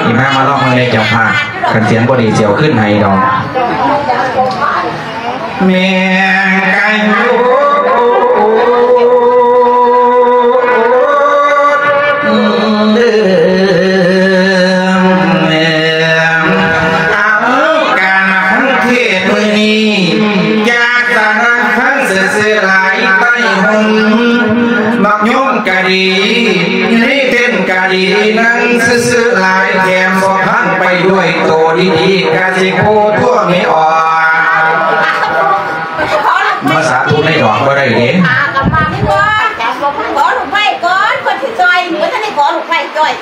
ອີ່ແມ່ມາລອງເບິ່ງເດ້ເຈົ້າພາບ ຄັນສຽງບໍ່ດີຊິເອົາຄືນໃຫ້ດອກ. ແມ່ນກະຢູ່ ເອີ ເອົາ ການຟັງເທດມື້ນີ້ ຢາກສະໜັບສະໜູນຊື່ໆ ຫຼາຍໃຕ້ຮົ່ມ ບັກຍົມກະດີ ໃນເຕັ້ນກະດີ ນັ່ງຊື່ໆ ຫຼາຍ ແຖມສອງພັນ ໄປດ້ວຍໂຕດີໆ ກະຊິໂພທົ່ວແມ່ອອກ ມາສາທຸໃນດອກບໍ່ໄດ້ເດ້. ຂໍລູກໄມ້ກ່ອນ ເພິ່ນຊິຈ່ອຍ ບໍ່ທັນໄດ້ຂໍລູກໄມ້ຈ່ອຍ.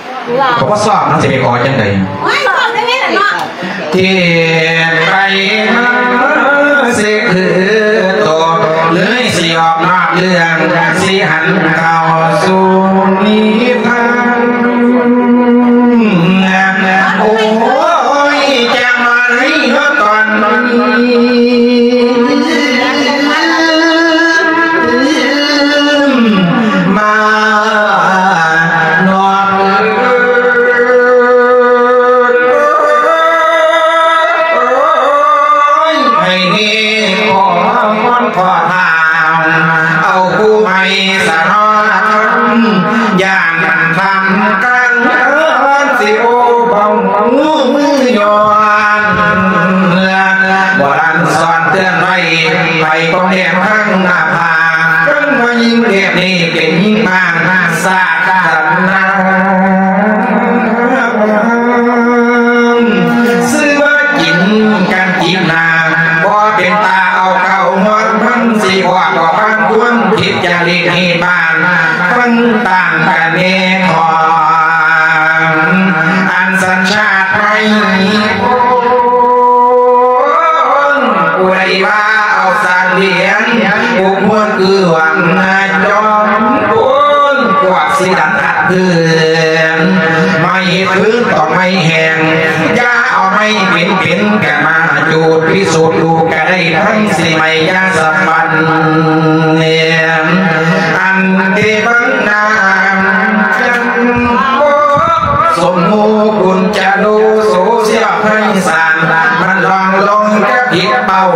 ກໍບໍ່ຊອບ ມັນຊິໄປຂໍຈັ່ງໃດ? ໂອ້ຍ ຊອບໄດ້ແມ່ນເນາະ. ເທດໄປມາຊິຄືໂຕ ເລີຍຊິອອກນອກເລື່ອງ ຊິຫັນເຂົ້າສູ່ນິທານ. ໂອ້ຍ ຈັກມາໃນເນາະຕອນນີ້ ມານອກ ໃຫ້ຂໍພອນຂໍທານ ເອົາຜູ້ໃໝ່ສະໜອນ ຢ່າງ ທຳການເງິນຊິໂອບອງມືຍ້ອນ ບໍ່ທັນສອນເຕືອນໄວ້ ໄປກອງແດງທາງໜ້າຜາກ ເພິ່ນວ່າຍິງແບບນີ້ເປັນຍິງບ້ານຊາດສັນນາ ຊື່ວ່າກິນກັນຈີບໜ້າ ບໍ່ເປັນຕາເອົາເຂົ້າຮອດ ມັນຊິຮອດບໍ່ປານຄວນ ຜິດຈາລິດຮີດບ້ານ ມັນຕ່າງກັນແນ່ນອນ ອັນສັນຊາດໄທ ຜູ້ໃດວ່າເອົາສັດລ້ຽງ ຜູ້ຄວນຄືຫວັງນາຈອມໂພນ ພວກຊິດັນອັດເພື່ອນ ໄມ້ຟືນຕ້ອງໄມ້ແຫ້ງ ຢ່າເອົາໄມ້ເປັນໆ ກັນມາຈູດ ພິສູດດູກະໄດ້ ທັງຊິໄໝ້ຢາສະບັນ ອັນເທບັງນາ ສົມມຸຄຸນຈະໂລໂສເຊຍໄພສານ ມັນລອງລົງກະຜິດເປົ້າ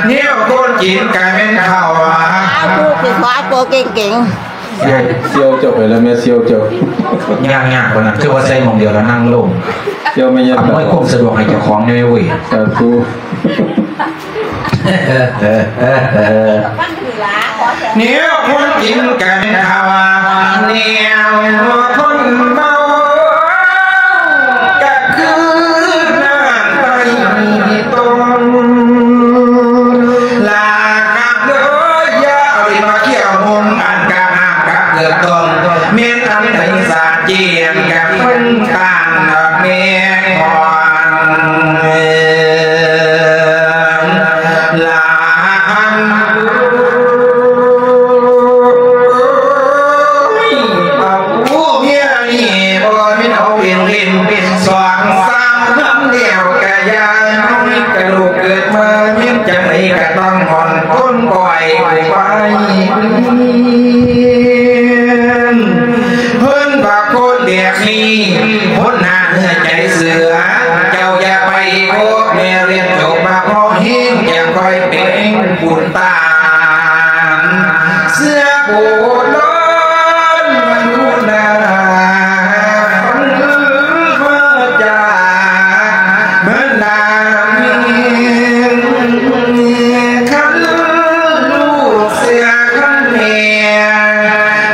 ແນວຄົນຈີນກະແມ່ນເຂົາ ຜູ້ທີ່ຂໍໂຕເກັ່ງໆ. ສ່ຽວ ສ່ຽວເຈົ້າໄປແລ້ວ ແມ່ສ່ຽວເຈົ້າ ຍາກໆ ປານນັ້ນ ຄືວ່າໃສ່ໝ່ອງດຽວແລ້ວນັ່ງລົງ ສ່ຽວແມ່ຍາ ອຳນວຍຄວາມສະດວກໃຫ້ເຈົ້າຂອງແດ່ເວີຍ ສາທຸ. ແນວຄົນກິນກັນເຂົ້າ ແນວຄົນເມົາ ກະຄືນ້ຳໄຕຕົ້ນ ລາກະເດີ ຢ່າເອົາດິນມາຂຽວມຸງ ອັນກະຫາກກະເກືອກຕົ້ນ ແມ່ນອັນໃດສາດຈຽນ ກະເພິ່ນຕ່າງແມ່ຂອງ ລາ ເອົາເມຍນີ້ບໍ່ແມ່ນເອົາເປັນຫຼິ້ນ ສອງສາມນຳແລ້ວກະຢ່ານ້ອຍ ກະລູກເກີດມາແມ່ນຈັ່ງໃດກະຕ້ອງມ່ອນຄົນກ້ອຍໄປ ເພິ່ນວ່າຄົນແບບນີ້ ຄົນໜ້າເນື້ອໃຈເສືອ ເຈົ້າຢ່າໄປຄົບ ບຸນຕານເສືອໂບລານຢູ່ນາ ເມືອຈາກເມືອນາ ຄັນລູກເສືອຄັນແມ່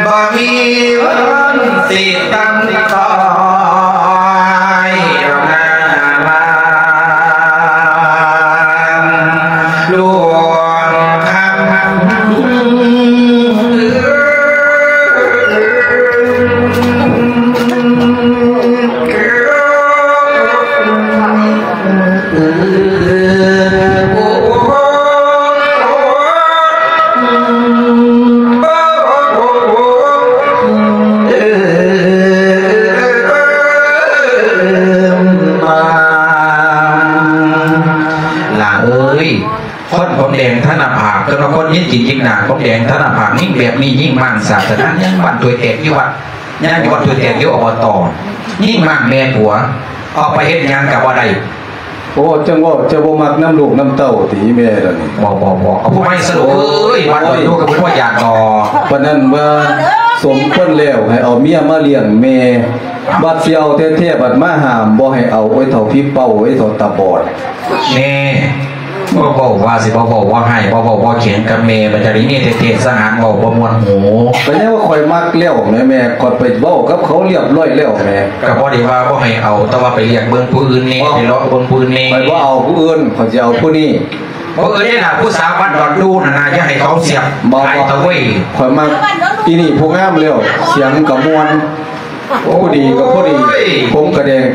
ບໍ່ມີເພິ່ນຊິຕັ້ງ ຕອຍນາມາ ລວມຄຳ. ຫຼານເອີຍ ຄົນຜົມແດງທະນະພາກ ເອີ້ນວ່າຄົນຍິງກິນກິນໜາ ຜົມແດງທະນະພາກ ຍິງແບບນີ້ ຍິງມ້າງສາດສະໜາ ຍັງບ້ານຖ້ວຍແຕກຢູ່ວັດ ຍັງຢູ່ວັດຖ້ວຍແຕກຢູ່ ອບຕ ຍິງມ້າງແມ່ຜົວ ອອກໄປເຮັດຫຍັງກະບໍ່ໄດ້. ໂອ້ ຈັ່ງເວົ້າ ເຈົ້າບໍ່ມັກນຳລູກນຳເຕົ້າຕິແມ່ລະນີ້? ບໍ່ ບໍ່ ບໍ່ ເອົາຜູ້ໃໝ່ສະລູກເອີຍ ວັດດອນດູກະບໍ່ຢາກດອກ. ປານນັ້ນວ່າສົມຄວນແລ້ວ ໃຫ້ເອົາເມຍມາລ້ຽງແມ່ ບັດຊິເອົາແທ້ໆ ບັດມາຫ້າມບໍ່ໃຫ້ເອົາ ໂອ້ຍ ເຖົ້າຜີເປົ້າ ໂອ້ຍ ເຖົ້າຕາບອດ. ແນ່ ບໍ່ເວົ້າວ່າຊິບໍ່ເວົ້າ ບໍ່ຮ້າຍ ບໍ່ເວົ້າບໍ່ຂຽງກັບແມ່ ບັດຈະໄດ້ເມຍແທ້ໆ ສະຫານເວົ້າບໍ່ມ່ວນຫູ. ກໍຍັງວ່າຂ້ອຍມັກແລ້ວແໝ ແມ່ ຂ້ອຍໄປເວົ້າກັບເຂົາລຽບຮ້ອຍແລ້ວແໝ. ກໍບໍ່ໄດ້ວ່າບໍ່ໃຫ້ເອົາ ແຕ່ວ່າໄປລຽກເບິ່ງຜູ້ອື່ນແນ່ ໄປເລາະເບິ່ງຜູ້ອື່ນແນ່. ຂ້ອຍບໍ່ເອົາຜູ້ອື່ນ ຂ້ອຍຊິເອົາຜູ້ນີ້. ບໍ່ອື່ນເດ້ລະ ຜູ້ສາວບ້ານດອນດູນັ້ນນະ ຢ່າໃຫ້ເຂົາສຽບ ບໍ່ ໄປຕະເວີຍ. ຂ້ອຍມັກອີນີ້ຜູ້ງາມແລ້ວ ສຽງກໍມ່ວນ ໂອ້ ຜູ້ດີກໍຜູ້ດີ ໂອ້ຍ ຜົມກໍແດງ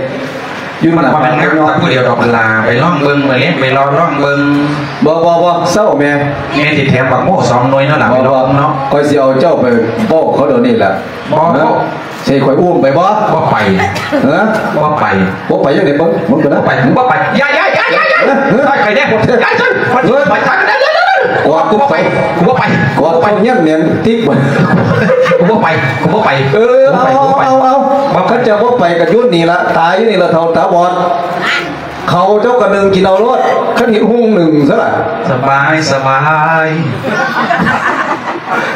ຢູ່ໜ້າ ມັນບໍ່ແມ່ນງາມແຕ່ຜູ້ດຽວດອກຫຼ້າ ໄປລອງເບິ່ງ ໄປເລາະລອງເບິ່ງ. ບໍ່ ບໍ່ ບໍ່ ເຊົາແມ່ ແມ່ຊິແຖມບັກໂມ້ສອງໜ່ວຍເນາະຫຼ້າ ໄປລອງເນາະ. ຂ້ອຍຊິເອົາເຈົ້າໄປບອກເຂົາດຽວນີ້ລະ. ບໍ່ ເອີ ຊິໃຫ້ຂ້ອຍອຸ້ມໄປບໍ່? ບໍ່ໄປ. ເອີ ບໍ່ໄປ. ບໍ່ໄປຈັ່ງໃດເບິ່ງ ເບິ່ງກ່ອນນະ. ບໍ່ໄປ ບໍ່ໄປ. ຢ່າ ຢ່າ ຢ່າ ຢ່າ ຢ່າ ເອີ ຊ່ອຍຂ້ອຍແດ່. ຢ່າ ຊ່ວຍ ເອີ ຂ້ອຍ ຂ້ອຍ ຂ້ອຍ ຂ້ອຍ ຂ້ອຍ ຂ້ອຍ ກູບໍ່ໄປ ກູບໍ່ໄປ ກູບໍ່ໄປ ເຈົ້າເຮັດຫຍັງຕິກບໍ່? ກູບໍ່ໄປ ກູບໍ່ໄປ. ເອີ ເອົາ ເອົາ ເອົາ ຄັນເຈົ້າບໍ່ໄປກໍຢູ່ນີ້ລະ ຕາຍຢູ່ນີ້ລະ ເຖົ້າຕາບອດ. ເຂົ້າເຈົ້າກໍໜຶ້ງກິນເອົາໂລດ ຄັນເຫັນຫຸ່ງໜຶ້ງຊະລະ. ສະບາຍ ສະບາຍ.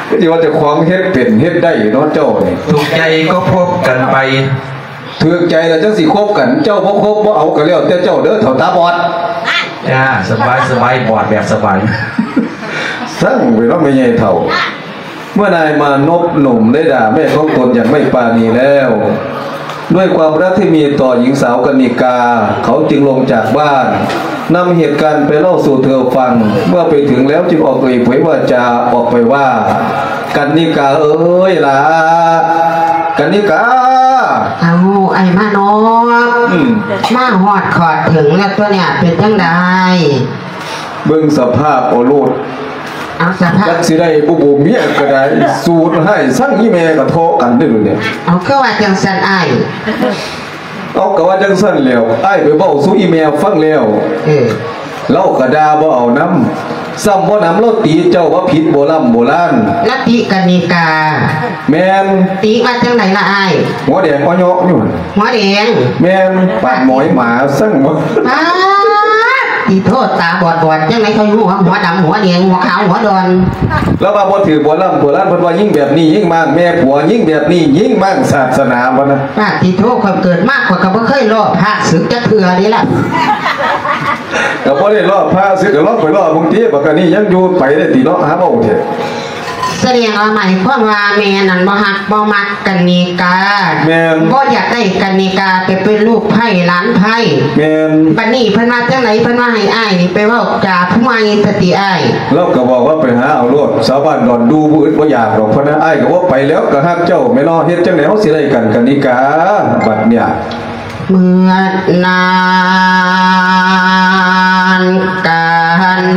ຄືຊິວ່າເຈົ້າຂອງເຮັດເປັນເຮັດໄດ້ເນາະເຈົ້ານີ້. ຖືກໃຈກໍຄົບກັນໄປ. ຖືກໃຈແລ້ວຈັ່ງຊິຄົບກັນ ເຈົ້າບໍ່ຄົບບໍ່ເອົາກໍແລ້ວແຕ່ເຈົ້າເດີ ເຖົ້າຕາບອດ. ຈ້າ ສະບາຍ ສະບາຍ ບອດແບບສະບາຍ. ຊ່າງໄປເນາະແມ່ໃຫຍ່ເຖົ້າ. ເມື່ອอ้ายมานพหนุ่มได้ด่าแม่ของตนอย่างไม่ปราณีแล้ว ด้วยความรักที่มีต่อหญิงสาวกนิกา เขาจึงลงจากบ้าน นำเหตุการณ์ไปเล่าสู่เธอฟัง เมื่อไปถึงแล้วจึงออกเอ่ยเผยวาจาออกไปว่า กนิกาเอ๋ยหล่า กนิกา เอ้า อ้ายมานพ อืม มาฮอดขอดถึงแล้วตั๊วเนี่ย เป็นจั่งใด เบิ่งสภาพเอาโลด เอาสภาพ จักสิได้บ่ บ่เมียก็ได้ สูดให้สั่งอีแม่ก็ทะเลาะกันเด้อเนี่ย เอาคือว่าจั่งซั่นอ้าย เอาก็ว่าจั่งซั่นแล้ว อ้ายไปเว้าสู่อีแม่ฟังแล้ว เออ ลาวก็ด่าบ่เอานำ ซ้ำบ่นำลาวติเจ้าว่าผิดโบร่ำโบราณ ลาวติกนิกา แม่น ติว่าจั่งใดล่ะอ้าย หัวแดงอ้อเยาะอยู่ หัวแดง แม่น ปานหมอยหมาซั่งบ่ ป๊าด อีโทษ ตาบอดๆ จั่งใดเขาอยู่หัว หัวดำ หัวแดง หัวขาว หัวดอน ลาวว่าบ่ถืกโบร่ำโบราณ เพิ่นว่ายิงแบบนี้ยิงมาก แม่ผัวยิงแบบนี้ยิงมาก ศาสนาบ่นะ ป๊าด ติโทษ ข้อยเกิดมาข้อยก็บ่เคยลอกพระสึกจักเทื่อเด้ล่ะ ก็บ่ได้ลอกพระสึก ก็ลอกไปลอกบางที บักอันนี้ยังอยู่ไปได้ติเนาะ หาเว้าเถาะ แสดงว่าหมายความว่าแม่นั้นบ่ฮักบ่มักกนิกา แม่น บ่อยากได้กนิกาไปเป็นลูกไพร่หลานไพร่ แม่น บัดนี้เพิ่นว่าจั่งใด เพิ่นว่าให้อ้ายนี่ไปเว้าจาผู้ใหม่ซะติอ้าย ลาวก็บอกว่าไปหาเอาโลด ชาวบ้านดอนดูบ่อึดบ่อยากดอก เพิ่นว่าอ้ายก็บ่ไปแล้ว ก็ฮักเจ้าแม่นอ เฮ็ดจั่งใดเฮาสิได้กันกนิกา บัดเนี่ย เมื่อนานกา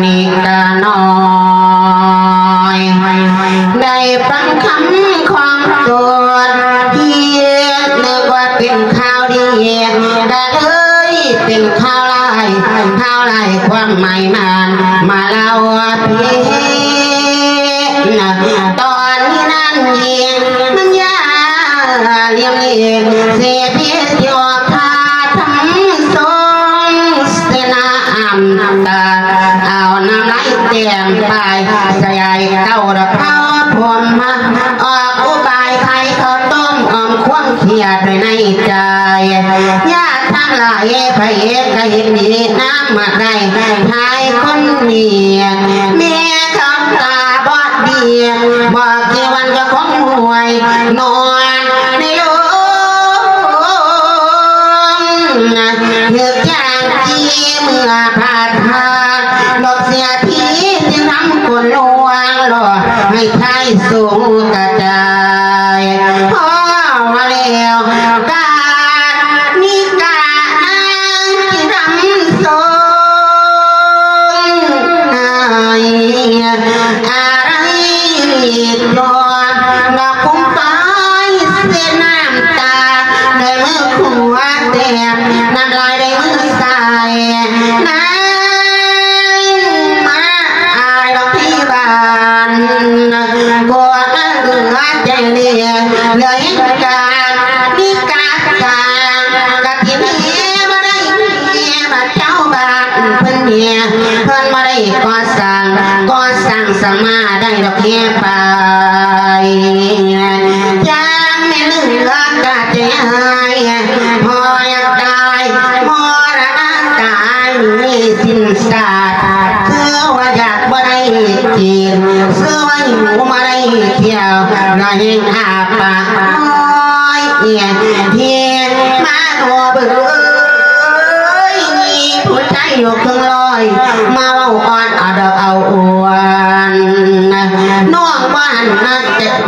นิกาน้อย ได้ฟังคำของโจทย์ คิดนึกว่าเป็นข่าวดี ก็เลยเป็นข่าวร้าย ข่าวร้ายความหมายมัน มาเล่าพี่ ตอนนี้นั้นเองมันอย่าเลี่ยมเล่น เสพีที่ออกท่าทำทรงเสนาอำตา เอาน้ำไหล ແຕ້ມປ້າຍສະຫຍາຍເກົ້າລະເພົາພົມມາ ອອກອຸບາຍຂາຍເຂົ້າຕົ້ມ ອ້ອມຄວາມຄຽດໄວ້ໃນໃຈ. ຍາດທັງຫຼາຍ ໃຜກະເຫັນດີນຳມາໄດ້ ທ້າຍຄົນນີ້ ແມ່ເຂົາຕາບອດດີ ບອກທີ່ວັນກໍຄົງຮວຍ ນອນໃນໂລງ ຖືກຢ່າງທີ່ເມື່ອພາດພາດ ດອກເສຍທີທີ່ນຳຄົນລວງ ລໍໃຫ້ທ້າຍສູງກະຈາຍ ພໍວ່າແລ້ວການນິການາງທີ່ນຳຊົງ ອາໄລດອນ ດອກກຸມປາຍເສດນ້ຳຕາ ດ້ວຍມືຂວາແຕ້ມນ້ຳລາຍ ດ້ວຍມືຊ້າຍນາງມາອາຍດອກທີ່ບ້ານ ກໍເຫຼືອໃຈເຫຼືອ ເຫຼືອເຫັນການນິກາການ ກະທີ່ແມ່ບໍ່ໄດ້ແມ່ ບາດເຈົ້າບ້ານເພິ່ນແມ່ ເພິ່ນບໍ່ໄດ້ກໍ່ສ້າງ ກໍ່ສ້າງສາມາໄດ້ດອກແຮໄປ ຢ່າງແມ່ເຫຼືອກະໃຈຮ້າຍ ພໍຢາກຕາຍມໍລະນະກາຍ ມີສິ້ນຊາດ ຄືວ່າຢາກບໍ່ໄດ້ກິນ ຄືວ່າຫິວບໍ່ໄດ້ທ່ຽວ ລະແຮງອ້າປາກ ໂອ້ຍ ເອີຍ ເຮມາໂນເບີຍ ມີຜູ້ຊາຍຢູ່ເຄິ່ງຮ້ອຍ ມາເວົ້າອ່ອນເອົາດອກເອົາອວນ ນ້ອງບໍ່ຫັນໜ້າ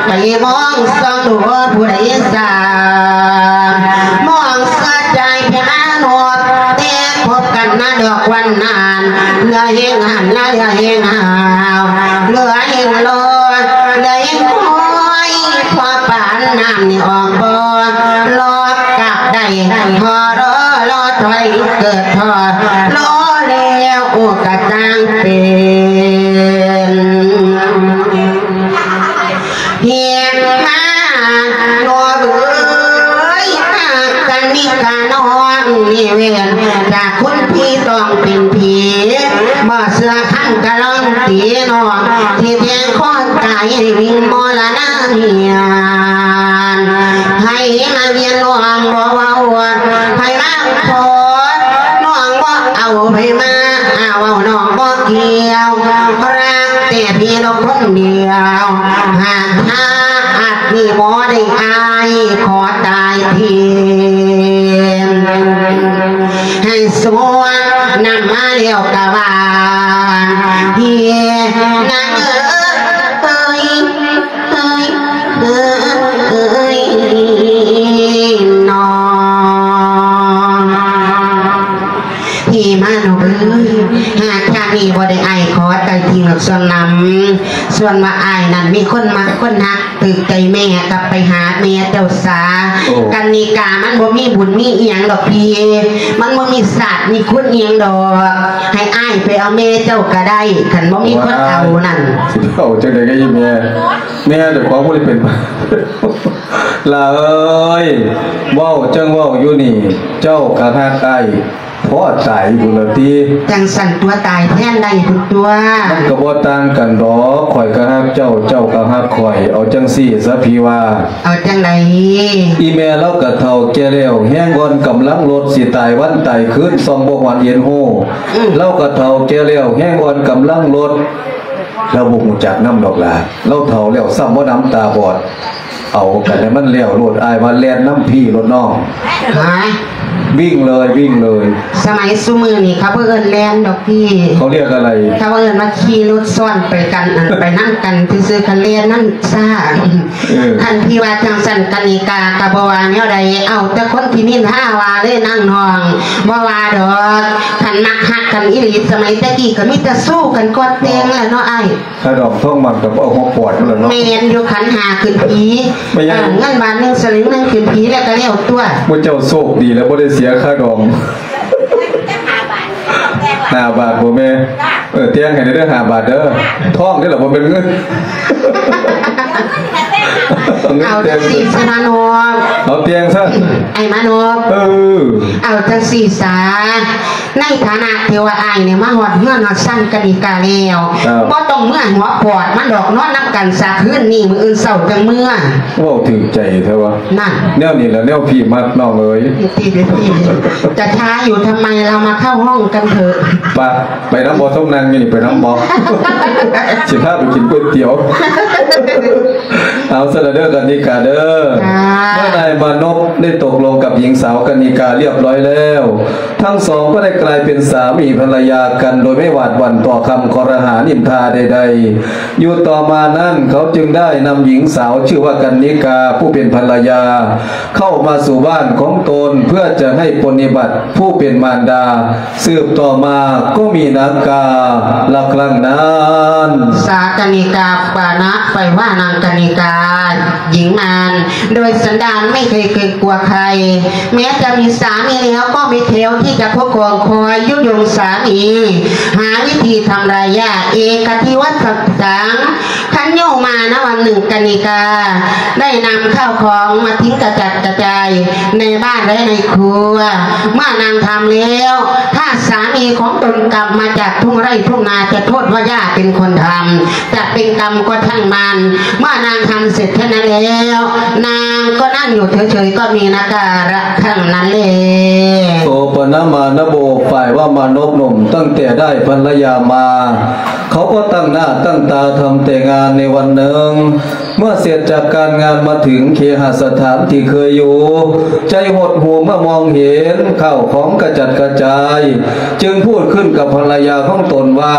ໄປມອງສ່ອງດູຜູ້ໃດສາ ມອງສະຈາຍແຕ່ມານອບ ແຕ່ພົບກັນນະດອກວັນນັ້ນ ເຫຼືອແຮງຫັນນະເຫຼືອແຮງຫາວ ເຫຼືອແຮງລໍ ເຫຼືອແຮງຄອຍ ພໍປານນ້ຳນີ້ອອກບໍ່ ລອກກັບໄດ້ ພໍລໍ ລໍຖອຍເກີດທໍ້ ລໍແລ້ວໂອກະຕ່າງເປັນ ເຮັດມານ້ອງເອີຍ ຫາກກັນນິການ້ອງນີ້ເວນ ຈາກຄົນຜີຕ້ອງເປັນຜີ ບໍ່ເຊື່ອຄັນກະລອງຕີນ້ອງ ທີ່ແທງຄອຕາຍໃຫ້ວິງມໍລະນະເມຍນ ໃຜມາວຽນນ້ອງບໍ່ເວົ້າ ໃຜມາຂໍ ນ້ອງບໍ່ເອົາໃຜມາ ອາ ເວົ້ານ້ອງບໍ່ກ່ຽວ ຮັກແຕ່ພີ່ນ້ອງຄົນດຽວ ຫາກຖ້າອາດມີບໍ່ໄດ້ອາຍ ຂໍຕາຍທີ ໃຫ້ສວນນຳມາແລ້ວກະວ່າ ເຮນາງເອີຍ ເອີຍ ເອີຍ ເອີຍ ນ້ອງ ເຮມານ້ອງເອີຍ ຫາກຊາດນີ້ບໍ່ໄດ້ອ້າຍຂໍໄຕ່ທິງດອກສ່ວນນຳ ສ່ວນວ່າອ້າຍນັ້ນມີຄົນມັກຄົນຮັກ ຖືກໃຈແມ່ ກັບໄປຫາແມ່ເຈົ້າສາ ໂອ້ ກັນນິກາມັນບໍ່ມີບຸນມີອີ່ຫຍັງດອກພີ່ ມັນບໍ່ມີຊາດມີຄຸນອີ່ຫຍັງດອກ ໃຫ້ອ້າຍໄປເອົາແມ່ເຈົ້າກະໄດ້ ຄັນບໍ່ມີຄົນເອົານັ້ນ ຊິເອົາຈັ່ງໃດກະອີ່ແມ່ ແມ່ເຈົ້າຂອງບໍ່ໄດ້ເປັນ ຫຼ້າເອີຍ ເວົ້າຈັ່ງເວົ້າຢູ່ນີ້ ເຈົ້າກະຮັກອ້າຍພໍຕາຍພຸ້ນລະຕິ ຈັ່ງຊັ້ນຕົວະ ຕາຍແທນໄດ້ພຸ້ນຕົວະ ມັນກະບໍ່ຕ່າງກັນດອກ ຂ້ອຍກະຮັກເຈົ້າ ເຈົ້າກະຮັກຂ້ອຍ ເອົາຈັ່ງຊີ້ຊະພີ່ວ່າ ເອົາຈັ່ງໃດ ອີ່ແມ່ລາວກະເຖົ້າແກ່ແລ້ວ ແຮງອ່ອນກຳລັງລົດ ຊິຕາຍວັນຕາຍຄືນ ສ່ອງບໍ່ຮອດເຫັນຮູ້ ອືມ ລາວກະເຖົ້າແກ່ແລ້ວ ແຮງອ່ອນກຳລັງລົດ ລາວບໍ່ຮູ້ຈັກນຳດອກຫຼ້າ ລາວເຖົ້າແລ້ວ ຊ້ຳບໍ່ໜຳຕາບອດ ເອົາກັນໃຫ້ມັນແລ້ວໂລດ ອ້າຍວ່າແລ່ນນຳພີ່ໂລດນ້ອງ ຫາ ວິ່ງເລີຍ ວິ່ງເລີຍ ສະໄໝຊຸມື້ນີ້ເຂົາບໍ່ເອີ້ນແລ່ນດອກພີ່ ເຂົາຮຽກອະໄລ ເຂົາເອີ້ນວ່າຂີ່ລົດຊ້ອນໄປກັນ ໄປນຳກັນຊື່ໆ ຄັນແລ່ນນັ້ນຊ້າ ເອີ ອັນທີ່ວ່າຈັ່ງຊັ້ນກະນິກາກະບໍ່ວ່າແນວໃດ ເອົາແຕ່ຄົນທີ່ນິນທາວ່າເລີຍນາງນ້ອງ ບໍ່ວ່າດອກ ຄັນມັກຮັກກັນອີ່ຫຼີ ສະໄໝແຕ່ກີ້ກະມີແຕ່ຊູ້ກັນກ່ອນແຕ່ງແຫຼະເນາະອ້າຍ ຄ່າດອງທອງໝັ້ນກະບໍ່ເອົາຫົວປອດພຸ້ນລະເນາະ ແມ່ນຢູ່ ຂັນຫ້າຂຶ້ນຜີ ແມ່ນຫຍັງ ເອີ ເງິນບາດໜຶ່ງສະຫຼຶງໜຶ່ງຂຶ້ນຜີແລ້ວກະແລ້ວຕົວະ ໝູ່ເຈົ້າໂຊກດີແລ້ວບໍ່ໄດ້ເສຍຄ່າດອງ ຫ້າບາດບໍ່ແມ່ ເອີ ແຕ່ງໃຫ້ແດ່ເດີ ຫ້າບາດເດີ ທອງເດ້ລະ ບໍ່ແມ່ນເງິນ ເອົາຈັ່ງຊີ້ຊະນະນ້ອງ ເອົາແຕ່ງຊະ ອ້າຍມານົບ ເອີ ເອົາຈັ່ງຊີ້ຊະ ໃນຖານະທີ່ວ່າອ້າຍນີ້ມາຮອດເຮືອນຮອດຊານກະນິກາແລ້ວ ເອີ ບໍ່ຕ້ອງເມືອຫົວປອດມັນດອກ ນອນນຳກັນຊະຄືນນີ້ ມື້ອື່ນເຊົ້າຈັ່ງເມືອ. ເວົ້າຖືກໃຈແທ້ວະ ນັ້ນ ແນວນີ້ລະແນວພີ່ມັກນ້ອງເອີຍ ທີ່ເປັນພີ່ ຈະຊ້າຢູ່ທຳໄມ ເຮົາມາເຂົ້າຫ້ອງກັນເຖາະ ປະ ໄປນຳບໍ່? ສົມນັ່ງຢູ່ນີ້ ໄປນຳບໍ່? ຊິພາໄປກິນກ໋ວຍຕຽວ. ເອົາຊັ້ນລະເດີ ກະນິກາເດີ ເມື່ອນາຍມານົບໄດ້ຕົກລົງກັບຍິງສາວກະນິກາລຽບຮ້ອຍແລ້ວ ທັງສອງກໍໄດ້ກາຍເປັນສາມີພັນລະຍາກັນ ໂດຍໄມ່ຫວາດຫວັ່ນຕໍ່ຄຳຄອລະຫານິນທາໃດໆ. ຢູ່ຕໍ່ມານັ້ນ ເຂົາຈຶ່ງໄດ້ນຳຍິງສາວຊື່ວ່າກັນນິກາ ຜູ້ເປັນພັນລະຍາ ເຂົ້າມາສູ່ບ້ານຂອງຕົນ ເພື່ອຈະໃຫ້ປົນນິບັດຜູ້ເປັນມານດາ. ສືບຕໍ່ມາກໍມີນາງກາລະຄັ້ງນັ້ນ ສາກະນິກາປານະ ໄປວ່ານາງກະນິກາ ຍິງມານ ໂດຍສັນດານໄມ່ເຄີຍເກງກົວໃຄ ແມ້ຈະມີສາມີແລ້ວກໍມີແຖວທີ່ຈະຄຸ້ມຄອງຄອຍຍຸຍົງສາມີ ຫາວິທີທຳລາຍຢາກເອກະທິວັດສັດສັງ ຄັນຢູ່ມານະວັນໜຶ່ງກະນິກາ ໄດ້ນຳເຂົ້າຂອງມາຖິ້ມກະຈັດກະຈາຍໃນບ້ານ ແລະ ໃນຄົວ. ເມື່ອນາງທຳແລ້ວ ຖ້າສາມີຂອງຕົນກັບມາຈາກທົ່ງໄຮ່ທົ່ງນາ ຈະໂທດວ່າຢ່າເປັນຄົນທຳ ຈະເປັນກຳກໍຊ່າງມັນ. ເມື່ອນາງທຳເສັດເທົ່ານັ້ນແລ້ວ ນາງກໍນັ່ງຢູ່ເສີຍໆ ກໍມີນາງກາລະຄັ້ງນັ້ນແລ. ໂສປະນະມານະໂບ ຝ່າຍວ່າມານົບໜຸ່ມ ຕັ້ງແຕ່ໄດ້ພັນລະຍາມາ ເຂົາກໍຕັ້ງໜ້າຕັ້ງຕາທຳແຕ່ງານໃນວັນໜຶ່ງ. ເມື່ອເສັດຈາກການງານມາເຖິງເຄຫະສະຖານທີ່ເຄີຍຢູ່ ໃຈຫົດຫູ່ເມື່ອມອງເຫັນເຂົ້າຂອງກະຈັດກະຈາຍ ຈຶ່ງພູດຂຶ້ນກັບພັນລະຍາຂອງຕົນວ່າ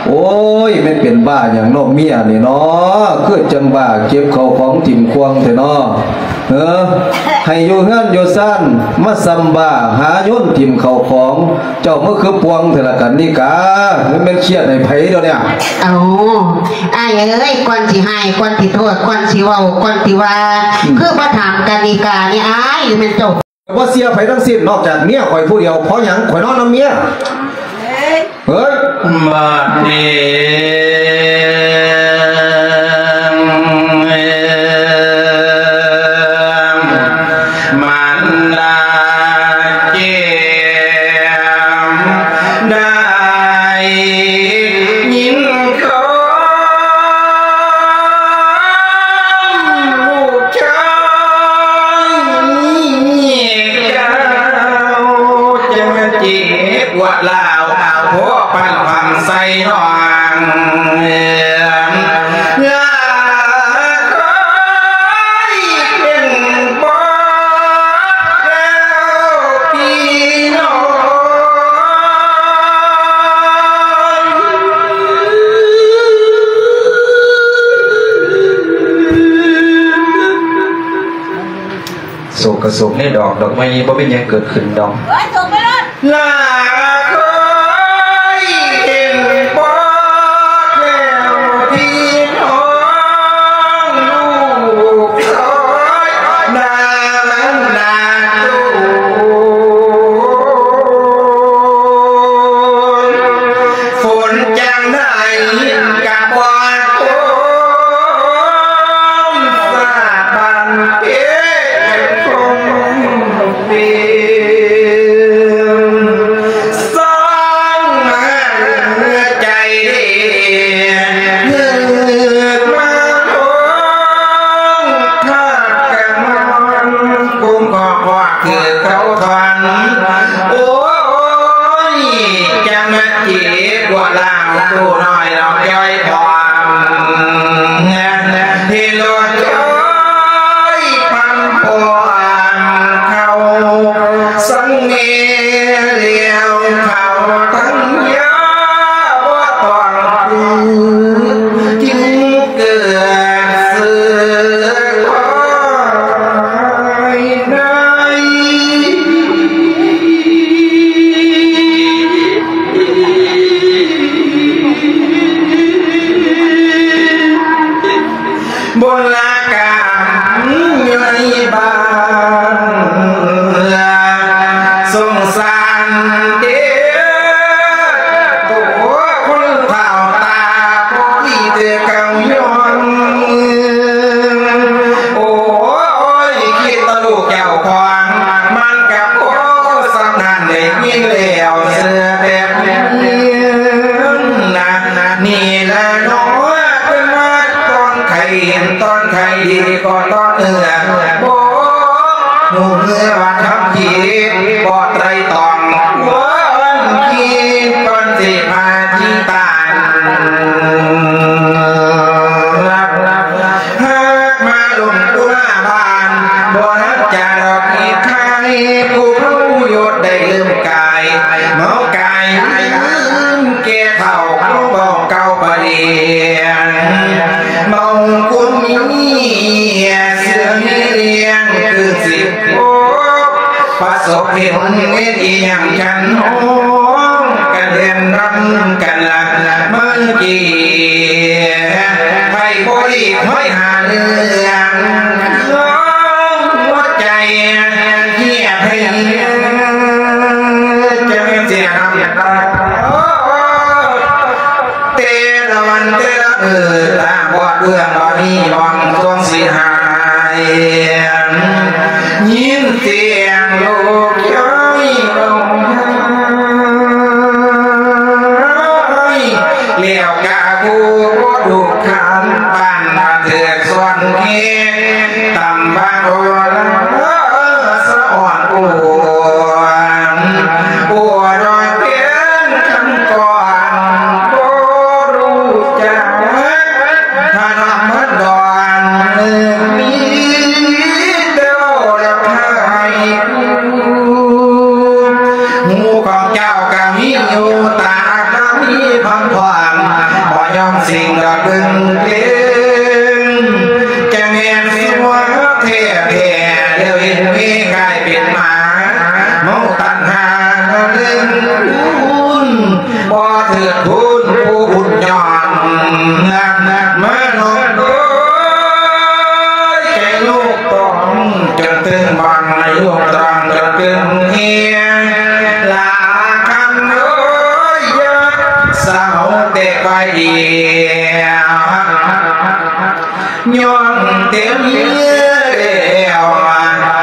ໂອ້ຍ ແມ່ນເປັນບ້າຫຍັງເນາະເມຍນີ້ເນາະ ຄືຈັ່ງບ້າເກັບເຂົ້າຂອງຖິ້ມຂວ້າງແທ້ເນາະ. ເອີ ໃຫ້ຢູ່ເຮືອນຢູ່ຊານ ມາຊ່ຳບ້າຫາໂຍນຖິ້ມເຂົ້າຂອງ ເຈົ້າມາຄືປ່ວງແທ້ລະກັນນິກາ ແມ່ນຄຽດໃຫ້ໃຜດຽວນີ້? ເອົາ ອ້າຍເອີຍ ກ່ອນຊິໃຫ້ ກ່ອນຊິໂທດ ກ່ອນຊິເວົ້າ ກ່ອນຊິວ່າ ອືມ ຄືບໍ່ຖາມກັນນິການີ້ ອ້າຍ ຫຼືແມ່ນເຈົ້າ ບໍ່ເຊື່ອໃຜທັງສິ້ນ ນອກຈາກເມຍຂ້ອຍຜູ້ດຽວ. ເພາະຫຍັງ? ຂ້ອຍນອນນຳເມຍ. ເຮີ້ຍ ບາດນີ້ ມັນລາເກມໄດ້ຍິນຄວາມ ລູກຊາຍເຈົ້າຈະມາເຈັບປວດລາວ ເອົາໂພກປັນຄວັນໃສ່ນ້ອງ ເອີ ລາຄອຍເປັນບອກແລ້ວພີ່ນ້ອງ. ໂສກກະໂສກໃນດອກ ດອກໄມ້ບໍ່ມີຫຍັງເກີດຂຶ້ນດອກ ເອີຍ ໂສກໄປໂລດ ລາເຄີຍເຫັນບອກແລ້ວພີ່ນ້ອງ ລູກຊາຍນາງນາໂຕ ຝົນຈັ່ງໄດ້ກະບໍ່ຕົກ ຟ້າບານເພເປັນຄົງເປັນ ສອງໃຈເດ ເລີກມາໂຮງ ທາດກະນອນ ກຸມກໍພອດຄືເຂົາທອນ ໂອ້ຍ ຈະມາເຈັບກວ່າລາວ ໂຕນ້ອຍລອງຈ້ອຍພອນ ເຮັດໂລດຈ້ອຍພັນພອນ ເຂົາສັງເມລຽວ ເຂົາທັງຍາບໍ່ຕ້ອງຄື ລະເນາະ ເປັນມາຕອນໄຂ້ ເຫັນຕອນໄຂ້ດີກໍຕອນເໜືອ ບໍ່ຮູ້ເມື່ອວ່າທຳຜິດ ບໍ່ໄຕຕອງ ຄວນຄິດກ່ອນຊິພາທີ່ຕາຍ ຫາກມາລົງກຸລາບານ ບໍ່ຮັກຈາດອກອີກໃຄ ຜູ້ເຮົາຢູ່ໄດ້ລືມກາຍ ເມົາກາຍລືມແກ່ເຖົ້າ ເວົ້າເກົ່າປະດຽງ ເມົາກຸນເມຍ ເສືອມີລ້ຽງ ຄືຊິພົບປະສົບເຫັນເວນອີ່ຫຍັງ ຄັນຮ້ອງກັນເຫັນນຳກັນລະເມີກີ ໃຜບໍ່ຫຼີກຫ້ອຍຫາເລື່ອງ ຮ້ອງຫົວໃຈເຮຍເພຍ ຈະເປັນເສຍງ ແຕ່ລະວັນແຕ່ລະມື້ ຕາບອດເບືອງ ບໍ່ມີໝ່ອງຊ່ວງຊິຫາຍ ຍິນສຽງລູກຍ້ອຍຮ້ອງໄຫ້ ແລ້ວກະຜູ້ບໍ່ທຸກຄານ ປານມາເຖິງສ່ວນເຂດ ຕຳບາງໂອລະສະອອນປວນ ປວນດອກເປັນຄຳກ່ອນ ບໍ່ຮູ້ຈັກ ພະນຳພັນດອນ ມີແຕ່ເວົ້າແລ້ວພາຍ ຫູຂອງເຈົ້າກະມີຢູ່ ຕາກະມີພຳພອນ ບໍ່ຍອມສິ່ງດອກເບິ່ງເບິ່ງ ຈະແມ່ນຊົ່ວແທ້ແທ້ ແລ້ວເຫັນເມກາຍເປັນໝາ ເມົາຕັນຫາເລື່ອງຄຸນ ບໍ່ເທີດທູນຜູ້ບຸນຍ້ອນ ມານອກໂດຍໃຈລູກຕ້ອງ ຈົນເຖິງບັງໃນລູກຕອງ ຈົນເຖິງເຮຍ ລາຄັນເອີຍ ຢ່າສາວແຕ່ໄກດຽວ ຍ້ອນເຕັມແລ້ວ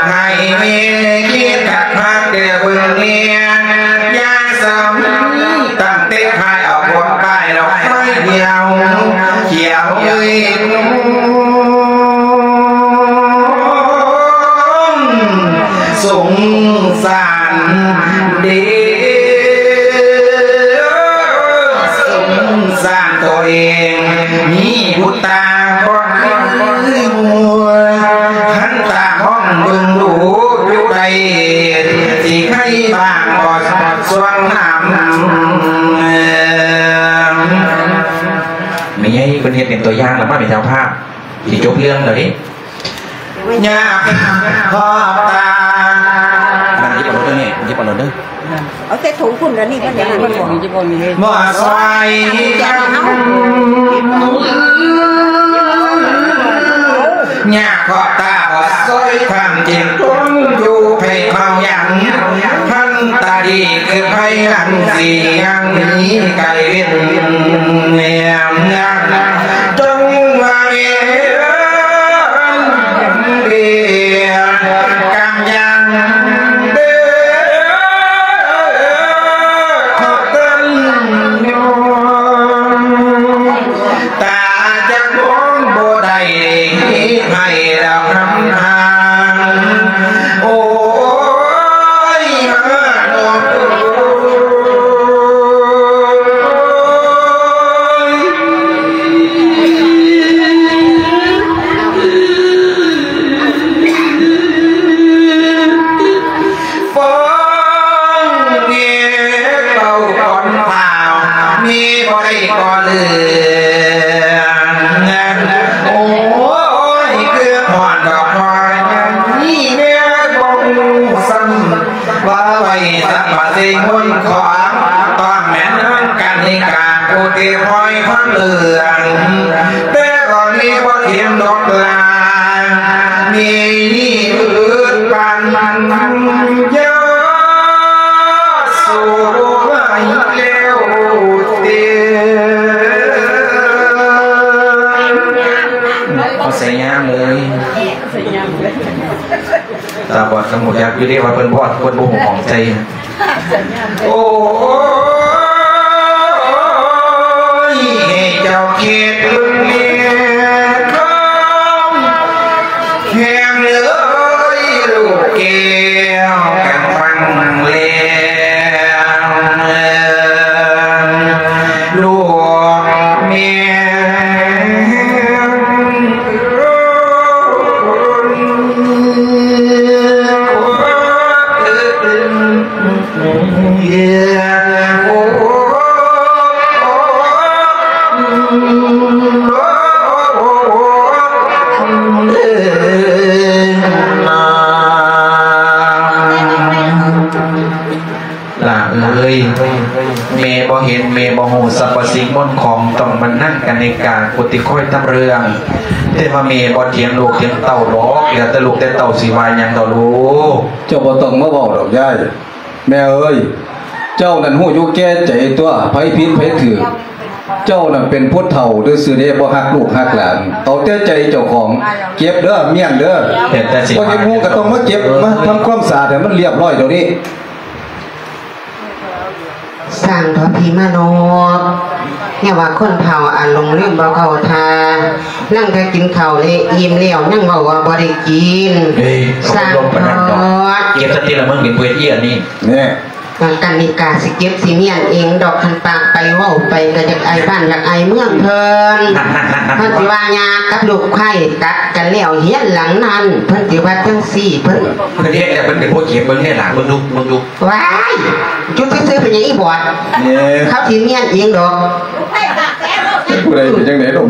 ໃຫ້ແມ່ຄິດຄັກໆ ແຕ່ເບິ່ງແນ່ ຢ່າສຳ ຕັ້ງແຕ່ຂາຍເອົາພວກປ້າຍດອກໄຟດຽວ ຂຽວເອີຍ ສົງສານເດ້ ສົງສານໂຕເອງ ມີບຸດຕາບໍ່ຄືໝູ່ ຄັນຕາຫ້ອງເບິ່ງດູຢູ່ໃດ ຊິໃຫ້ບາງບໍ່ຊ່ວງນຳ ແມ່ໃຫຍ່ເພິ່ນເຮັດເປັນຕົວຢ່າງແລ້ວ ມາເປັນເຈົ້າພາບ ຊິຈົບເລື່ອງແລ້ວເດ້ ຍາມຮອບຕາ ນັ່ງຢິບເອົາໂລດເດີແມ່ ຢິບເອົາໂລດເດີ ເອົາໃສ່ຖົງພຸ້ນ ອັນນີ້ມັນຢ່າງນັ້ນ ບໍ່ຊ່ອຍກັນ ຍາມຮອບຕາບໍ່ຊ່ອຍ ຄວາມຈິງຄົນຢູ່ໃຜເຝົ້າຫຍັງ ພັນຕາດີຄືໄພຫຼັງ ຊິຍັງໜີໄກເວັ້ນ ແນມ ຈົງວ່າເວນເດ ກຳຍັງເດີ ຂໍເຕີນຍອມ ຕາຈະມອງບໍ່ໄດ້ໃຫ້ດອກນຳທາງ ໂອ້ຍ ມານອກໂອ້ຍ ຟ້ອງເມເປົ່າກ່ອນພາວ ເມບໍ່ໄດ້ກໍເຫຼືອງ ໂອ້ຍ ຄືຮອດດອກຄອຍ ມີແມ່ບໍ່ຮູ້ຊ້ຳ ວ່າໄວ້ສັບປະເສງມົນຂອງ ຕ້ອງແມ່ນນາງກັນນິກາ ຜູ້ທີ່ຄອຍຟັງເລື່ອງ ແຕ່ກໍມີບໍ່ທຽມດອກລາ ມີພືດປັນຍາສູງໄວ້ແລ້ວເດ ເອົາໃສ່ຍາມເລີຍ ຕາບອດກໍຮູ້ຈັກຢູ່ເດ້ວ່າເພິ່ນບອດ ເພິ່ນບໍ່ຮູ້ຂອງໃສ່ ໂອ້ຍ ເຈົ້າ ນາງກະນິກາຜູ້ທີ່ຄອຍທຳເລື່ອງ ແຕ່ວ່າແມ່ບໍ່ຖຽງລູກຖຽງເຕົ້າດອກ ແລ້ວແຕ່ລູກແຕ່ເຕົ້າຊິວ່າຫຍັງດອກລູກ. ເຈົ້າບໍ່ຕ້ອງມາເວົ້າດອກຍາຍ. ແມ່ເອີຍ ເຈົ້ານັ້ນຮູ້ຢູ່ແກ່ໃຈຕົວະ ໃຜຜິດໃຜຖືກ. ເຈົ້ານັ້ນເປັນຜູ້ເຖົ້າຊື່ໆເດ້ ບໍ່ຮັກລູກຮັກຫຼານ. ເອົາແຕ່ໃຈເຈົ້າຂອງ ເກັບເດີ ມ້ຽນເດີ. ເຮັດແຕ່ຊິ ບໍ່ເຮັດຮູ້ກໍຕ້ອງມາເກັບ ມາທຳຄວາມສະອາດໃຫ້ມັນລຽບຮ້ອຍດຽວນີ້. ຊ່າງເຖາະພີ່ມານົບ ແນວວ່າຄົນເຖົ້າອາລົມລືມບໍ່ເຂົ້າທ່າ ນັ່ງແຕ່ກິນເຂົ້າແລ້ວ ອີ່ມແລ້ວຍັງເວົ້າວ່າບໍ່ໄດ້ກິນ. ເອີຍ ຊ່າງເຖາະ ເກັບສະຕິລະ ມຶງເປັນຜູ້ເຮັດອີ່ອັນນີ້. ແນ່ ກະນິກາຊິເກັບຊິມ້ຽນເອງດອກ ຄັນປາກໄປເວົ້າໄປກະຢາກອາຍບ້ານຢາກອາຍເມືອງເພິ່ນ. ເພິ່ນຊິວ່າຍາກັບລູກໄຂ້ກັດກັນແລ້ວ ເຮືອນຫຼັງນັ້ນ ເພິ່ນຊິວ່າຈັ່ງຊີ້ ເພິ່ນ ເພິ່ນເຮັດແລ້ວ ເພິ່ນເປັນຜູ້ເກັບ ເບິ່ງແນ່ຫຼະ ເບິ່ງດູ ເບິ່ງດູ. ວ້າຍ ຈຸດຊື່ໆ ເປັນຫຍັງອີ່ບອດ? ເຂົາຊິມ້ຽນເອງດອກ. ຜູ້ໃດເປັນຈັ່ງໃດດອກ?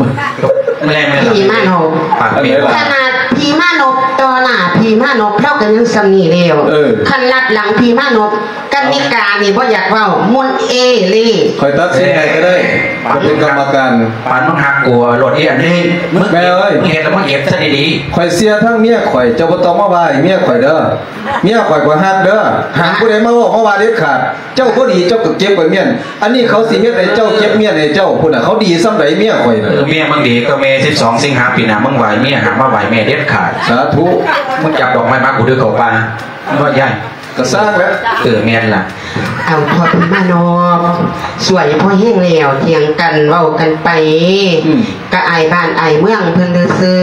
ແມ່ນໆ ພີ່ມານົບ ປາກເປັນ ຂະໜາດພີ່ມານົບຕໍ່ໜ້າພີ່ມານົບ ລາວກໍຍັງສ່ຳນີ້ແລ້ວ. ເອີ ຄັນລັດຫຼັງພີ່ມານົບ ກະນິການີ້ບໍ່ຢາກເວົ້າ ໝຸນເອເລ. ຂ້ອຍຕັດສິນໃຫ້ກໍໄດ້ ຂ້ອຍເປັນກຳມະການ. ປານມຶງຮັກກູໂລດອີ່ອັນນີ້ ມຶງ ແມ່ເອີຍ ເຮັດແລ້ວມຶງເກັບຊະດີໆ. ຂ້ອຍເຊື່ອທາງເມຍຂ້ອຍ ເຈົ້າບໍ່ຕ້ອງມາວ່າໃຫ້ເມຍຂ້ອຍເດີ. ເມຍຂ້ອຍ ຂ້ອຍຮັກເດີ ຫ້າມຜູ້ໃດມາເວົ້າມາວ່າເດັດຂາດ. ເຈົ້າບໍ່ດີເຈົ້າກໍເກັບໄວ້ມ້ຽນ. ອັນນີ້ເຂົາຊິເຮັດໃຫ້ເຈົ້າເກັບມ້ຽນໃຫ້ເຈົ້າພຸ້ນນະ. ເຂົາດີສ່ຳໃດເມຍຂ້ອຍນະ? ເອີ ເມຍມຶງດີກວ່າແມ່. ສິບສອງສິງຫາປີໜ້າ ມຶງໄຫວ້ເມຍ ຫ້າມມາໄຫວ້ແມ່ເດັດຂາດ. ສາທຸ. ມຶງຈັບດອກໄມ້ມາກູເດີເຂົ້າປ່າ. ບໍ່ຢ້ານ ກໍສ້າງແຫຼະ. ເອີ ແມ່ນລະ. ເອົາ ພໍ່ພີ່ມານົບ ຊ່ວຍພໍແຮງແລ້ວ ຖຽງກັນເວົ້າກັນໄປ ອືມ ກະອາຍບ້ານອາຍເມືອງເພິ່ນຊື່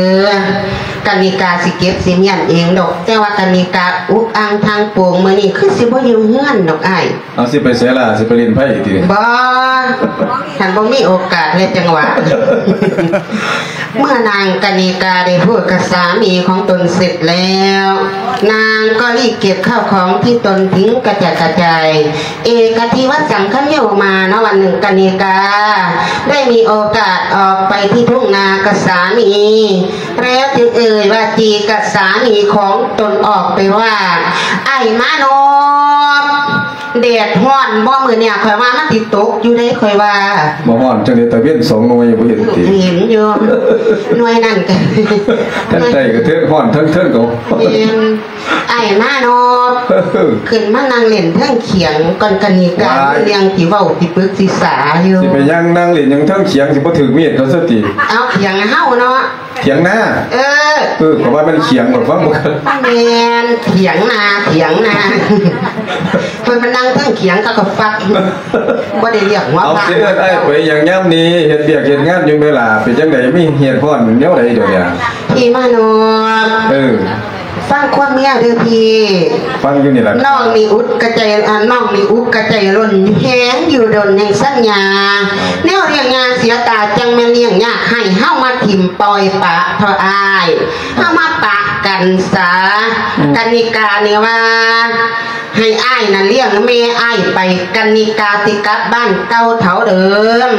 ໆ. ກະນິກາຊິເກັບຊິມ້ຽນເອງດອກ ແຕ່ວ່າກະນິກາອຸກອັ່ງທາງໂປ່ງ ມື້ນີ້ຄືຊິບໍ່ຢູ່ເຮືອນດອກອ້າຍ. ເອົາ ຊິໄປໃສລະ? ຊິໄປຫຼິ້ນໄພ້ຕິ? ບໍ່ ທ່ານບໍ່ມີໂອກາດ ແລະ ຈັງຫວະ. ເມື່ອນາງກະນິກາໄດ້ພູດກັບສາມີຂອງຕົນເສັດແລ້ວ ນາງກໍລີບເກັບເຂົ້າຂອງທີ່ຕົນຖິ້ມກະຈັດກະຈາຍ ເອກະທິວັດສັງຄະໂຍມາ ເນາະ ວັນໜຶ່ງກະນິກາໄດ້ມີໂອກາດອອກໄປທີ່ທົ່ງນາກັບສາມີ ແລ້ວຈຶ່ງເອີ່ຍວ່າຈີກັບສາມີຂອງຕົນອອກໄປວ່າ ອ້າຍມານົບ ແດດຮ້ອນບໍ່ມື້ນີ້? ຂ້ອຍວ່າມັນຊິຕົກຢູ່ເດ້ ຂ້ອຍວ່າ. ບໍ່ຮ້ອນຈັ່ງໃດ ຕາເວັນສອງໜ່ວຍບໍ່ເຫັນຕິ? ເຫັນຢູ່ ໜ່ວຍນັ້ນກະ ທັງໃຕ້ກະເທິງຮ້ອນ ທັງເທິງກໍ ແມ່ນ. ອ້າຍມານົບ ຂຶ້ນມານັ່ງຫຼິ້ນເທິງຂຽງກ່ອນ ກະນິກາ ເລື່ອງຊິເວົ້າຊິປຶກຊິສາຢູ່. ຊິໄປຫຍັງ ນັ່ງຫຼິ້ນຫຍັງເທິງຂຽງ ຊິບໍ່ຖືກມີດເຂົາຊະຕິ? ເອົາ ຂຽງເຮົາເນາະ. ຖຽງນາ? ເອີ ເອີ ຂ້ອຍວ່າແມ່ນຂຽງ ຂ້ອຍຟັງບໍ່ຄັກ. ແມ່ນ ຖຽງນາ ຖຽງນາ ເພິ່ນມານັ່ງເທິງຂຽງ ເຂົາກໍຟັກ ບໍ່ໄດ້ລຽກຫົວພະ. ເອົາ ຊິເອີ້ນອ້າຍໄປຫຍັງຍາມນີ້? ເຮັດວຽກເຮັດງານຢູ່ແມ່ຫຼ້າ ເປັນຈັ່ງໃດ? ມີເຫດຮ້ອນແນວໃດດຽວນີ້? ພີ່ມານົບ ເອີ ຟັງຄວາມເມຍເດີພີ່. ຟັງຢູ່ນີ້ລະ. ນ້ອງນີ້ອຸກກະໃຈ ອາ ນ້ອງນີ້ອຸກກະໃຈລົ້ນແຮງຢູ່ດົນແຫ່ງສັນຍາ ແນວລ້ຽງຍາເສຍຕາ ຈັ່ງແມ່ນລ້ຽງຍາກ ໃຫ້ເຮົາມາຖິ້ມປ່ອຍປະເທາະອ້າຍ ເຮົາມາປະກັນສາ. ອືມ ກະນິການີ້ວ່າ ໃຫ້ອ້າຍນັ້ນລ້ຽງແມ່ອ້າຍໄປ ກະນິກາຊິກັບບ້ານເກົ່າເທົ່າເດີມ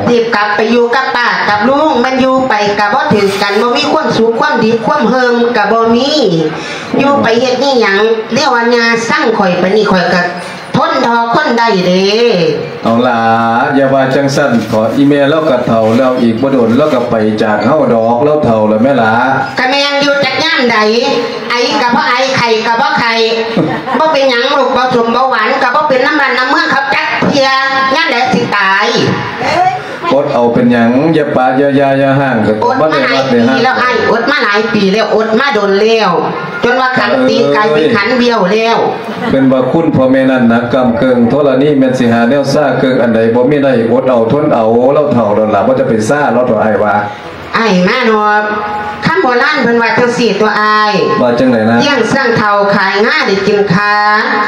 ເອົ້າ ຊິກັບໄປຢູ່ກັບປ້າກັບລຸງ ແມ່ນຢູ່ໄປກະບໍ່ຖືກກັນ ບໍ່ມີຄວາມສຸກຄວາມດີຄວາມເຮີ່ມກະບໍ່ມີ ຢູ່ໄປເຮັດອີ່ຫຍັງ? ແນວວ່າຍ່າຊັງຂ້ອຍປານນີ້ ຂ້ອຍກະທົນທໍຄົນໄດ້ເດ້. ເອົາຫຼ້າ ຢ່າວ່າຈັ່ງຊັ້ນເຖາະ ອີ່ແມ່ລາວກະເຖົ້າແລ້ວ ອີກບໍ່ດົນລາວກະໄປຈາກເຮົາດອກ ລາວເຖົ້າແລ້ວແມ່ຫຼ້າ. ກະແມ່ນຢູ່ ຈັກຍາມໃດ ໄອກະບໍ່ໄອ ໄຂ້ກະບໍ່ໄຂ້ ບໍ່ເປັນຫຍັງ ໂລກເບົາສົ້ມເບົາຫວານກະບໍ່ເປັນນຳບ້ານນຳເມືອງເຂົາຈັກເທື່ອ ຍາມໃດຊິຕາຍ? ອົດເອົາເປັນຫຍັງ ຢ່າປະຢ່າຢ່າຢ່າຮ້າງ ກະຕ້ອງມາໄດ້ຮັບໄດ້ຮັກ. ອົດມາຫຼາຍປີແລ້ວອ້າຍ ອົດມາດົນແລ້ວ ຈົນວ່າຂັນຕີກາຍເປັນຂັນບ້ຽວແລ້ວ. ເພິ່ນວ່າຄຸນພໍ່ແມ່ນັ້ນໜັກກ້ຳເກິ່ງ ທໍລະນີແມ່ນຊິຫາແນວຊາເກິ່ງ ອັນໃດບໍ່ມີໄດ້ ອົດເອົາທົນເອົາ ລາວເຖົ້າແລ້ວລະ ບໍ່ຈະໄປຊາລາວເຖາະ ອ້າຍວ່າ. ອ້າຍມານອບ ຄຳໂບລານເພິ່ນວ່າຈັ່ງຊີ້ຕົວະອ້າຍ. ວ່າຈັ່ງໃດນະ? ລ້ຽງຊ້າງເຖົ້າຂາຍງາໄດ້ກິນຄາ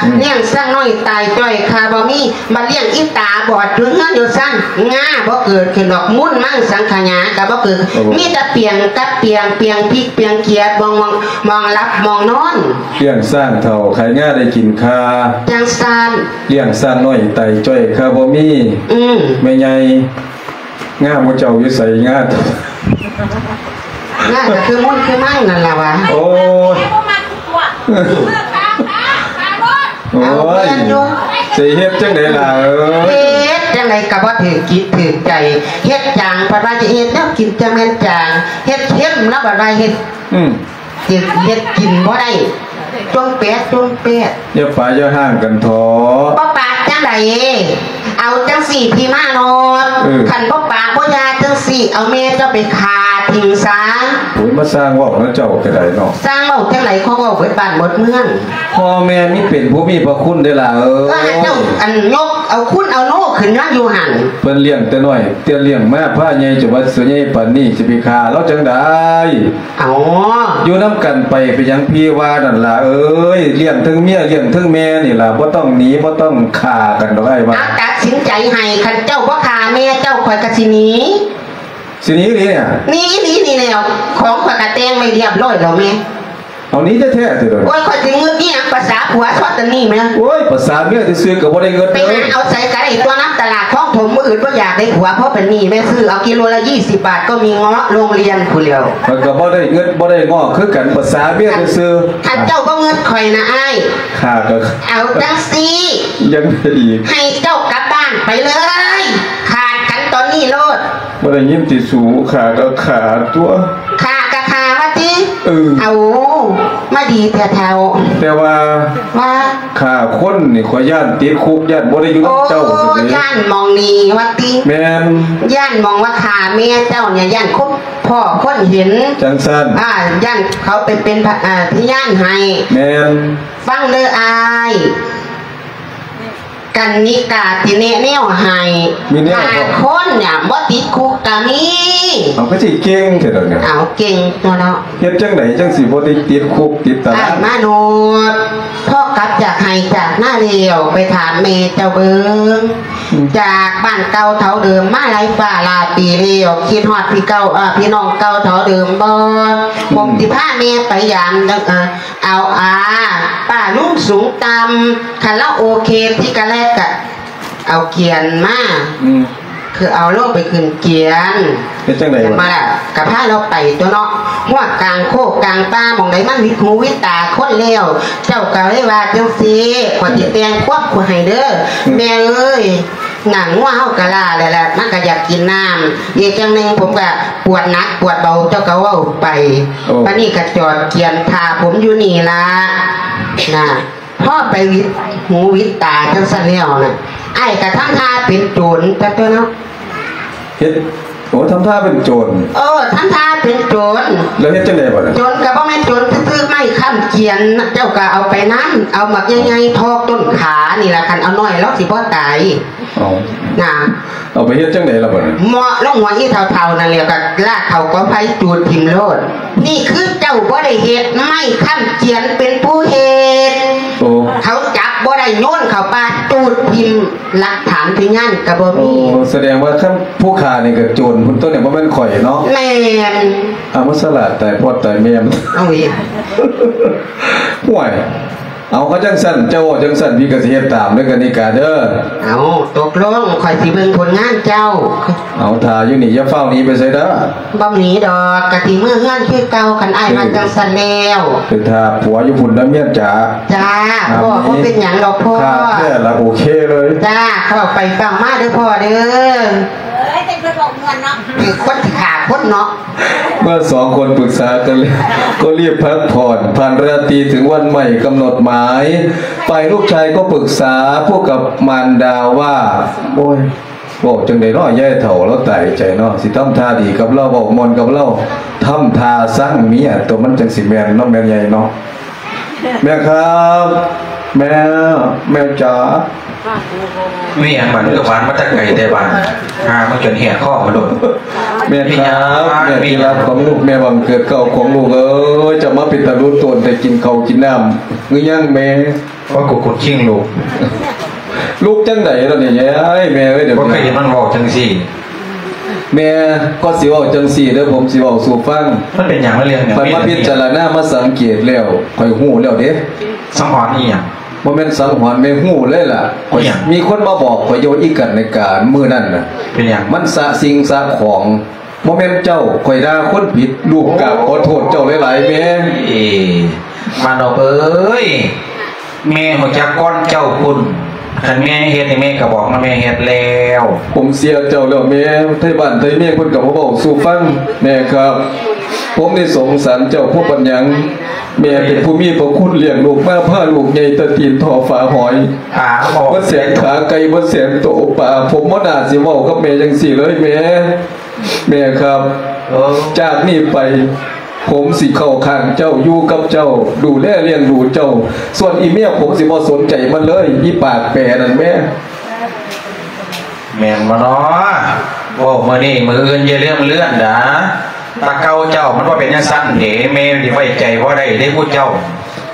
ອືມ ລ້ຽງຊ້າງນ້ອຍຕາຍຈ້ອຍຄາບໍ່ມີ ບັດລ້ຽງອີ່ຕາບອດຢູ່ເຮືອນຢູ່ຊັ້ນ ງາບໍ່ເກີດຂຶ້ນດອກ ມູນມັງສັງຂະຫຍາກະບໍ່ເກີດ ໂອ້ ມີແຕ່ປຽງກັບປຽງ ປຽງພິກປຽງຂຽດ ມອງ ມອງ ມອງຫຼັບມອງນອນ. ລ້ຽງຊ້າງເຖົ້າຂາຍງາໄດ້ກິນຄາ ຈັ່ງຊັ້ນ ລ້ຽງຊ້າງນ້ອຍຕາຍຈ້ອຍຄາບໍ່ມີ ອືມ ແມ່ໃຫຍ່ ງາໝູ່ເຈົ້າຢູ່ໃສ? ງາ ງາກະຄືມູນຄືມັງນັ້ນລະຫວາ. ໂອ້ຍ ໂອ້ຍ ເອົາແມ່ນຢູ່ ຊິເຮັດຈັ່ງໃດລະເອີຍ? ເຮັດ ໃດກໍບໍ່ຖືກຈິດຖືກໃຈ ເຮັດຈາງເພິ່ນວ່າຈະເຮັດແນວກິນ ຈະແມ່ນຈາງ ເຮັດເຄັມລະບັດວ່າເຮັດ ອືມ ເຮັດ ເຮັດກິນບໍ່ໄດ້ ຈົ່ງແປດ ຈົ່ງແປດ. ຢ່າປະຢ່າຮ້າງກັນເຖາະ. ບໍ່ປະຈັ່ງໃດ? ເອົາຈັ່ງຊີ້ ພີ່ມາໂລດ. ເອີ ຄັນບໍ່ປະບໍ່ຢ່າຈັ່ງຊີ້ ເອົາແມ່ເຈົ້າໄປຂ້າຖິ້ມຊະ. ໂອ້ຍ ມາສ້າງເວົ້ານຳເຈົ້າກໍໄດ້ເນາະ. ສ້າງເວົ້າຈັ່ງໃດ? ເຂົາເວົ້າເບິດບ້ານເບິດເມືອງ. ພໍ່ແມ່ມີເປັນຜູ້ມີພະຄຸນເດ້ລະເອີຍ. ເອີ ເຈົ້າ ອັນ ຍົກເອົາຄຸນເອົາໂນຂຶ້ນມາຢູ່ຫັ້ນ. ເພິ່ນລ້ຽງແຕ່ນ້ອຍ ແຕ່ລ້ຽງມາພາໃຫຍ່ຈົນວ່າຊິໃຫຍ່ປານນີ້ ຊິໄປຂ້າລາວຈັ່ງໃດ? ເອົາ ຢູ່ນຳກັນໄປ ເປັນຫຍັງພີ່ວ່ານັ້ນລະເອີຍ. ລ້ຽງເທິງເມຍ ລ້ຽງເທິງແມ່ນີ້ລະ ບໍ່ຕ້ອງໜີ ບໍ່ຕ້ອງຂ້າກັນດອກ ອ້າຍວ່າ. ເອົາ ຕັດສິນໃຈໃຫ້ ຄັນເຈົ້າບໍ່ຂ້າແມ່ເຈົ້າ ຂ້ອຍກໍຊິໜີ. ຊິໜີອີ່ຫຼີນີ້? ໜີອີ່ຫຼີນີ້ແລ້ວ ຂອງຂ້ອຍກໍແຕ່ງໄວ້ຮຽບຮ້ອຍແລ້ວແມ່. ເອົາ ໜີແທ້ໆຕິ? ໂອ້ຍ ຂ້ອຍຊິງຶດອີ່ຫຍັງ ປະສາຜົວຊອດຕະນີ້ແມ່. ໂອ້ຍ ປະສາເມຍຊື່ໆ ກໍບໍ່ໄດ້ງຶດ. ໄປຫາເອົາໃສກໍໄດ້ຕົວະ ນຳຕະຫຼາດຄອງຖົມ ມື້ອື່ນບໍ່ຢາກໄດ້ຜົວ ພໍປານນີ້ແມ່ ຊື້ເອົາກິໂລລະຊາວບາດ ກໍມີເງາະໂຮງຮຽນພຸ້ນແລ້ວ. ຂ້ອຍກໍບໍ່ໄດ້ງຶດ ບໍ່ໄດ້ງອກຄືກັນ ປະສາເມຍຊື່ໆ. ຄັນເຈົ້າບໍ່ງຶດຂ້ອຍນະອ້າຍ ຂ້າກໍ ເອົາຈັ່ງຊີ້ ຍັງໄດ້ອີກ ໃຫ້ເຈົ້າກັບບ້ານໄປເລີຍ ຂາດກັນຕອນນີ້ໂລດ. ບໍ່ໄດ້ຍິນຕິສູ ຂ້າກໍຂ້າຕົວະ. ຂ້າກໍຂ້າວ່າຕິ? ເອີ ເອົາ ມາດີແທ້ເຖົ້າ. ແຕ່ວ່າ ວ່າ ຂ້າຄົນນີ້ ຂ້ອຍຢ້ານຕິດຄຸກ ຢ້ານບໍ່ໄດ້ຢູ່ນຳເຈົ້າ. ໂອ້ ຊັ້ນເດ້ ຢ້ານໝ່ອງນີ້ວ່າຕິ? ແມ່ນ. ຢ້ານໝ່ອງວ່າຂ້າແມ່ເຈົ້ານີ້ ຢ້ານຄົນ ພໍ່ຄົນເຫັນ ຈັ່ງຊັ້ນ. ອ່າ ຢ້ານເຂົາໄປເປັນພະ ອ່າ ພະຍານໃຫ້. ແມ່ນ. ຟັງເດີອ້າຍ ກັນນິກາຊິແນະແນວໃຫ້. ມີແນວ ຫ້າຄົນນີ້ບໍ່ຕິດຄຸກກໍມີ. ເອົາ ຄືຊິເກັ່ງແທ້ດອກນີ້. ເອົາ ເກັ່ງຕົວະເນາະ. ເຮັດຈັ່ງໃດຈັ່ງຊິບໍ່ໄດ້ຕິດຄຸກຕິດຕາລາງ? ອ້າຍມາໂນດ ພໍກັບຈາກໄຮ່ຈາກນາແລ້ວ ໄປຖາມແມ່ເຈົ້າເບິ່ງ. ອືມ. ຈາກບ້ານເກົ່າເຖົ້າເດີມມາຫຼາຍຟ້າຫຼາຍປີແລ້ວ ຄິດຮອດພີ່ເກົ່າ ເອີ ພີ່ນ້ອງເກົ່າເຖົ້າເດີມບໍ່? ອືມ. ຜົມຊິພາແມ່ໄປຢາມ ເອີ ເອົາ ອາ ປ້າລຸງສູງຕ່ຳ ຄັນລາວໂອເຄທີ່ກະແລກກະເອົາກຽນມາ. ອືມ. ຄືເອົາລົງໄປຂຶ້ນກຽນ. ເຮັດຈັ່ງໃດວະ? ມາລະ ກະພາລາວໄປຕົວະເນາະ ຮອດກາງໂຄກກາງປ່າ ໝ່ອງໃດມັນຫວິດຫູຫວິດຕາຄົນແລ້ວ. ເຈົ້າກະເລີຍວ່າຈັ່ງຊີ້ ຂ້ອຍຊິແຕ່ງຄວາມໃຫ້ເດີ. ອືມ. ແມ່ເອີຍ ໜັງງົວເຮົາກະລ້າແລ້ວລະ ມັນກະຢາກກິນນ້ຳ. ອີກຢ່າງໜຶ່ງ ຜົມກະປວດໜັກປວດເບົາ ເຈົ້າກະເວົ້າໄປ. ໂອ້. ບາດນີ້ກະຈອດກຽນຖ້າຜົມຢູ່ນີ້ລະ ນະ. ພໍໄປຫວິດຫູຫວິດຕາຈັ່ງຊັ້ນແລ້ວນະ ອ້າຍກະທຳທ່າເປັນໂຈນຕະຕົວະເນາະ. ເຮັດ ໂອ້ ທຳທ່າເປັນໂຈນ. ເອີ ທຳທ່າເປັນໂຈນ. ແລ້ວເຮັດຈັ່ງໃດບາດນີ້? ໂຈນກະບໍ່ແມ່ນໂຈນຊື່ໆ ໄມ້ຄ້ຳກຽນ ເຈົ້າກະເອົາໄປນຳ ເອົາໝາກໃຫຍ່ໆ ຖອກຕົ້ນຂານີ້ລະ ຄັນເອົາໜ້ອຍລາວຊິບໍ່ຕາຍ. ເອົາ ນະ ເອົາໄປເຮັດຈັ່ງໃດລະບາດນີ້? ເໝາະລົງຫົວອີ່ເຖົ້າໆ ນັ້ນແຫຼະ ກໍລາກເຂົ້າກອງໄຟຈູດຖິ້ມໂລດ. ນີ້ຄືເຈົ້າບໍ່ໄດ້ເຮັດ ໄມ້ຄ້ຳກຽນເປັນຜູ້ເຮັດ. ໂອ້ ເຂົາຈັບບໍ່ໄດ້ ໂຍນເຂົ້າປ່າຈູດຖິ້ມ ຫຼັກຖານພະຍານກໍບໍ່ມີ. ໂອ້ ສະແດງວ່າຄັນຜູ້ຂ້ານີ້ກໍໂຈນພຸ້ນຕົວະນີ້ ບໍ່ແມ່ນຂ້ອຍເນາະ. ແມ່ນ. ເອົາ ມາສະຫຼາດຕາຍພໍ່ຕາຍແມ່ມັນ. ເອົາອີກ. ຫ້ວຍ. ເອົາ ກໍຈັ່ງຊັ້ນ ເຈົ້າເວົ້າຈັ່ງຊັ້ນ ພີ່ກໍຊິເຮັດຕາມເດີ ກັນນິກາເດີ. ເອົາ ຕົກລົງ ຂ້ອຍຊິເບິ່ງຜົນງານເຈົ້າ. ເອົາ ຖ້າຢູ່ນີ້ ຢ່າຟ້າວໜີໄປໃສເດີ. ບໍ່ໜີດອກ ກະຊິເມືອເຮືອນຄືເກົ່າ ຄັນອ້າຍວ່າ ເອີ ຈັ່ງຊັ້ນແລ້ວ. ໄປຖ້າຜົວຢູ່ພຸ້ນເດີ ເມຍຈ໋າ. ຈ້າ ພໍ່ ບໍ່ເປັນຫຍັງດອກພໍ່. ຂ້າແທ້ລະ ໂອເຄເລີຍ. ຈ້າ ເຂົ້າໄປເຝົ້າມາເດີພໍ່ເດີ. ເອີຍ ເປັນຄົນເວົ້າມ່ວນເນາະ. ເປັນຄົນຊິຂ້າຄົນເນາະ. ເມື່ອສອງຄົນປຶກສາກັນແລ້ວ ກໍຣີບພັກຜ່ອນ. ຜ່ານລາຕີເຖິງວັນໃໝ່ກຳນົດໝາຍ. ຝ່າຍລູກຊາຍກໍປຶກສາຄູ່ກັບມານດາວ່າ ໂອ້ຍ ເວົ້າຈັ່ງໃດເນາະ ຍາຍເຖົ້າລາວຕາຍໃຈເນາະ ຊິທຳທ່າດີກັບລາວ ເວົ້າມ່ວນກັບລາວ ທຳທ່າຊັງເມຍຕົວະ ມັນຈັ່ງຊິແມ່ນເນາະ ແມ່ໃຫຍ່ເນາະ. ແມ່ครับ แม่ แม่จ๋า ມີຫຍັງ ມັນກໍຫວານມາແຕ່ໄກແຕ່ບ້ານ ຫາມາຈົນແຫກຄໍມາໂລດ. แม่ครับ แม่ที่รักของลูก แม่บังเกิดเกล้าของลูกเอ้ย จะมาเป็นตาลุโตนแต่กินข้าวกินน้ำหรือยังแม่? ວ່າກູກົດຄີງລູກ. ລູກຈັ່ງໃດລະນີ້ຍາຍ? ແມ່ເອີຍ ດຽວ ບໍ່ເຄີຍເຫັນມັນເວົ້າຈັ່ງຊີ້. ແມ່ກໍຊິເວົ້າຈັ່ງຊີ້ເດີ ຜົມຊິເວົ້າສູ່ຟັງ. ມັນເປັນຫຍັງລະເລື່ອງຫຍັງ? ຂ້ອຍມາພິຈາລະນາມາສັງເກດແລ້ວ ຂ້ອຍຮູ້ແລ້ວເດ້. ສັງຫອນອີ່ຫຍັງ? ບໍ່ແມ່ນສັງຫອນ ແມ່ຮູ້ເລີຍລະ. ອີ່ຫຍັງ? ມີຄົນມາບອກຂ້ອຍຢູ່ອີກກັນໃນການມື້ນັ້ນນະ. ເປັນຫຍັງ? ມັນສະສິ່ງສະຂອງ. ບໍ່ແມ່ນເຈົ້າ ຂ້ອຍດ່າຄົນຜິດ ລູກກາບຂໍໂທດເຈົ້າຫຼາຍໆແມ່. ເອີ ມານອບເອີຍ ແມ່ຮູ້ຈັກກ່ອນເຈົ້າພຸ້ນ. ຄັນແມ່ເຮັດໃຫ້ແມ່ກໍບອກມາ ແມ່ເຮັດແລ້ວ. ຜົມເສຍເຈົ້າແລ້ວແມ່ ໄທບ້ານໄທເມືອງເພິ່ນກໍມາເວົ້າສູ່ຟັງ. ແມ່ຄັບ ຜົມນີ້ສົງສານເຈົ້າບໍ່ປານຫຍັງ. ແມ່ເປັນຜູ້ມີພະຄຸນລ້ຽງລູກມາ ພາລູກໃຫຍ່ແຕ່ຕີນທໍ່ຝາຫອຍ ເບິດແສນຂາໄກ່ ເບິດແສນໂຕປາ. ຜົມບໍ່ໜ້າຊິເວົ້າກັບແມ່ຈັ່ງຊີ້ເລີຍແມ່. ແມ່ຄັບ ຈາກນີ້ໄປ ຜົມຊິເຂົ້າຂ້າງເຈົ້າ ຢູ່ກັບເຈົ້າ ດູແລລ້ຽງດູເຈົ້າ. ສ່ວນອີເມຍ ຜົມຊິບໍ່ສົນໃຈມັນເລີຍ ອີປາກແປນັ້ນແມ່. ແມ່ນບໍ່ນໍ? ເວົ້າມື້ນີ້ມື້ອື່ນຢ່າລືມເລື່ອນດາ. ຕາເກົ່າເຈົ້າມັນບໍ່ເປັນຈັ່ງຊັ້ນເດ. ແມ່ນີ້ໄວ້ໃຈບໍ່ໄດ້ເດ້ຜູ້ເຈົ້າ.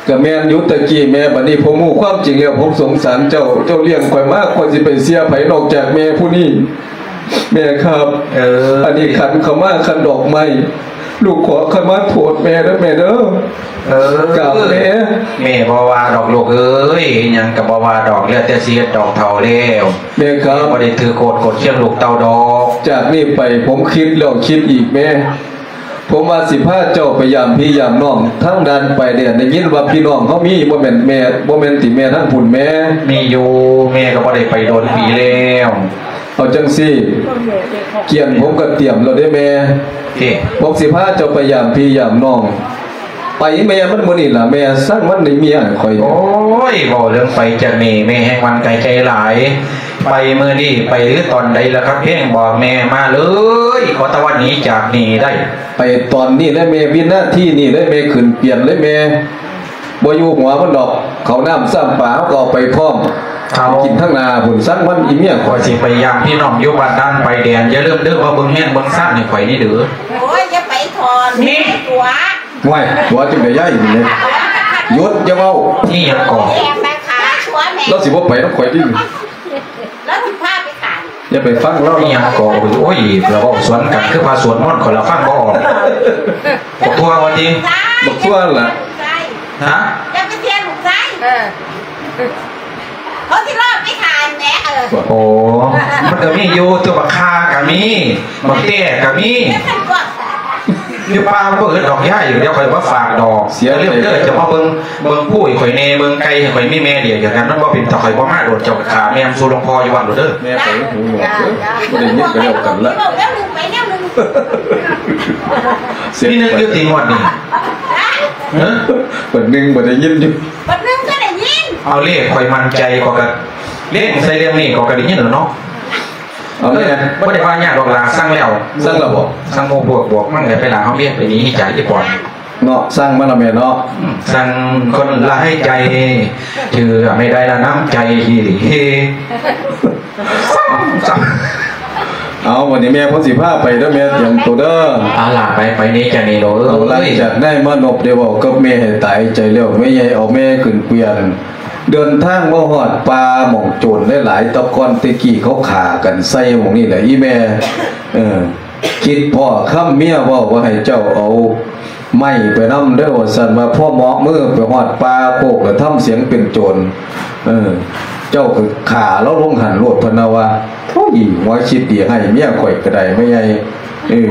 ກະແມ່ນຢູ່ຕະກີ້ແມ່ ບັດນີ້ຜົມຮູ້ຄວາມຈິງແລ້ວ ຜົມສົງສານເຈົ້າ. ເຈົ້າລ້ຽງຂ້ອຍມາ ຂ້ອຍຊິໄປເຊື່ອໃຜນອກຈາກແມ່ຜູ້ນີ້. ແມ່ຄັບ ເອີ ອັນນີ້ຂັນຂະມາ ຂັນດອກໄມ້ ລູກຂໍຂະມາໂທດແມ່ເດີແມ່ເດີ. ເອີ ກາບແມ່. ແມ່ບໍ່ວ່າດອກລູກເອີຍ ຫຍັງກໍບໍ່ວ່າດອກ ແລ້ວແຕ່ຊິເຮັດດອກ ເຖົ້າແລ້ວ. ແມ່ຄັບ ບໍ່ໄດ້ຖືໂກດກົດຄຽງລູກເຕົ້າດອກ. ຈາກນີ້ໄປ ຜົມຄິດແລ້ວຄິດອີກແມ່. ຜົມວ່າຊິພາເຈົ້າໄປຢາມພີ່ຢາມນ້ອງທາງດ່ານຊາຍແດນ. ໄດ້ຍິນວ່າພີ່ນ້ອງເຮົາມີ ບໍ່ແມ່ນແມ່ ບໍ່ແມ່ນຕິແມ່ ທາງພຸ້ນແມ່? ມີຢູ່ ແມ່ກໍບໍ່ໄດ້ໄປດົນປີແລ້ວ. ເອົາຈັ່ງຊີ້ ກຽນຜົມກໍຕຽມແລ້ວເດ້ແມ່. ເອີ ຜົມຊິພາເຈົ້າໄປຢາມພີ່ຢາມນ້ອງ. ໄປແມ່ມັນມື້ນີ້ລະແມ່ ຊ່າງມັນໄດ້ເມຍຂ້ອຍ. ໂອ້ຍ ເວົ້າເລື່ອງໄປຈາກນີ້ ແມ່ແຮ່ງໝັ້ນໃຈຫຼາຍ. ໄປມື້ນີ້ໄປຫຼືຕອນໃດລະຄັບ ເພງບອກແມ່ມາເລີຍ ຂໍແຕ່ວ່າໜີຈາກນີ້ໄດ້. ໄປຕອນນີ້ເລີຍແມ່ ວິນາທີນີ້ເລີຍແມ່ ຂຶ້ນປ່ຽນເລີຍແມ່. ບໍ່ຢູ່ຫົວມັນດອກ ເຂົ້ານ້ຳຊ້ຳປາເຮົາກໍເອົາໄປພ້ອມ. ເອົາ ກິນທາງໜ້າພຸ້ນ ຊ່າງມັນອີເມຍຂ້ອຍ. ຊິໄປຢາມພີ່ນ້ອງຢູ່ບ້ານດ່ານຊາຍແດນ ຢ່າລືມເດີ ມາເບິ່ງເຮືອນເບິ່ງຊານໃຫ້ຂ້ອຍນີ້ເດີ. ໂອ້ຍ ຢ່າໄປຖອນ ນີ້ ຕົວະ. ໂອ້ຍ ຕົວະຈັ່ງໃດຍາຍນີ້. ຢຸດ ຢ່າເວົ້າ. ນີ້ຫຍັງກໍ ແມ່ຄ້າຕົວະແມ່ ລາວຊິບໍ່ໄປນຳຂ້ອຍຕິ. ແລ້ວຊິພາໄປຂາຍ ຢ່າໄປຟັງລາວ. ອີຫຍັງກໍ ໂອ້ຍ ລາວເວົ້າສວນກັນຄືພະສວດມົນ ຂ້ອຍລະຟັງບໍ່ອອກ. ບັກທົ່ວວ່າຕິ ບັກທົ່ວລະ. ຮະ ຢ່າໄປເຊື່ອລູກຊາຍ ເອີ ເຂົາຊິລອບໄປຂາຍແໝ. ເອີ ໂອ້ ມັນກໍມີຢູ່ຕົວະ ບັກຂ່າກໍມີ ບັກແຕ້ກໍມີ. ຢູ່ປ່າມັນບໍ່ອຶດດອກຍາຍ ດຽວຂ້ອຍມາຝາກດອກ. ເສຍເລື່ອງເດີ ເຈົ້າມາເບິ່ງ ເບິ່ງຜູ້ໃຫ້ຂ້ອຍແດ່ ເບິ່ງໄກ່ໃຫ້ຂ້ອຍ ມີແມ່ດຽວກັນ ມັນບໍ່ເປັນຕາ ຂ້ອຍບໍ່ມາໂດນ ເຈົ້າກໍຂ້າແມ່ມາສູ່ຫຼວງພໍ່ຢູ່ວັດໂລດເດີ. ແມ່ໄປຫູໜວກເດີ ບໍ່ໄດ້ຍິນກໍແລ້ວກັນລະ. ເວົ້າແນວໜຶ່ງໄປແນວໜຶ່ງ. ມີໜຶ່ງຢູ່ຕິງວດນີ້? ຮະ ບັດໜຶ່ງບໍ່ໄດ້ຍິນຢູ່ ບັດໜຶ່ງກໍໄດ້ຍິນ. ເອົາ ເລກຂ້ອຍໝັ້ນໃຈ ຂ້ອຍກໍເລັງໃສ່ເລື່ອງນີ້ ຂ້ອຍກໍໄດ້ຍິນແລ້ວເນາະ. ເອົາແມ່ ບໍ່ໄດ້ວ່າຫຍັງດອກຫຼ້າ ສັ່ງແລ້ວ. ສັ່ງແລ້ວບໍ່? ສັ່ງໝູ່ພວກບວກມັນໄດ້ໄປຫຼ້າ ເຮົາເມຍໄປໜີຈາກອີ່ປອນເນາະ. ສັ່ງມາລະແມ່ເນາະ. ອືມ ສັ່ງຄົນລະໃຫ້ໃຈ ເຊື່ອໄມ່ໄດ້ລະນ້ຳໃຈທີ່ດີ. ເອົາ ວັນນີ້ແມ່ເພິ່ນຊິພາໄປເດີແມ່ ຕຽມໂຕເດີ. ເອົາຫຼ້າ ໄປ ໄປນີ້ຈາກນີ້ໂລດເອີຍ. ເອົາ ຫຼັງຈາກນາຍມານົບໄດ້ເວົ້າກັບແມ່ໃຫ້ຕາຍໃຈແລ້ວ ແມ່ໃຫຍ່ເອົາແມ່ຂຶ້ນເກວີຍນ ເດີນທາງມາຮອດປ່າໝ່ອງໂຈນຫຼາຍໆ ແຕ່ກ່ອນແຕ່ກີ້ເຂົາຂ້າກັນໃສ່ໝ່ອງນີ້ແຫຼະອີ່ແມ່. ເອີ ຄິດພໍ້ຄຳເມຍເວົ້າວ່າໃຫ້ເຈົ້າເອົາໄມ້ໄປນຳເດີວ່າຊັ້ນ ວ່າພໍເໝາະມືໄປຮອດປ່າໂຄກລະທຳສຽງເປັນໂຈນ. ເອີ ເຈົ້າກໍຂ້າລາວລົງຫັ້ນໂລດ ເພິ່ນວ່າ. ໂອ້ຍ ຫົວຄິດດີໃຫ້ເມຍຂ້ອຍກໍໄດ້ແມ່ໃຫຍ່. ເອີ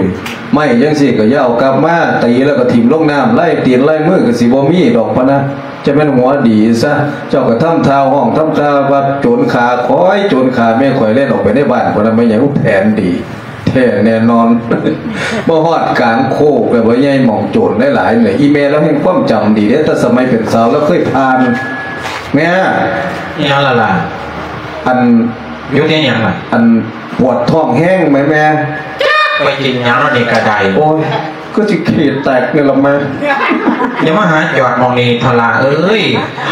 ໄມ້ຈັ່ງຊີ້ກໍຢ່າເອົາກັບມາ ຕີແລ້ວກໍຖິ້ມລົງນ້ຳ ລາຍຕີນລາຍມືກໍຊິບໍ່ມີດອກ ພະນະ. ຈະແມ່ນຫົວດີຊະ ເຈົ້າກໍທຳທ່າຮ້ອງ ທຳທ່າວ່າໂຈນຂ້າຂ້ອຍ ໂຈນຂ້າແມ່ຂ້ອຍ ແລ່ນອອກໄປໃນບ້ານ ພະນະ. ແມ່ໃຫຍ່ ແຜນດີແທ້ແນ່ນອນ. ມາຮອດກາງໂຄກແລ້ວ ພໍ່ໃຫຍ່ ໝ່ອງໂຈນຫຼາຍໆນີ້ ອີ່ແມ່ລາວແຮ່ງຄວາມຈຳດີເດ້ ແຕ່ສະໄໝເປັນສາວລາວເຄີຍຜ່ານ. ແມ່ ອີຫຍັງລະຫຼານ? ອັນ ຢຸດເຮັດຫຍັງລະ? ອັນ ປວດທ້ອງແຮງແມ່ ແມ່. ຈັກໄປກິນຫຍັງແລ້ວນີ້ກະໄດ້. ໂອ້ຍ ຄືຊິຂີ້ແຕກນີ້ລະແມ່. ຢ່າມາຫາຈອດໝ່ອງນີ້ເຖົ້າຫຼ້າເອີຍ.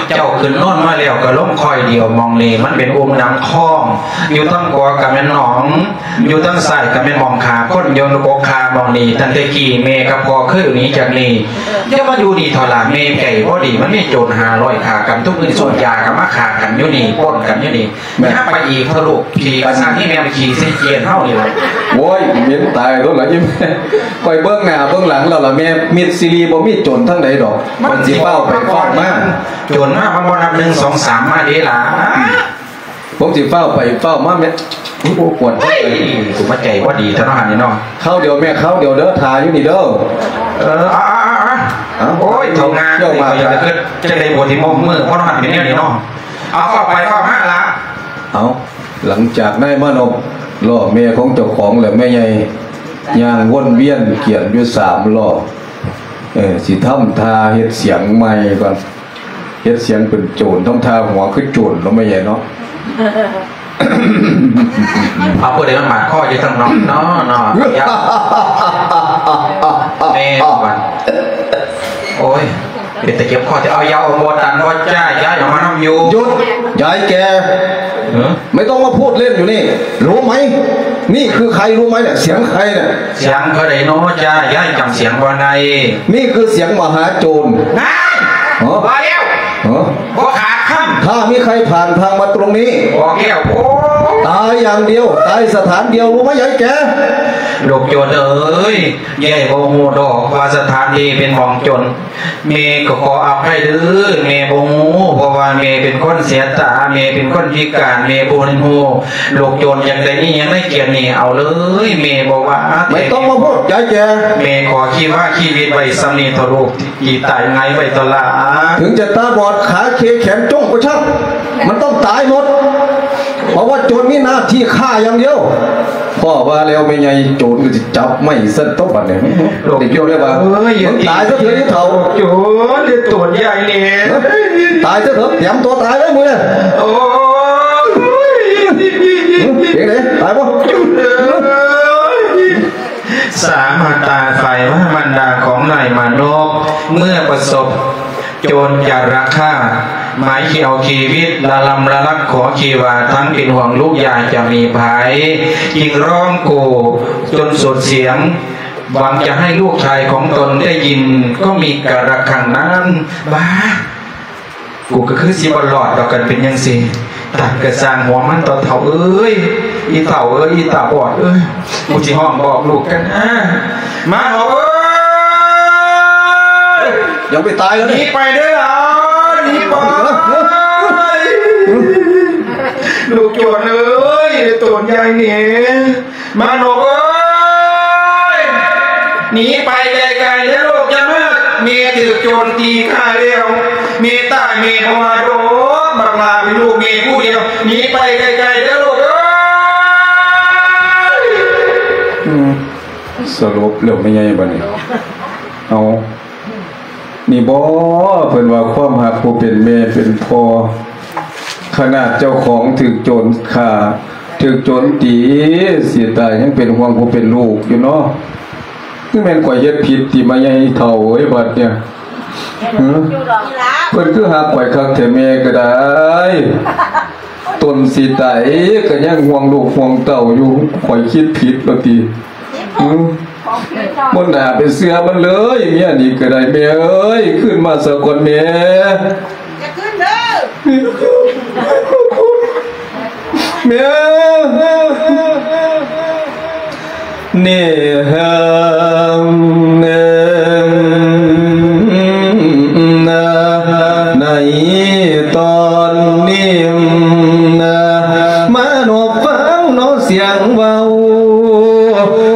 ເຈົ້າຂຶ້ນໂນນມາແລ້ວກະລົງຄ້ອຍດຽວ. ໝ່ອງນີ້ມັນເປັນອຸ່ມນ້ຳຄອງ ຢູ່ທາງຂວາກະແມ່ນໜອງ ຢູ່ທາງຊ້າຍກະແມ່ນໝ່ອງຂາຄົນ ຢູ່ກົກຂາໝ່ອງນີ້. ຕັ້ງແຕ່ກີ້ແມ່ກັບພໍ່ເຄີຍໜີຈາກນີ້. ຢ່າມາຢູ່ນີ້ເຖົ້າຫຼ້າ ແມ່ໃຈບໍ່ດີ. ມັນມີໂຈນຫ້າຮ້ອຍຂ້າກັນທຸກມື້ ສູບຢາກະມາຂ້າກັນຢູ່ນີ້ ປົ້ນກັນຢູ່ນີ້. ແມ່ ຢ່າໄປອີກເຖາະລູກ ຂີ້ກະສັງ ອີ່ແມ່ມາຂີ້ໃສ່ກຽນເຮົານີ້ລະ. ໂອ້ຍ ເໝັນຕາຍໂລດລະອີ່ແມ່. ຂ້ອຍເບິ່ງໜ້າເບິ່ງຫຼັງແລ້ວລະແມ່ ມິດຊີຣີບໍ່ມີໂຈນທາງໃດດອກ. ມັນຊິຟ້າວໄປຟ້າວມາ ໂຈນມາມັນບໍ່ນັບໜຶ່ງ ສອງ ສາມ ມາເດ້ລະ. ອືມ ຜົມຊິຟ້າວໄປຟ້າວມາແມ່. ໂອ້ ປວດ ເຮີ້ຍ ກູມາໃຈບໍ່ດີເຖາະເນາະຫັ້ນນີ້ເນາະ. ຄາວດຽວແມ່ ຄາວດຽວເດີ ຖ້າຢູ່ນີ້ເດີ. ເອີ ອາ ອາ ອາ ອາ. ໂອ້ຍ ເຖົ້າງາ ເຈົ້າມາ ຂ້ອຍຢາກຈະຄິດຈັ່ງໃດ ປວດທີ່ໝົກມື ເພາະເຮົາຫັ້ນເປັນແນວນີ້ເນາະ. ເອົາ ຟ້າວໄປຟ້າວມາລະ. ເອົາ ຫຼັງຈາກນາຍມານົບລໍ້ແມ່ຂອງເຈົ້າຂອງແລ້ວ ແມ່ໃຫຍ່ຍ່າງວົນວຽນກຽນຢູ່ສາມຮອບ ເອີ ຊິທຳທ່າເຮັດສຽງໃໝ່ກ່ອນ ເຮັດສຽງເປັນໂຈນ ທຳທ່າຫົວຄືໂຈນເນາະ ແມ່ໃຫຍ່ເນາະ. ເອົາ ຜູ້ໃດມາບາດຄໍຢູ່ທາງນອກເນາະ ເນາະ ແມ່ນບໍ່? ໂອ້ຍ ເປັນຕາເຈັບຄໍແທ້. ເອົາ ຢາອອກບໍ່ຕັນບໍ່ຈ້າ ຢາອອກມານຳຢູ່. ຢຸດ! ຍາຍແກ່ ไม่ต้องมาพูดเล่นอยู่นี่ รู้ไหม นี่คือใครรู้ไหมเนี่ย เสียงใครเนี่ย ສຽງຜູ້ໃດເນາະຈ້າ ຍາຍຈຳສຽງບໍ່ໄດ້. นี่คือเสียງมหาโจร. ນາຍ ຮະ ບໍ່ແລ້ວ ຮະ ບໍ່ຂາດຄຳ. ถ้ามีใครผ่านทางมาตรงนี้ ບອກແລ້ວ ໂອ້ ตายอย่างเดียว ตายสถานเดียว รู้ไหมยายแก่ ລູກໂຈນເອີຍ ຍາຍບໍ່ຮູ້ດອກວ່າສະຖານທີ່ເປັນໝ່ອງໂຈນ. ແມ່ກໍຂໍອະໄພເດີ້ ແມ່ບໍ່ຮູ້ ເພາະວ່າແມ່ເປັນຄົນເສຍຕາ ແມ່ເປັນຄົນພິການ ແມ່ບໍ່ເຫັນຮູ້. ລູກໂຈນຢາກໄດ້ອີ່ຫຍັງໃນກຽດນີ້ ເອົາເລີຍ ແມ່ບໍ່ວ່າ. ไม่ต้องมาพูดยายแก่ ແມ່ຂໍຊີວະຊີວິດໄວ້ສ່ຳນີ້ເຖາະລູກ ທີ່ຕາຍຫງາຍໄວ້ເຖາະຫຼ້າ. ถึงจะตาบอด ขาเค แขนจ้งก็ช่าง มันต้องตายหมด เพราะว่าโจรมีหน้าที่ฆ่าอย่างเดียว. ພໍ່ວ່າແລ້ວ ແມ່ໃຫຍ່ໂຈນກໍຊິຈັບໄມ້ຊັ້ນຕົວະບັດນີ້. ລູກໂຈນເລີຍວ່າ ເອີຍ ມຶງຕາຍຊະເຖີ້ອ ອີ່ເຖົ້າ ໂຈນ ໂຕນໃຫຍ່ນີ້ ຕາຍຊະເຖີ້ອ ຕຽມຕົວຕາຍເລີຍມຶງ. ໂອ້ຍ ເປັນໃດ ຕາຍບໍ່? ສາມາດຕາຍໄຟວ່າມານດາຂອງນາຍມານົບ ເມື່ອປະສົບໂຈນຈາລະຄາດ ໝາຍຊິເອົາຊີວິດລະລຳລະລັກ ຂໍທີ່ວ່າທັງເປັນຫ່ວງລູກຢາຈະມີໄພ ຈຶ່ງຮ້ອງໂກຈົນສຸດສຽງ ຫວັງຈະໃຫ້ລູກຊາຍຂອງຕົນໄດ້ຍິນ ກໍມີກາລະຄັ້ງນັ້ນ. ບ້າ ກູກໍຄືຊິບໍ່ລອດດອກ ຄັນເປັນຈັ່ງຊີ້. ຕາຍກະຊ່າງຫົວມັນເຖາະ ເຖົ້າເອີຍ ອີ່ເຖົ້າເອີຍ ອີ່ຕາບອດເອີຍ ກູຊິຮ້ອງບອກລູກກັນ. ມາເຖົ້າເອີຍ ຍັງໄປຕາຍແລ້ວ ໜີໄປເດີ້ຫຼານ ໜີໄປ. ລູກໂຈນເອີຍ ໂຕນໃຫຍ່ນີ້ ມານົບເອີຍ ໜີໄປໄກໆເດີ້ລູກ ຢ່າມາ. ແມ່ຖືກໂຈນຕີຂ້າແລ້ວ ແມ່ຕາຍແມ່ບໍ່ວ່າດອກ ບັກຫຼ້າເປັນລູກແມ່ຜູ້ດຽວ ໜີໄປໄກໆເດີ້ລູກເອີຍ. ອືມ ສະຫຼົບແລ້ວແມ່ໃຫຍ່ບັດນີ້. ເອົາ ນີ້ບໍ ເພິ່ນວ່າຄວາມຮັກຜູ້ເປັນແມ່ເປັນພໍ່ ຂະໜາດເຈົ້າຂອງຖືກໂຈນຂ້າ ຖືກໂຈນຕີຊິຕາຍ ຍັງເປັນຫ່ວງຜູ້ເປັນລູກຢູ່ເນາະ. ຄືແມ່ນຂ້ອຍເຮັດຜິດຕິ ມາໃຫຍ່ເຖົ້າເອີຍ ບັດເນີ້ຍ ຫື ເພິ່ນຄືຮັກຂ້ອຍຄັກແທ້ ແມ່ກໍໄດ້ ຕົນຊິຕາຍກໍຍັງຫ່ວງລູກຫ່ວງເຕົ້າຢູ່ ຂ້ອຍຄິດຜິດບໍ່ຕິ. ອືມ ບໍ່ໜ້າໄປເຊື່ອມັນເລີຍ ເມຍນີ້ກໍໄດ້. ແມ່ເອີຍ ຄືນມາສາກ່ອນແມ່. ຢ່າຄືນເດີ້ ແມ່. ນີ້ເຮີນາ ໃນຕອນນີ້ນາ ມານົບຟັງເນາະສຽງເວົ້າ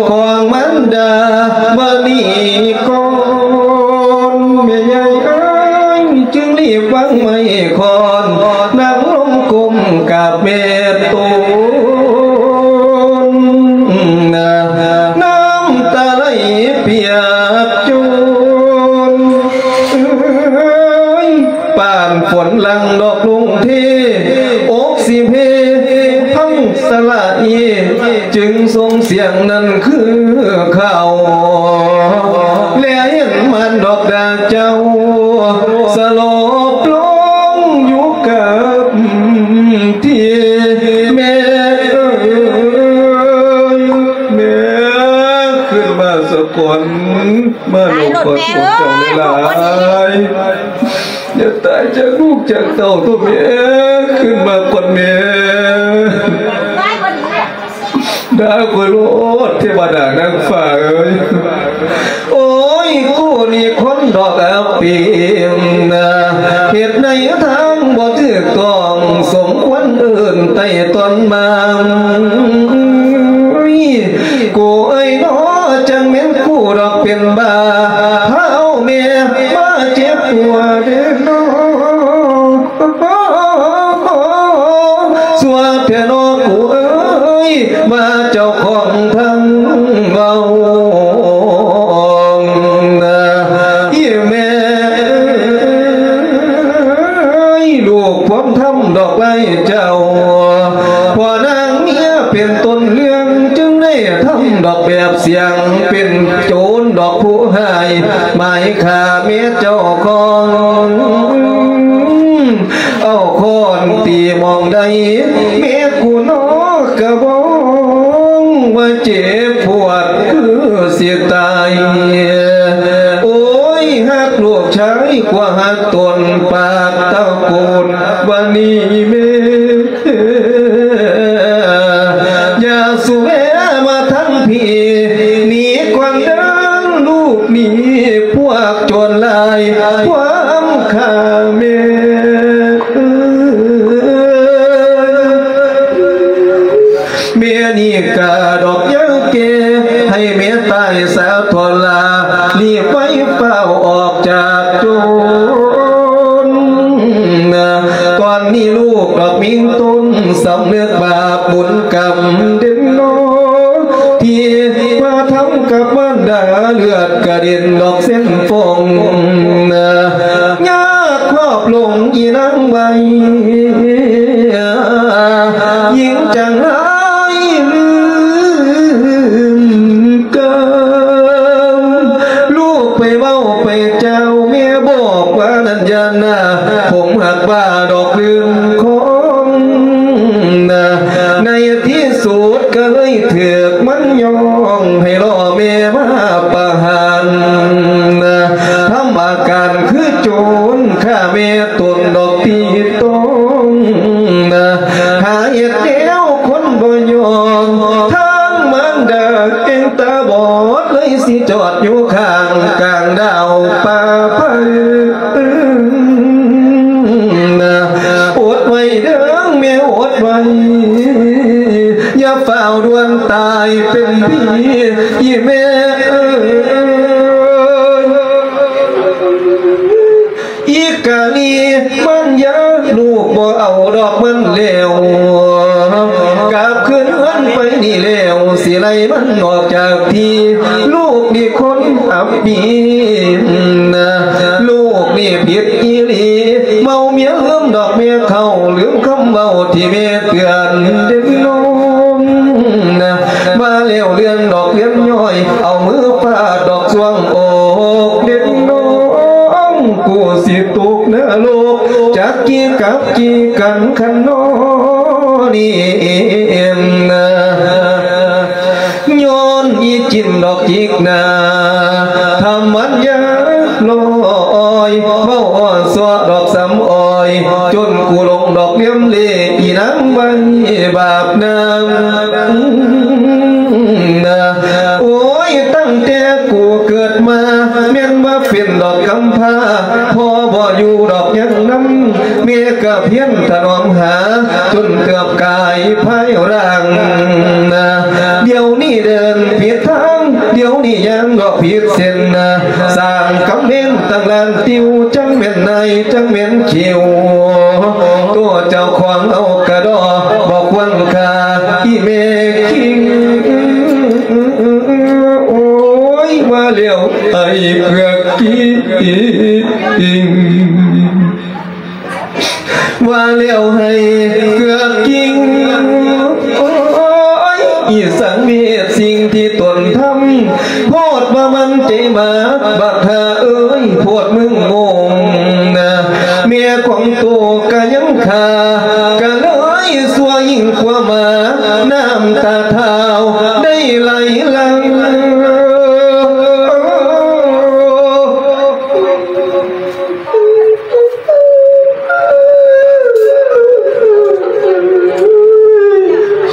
ຂອງມານດາມະນີກ່ອນ. ແມ່ໃຫຍ່ເອີຍ ຈຶ່ງໄດ້ວາງໄມ້ຄ້ອນ ນັ່ງລົງກົ້ມກາບແມ່ໂຕນ ນ້ຳຕາໄຫຼປຽກໂຈນ ເອີຍ ປານຝົນຫຼັ່ງດອກລົງເທ ອົກຊິເພ ພັງສະຫຼະອີ ຈຶ່ງສົ່ງສຽງນັ້ນຄືເຂົາ ແລເຫັນມານດອກດາເຈົ້າ ສະຫຼົບລົງຢູ່ກັບທີ່. ແມ່ເອີຍ ແມ່ຂຶ້ນມາສາກ່ອນ ມາລົງຂອບຄຸນເຈົ້າຫຼາຍໆ. ຢ່າຕາຍຈາກລູກຈາກເຕົ້າໂຕແມ່ ຂຶ້ນມາກ່ອນແມ່. ດາຂ້ອຍໂລດ ເທວະດານາງຟ້າເອີຍ. ໂອ້ຍ ກູນີ້ຄົນດອກອັບປີນາ ເຮັດໃນທາງບໍ່ຖືກຕ້ອງ ສົມຄວນເອີ້ນໄຕ່ຕອນມາ. ກູເອີຍນໍ ຈັ່ງແມ່ນກູດອກເປັນບ້າ ພາເອົາແມ່ມາເຈັບຫົວເດ້ນໍ. ຊົ່ວ ໂຈນດອກຜູ້ຮ້າຍ ໝາຍຂ້າແມ່ເຈົ້າຂອງ ເອົາຄ້ອນຕີໝ່ອງໃດ ແມ່ກູນອກກະບອງ ວ່າເຈັບປວດຄືຊິຕາຍ. ໂອ້ຍ ຮັກລູກຊາຍກວ່າຮັກຕົນ ປາກຕະໂກນວ່ານີ້ແມ່ ຢ່າສູ່ແວະມາທາງພີ້ ໜີກ່ອນເດີ ລູກໜີພວກໂຈນລາຍ ຄວາມຂ້າແມ່. ແມ່ນີ້ກະດອກຍັງແກ່ ໃຫ້ແມ່ຕາຍສາທໍລາ ລີບໄວຟ້າວອອກຈາກໂຈນ. ຕອນນີ້ລູກດອກມີຕົນ ສຳນຶກບາບບຸນກຳເດັ່ນນອ ທີ່ມາທຳກັບມານດາ ເລືອດກະເດັນດອກເສັ້ນຟອງ ຍາກຄອບຫຼົງອີນາງໄວ ຍິ່ງຈັງຮ້າຍລືມກາ ລູກໄປເວົ້າໄປເຈົ້າ ແມ່ບອກວ່ານັ້ນຢ່ານາ ຜົມຫາກວ່າດອກລືມຂອງ ໃນທີ່ສຸດກະເລີຍຖືກມັນຍ້ອງ ໃຫ້ລໍແມ່ມາປະຫານ ທຳອາການຄືໂຈນ ຂ້າແມ່ຕົນດອກຕີຕອງ ຫາເຮັດແນວຄົນບໍ່ຍອມ ທາງມານດາເອງຕາບອດ ເລີຍຊິຈອດຢູ່ຂ້າງກາງດາວປ່າໄພ. ອົດໄວ້ເດີແມ່ ອົດໄວ້ ຢ່າຟ້າວດ່ວນຕາຍເປັນຜີ ອີແມ່ເອີຍ. ອີກາລີມັນຢາ ລູກບໍ່ເອົາດອກມັນແລ້ວ ກັບຄືນເຮືອນໄປນີ້ແລ້ວ ຊິໄລ່ມັນອອກຈາກທີ່ ລູກນີ້ຄົນອັບປີນ ລູກນີ້ຜິດອີ່ຫຼີ ເມົາເມຍລືມດອກແມ່ເຖົ້າ ລືມຄຳເວົ້າທີ່ແມ່ເຕືອນເດັ່ນນອ ມາແລ້ວເລື່ອນດອກເລື່ອນຍ້ອຍ ເອົາມືຟາດດອກຊ່ວງອອກເດັກນ້ອງ ກູຊິຕົກນະລົກ ຈັກກີກັບກີກັນຄັນນອນີ້ນາ ຍ້ອນອີຈິນດອກຈິກນາ ທຳມັນຍາລອຍ ເວົ້າອ່ອນຊວດອກສຳອອຍ ຈົນກູຫຼົງດອກລຽມເລ ອີນາງໄວບາບນາ ໂອ້ຍ ຕັ້ງແຕ່ກູເກີດມາ ແມ່ນວ່າເປັນດອກກຳພ້າ ພໍ່ບໍ່ຢູ່ດອກຍັງນຳ ແມ່ກະພຽນຖະໜອມຫາ ຈົນເຕີບກາຍພາຍຮ່າງນາ ດຽວນີ້ເດີນຜິດທາງ ດຽວນີ້ຍ່າງດອກຜິດເສັ້ນນາ ສ້າງກຳເວັນຕັ້ງລ້ານຕິວ ຈັກແມ່ນນາຍ ຈັກແມ່ນຄິວ ໂຕເຈົ້າຂອງເອົາກະດໍ ບໍ່ຄວນຄ່າ ອີແມ່ຄິງ ໂອ້ຍ ວ່າແລ້ວໄອ້ເກືອກກິງ ວ່າແລ້ວໄອ້ເກືອກກິງ ໂອ້ຍ ອີສັງເວດສິ່ງທີ່ຕົນທຳ ໂພດວ່າມັນເຈມາ ບັກຫາເອີຍ ໂພດມຶງງົງນາ ແມ່ຂອງໂຕກະຍັງຄາ ກະເລີຍຊົ່ວຍິ່ງກວ່າໝາ ນ້ຳຕາທ້າວໄດ້ໄຫຼຫຼັ່ງ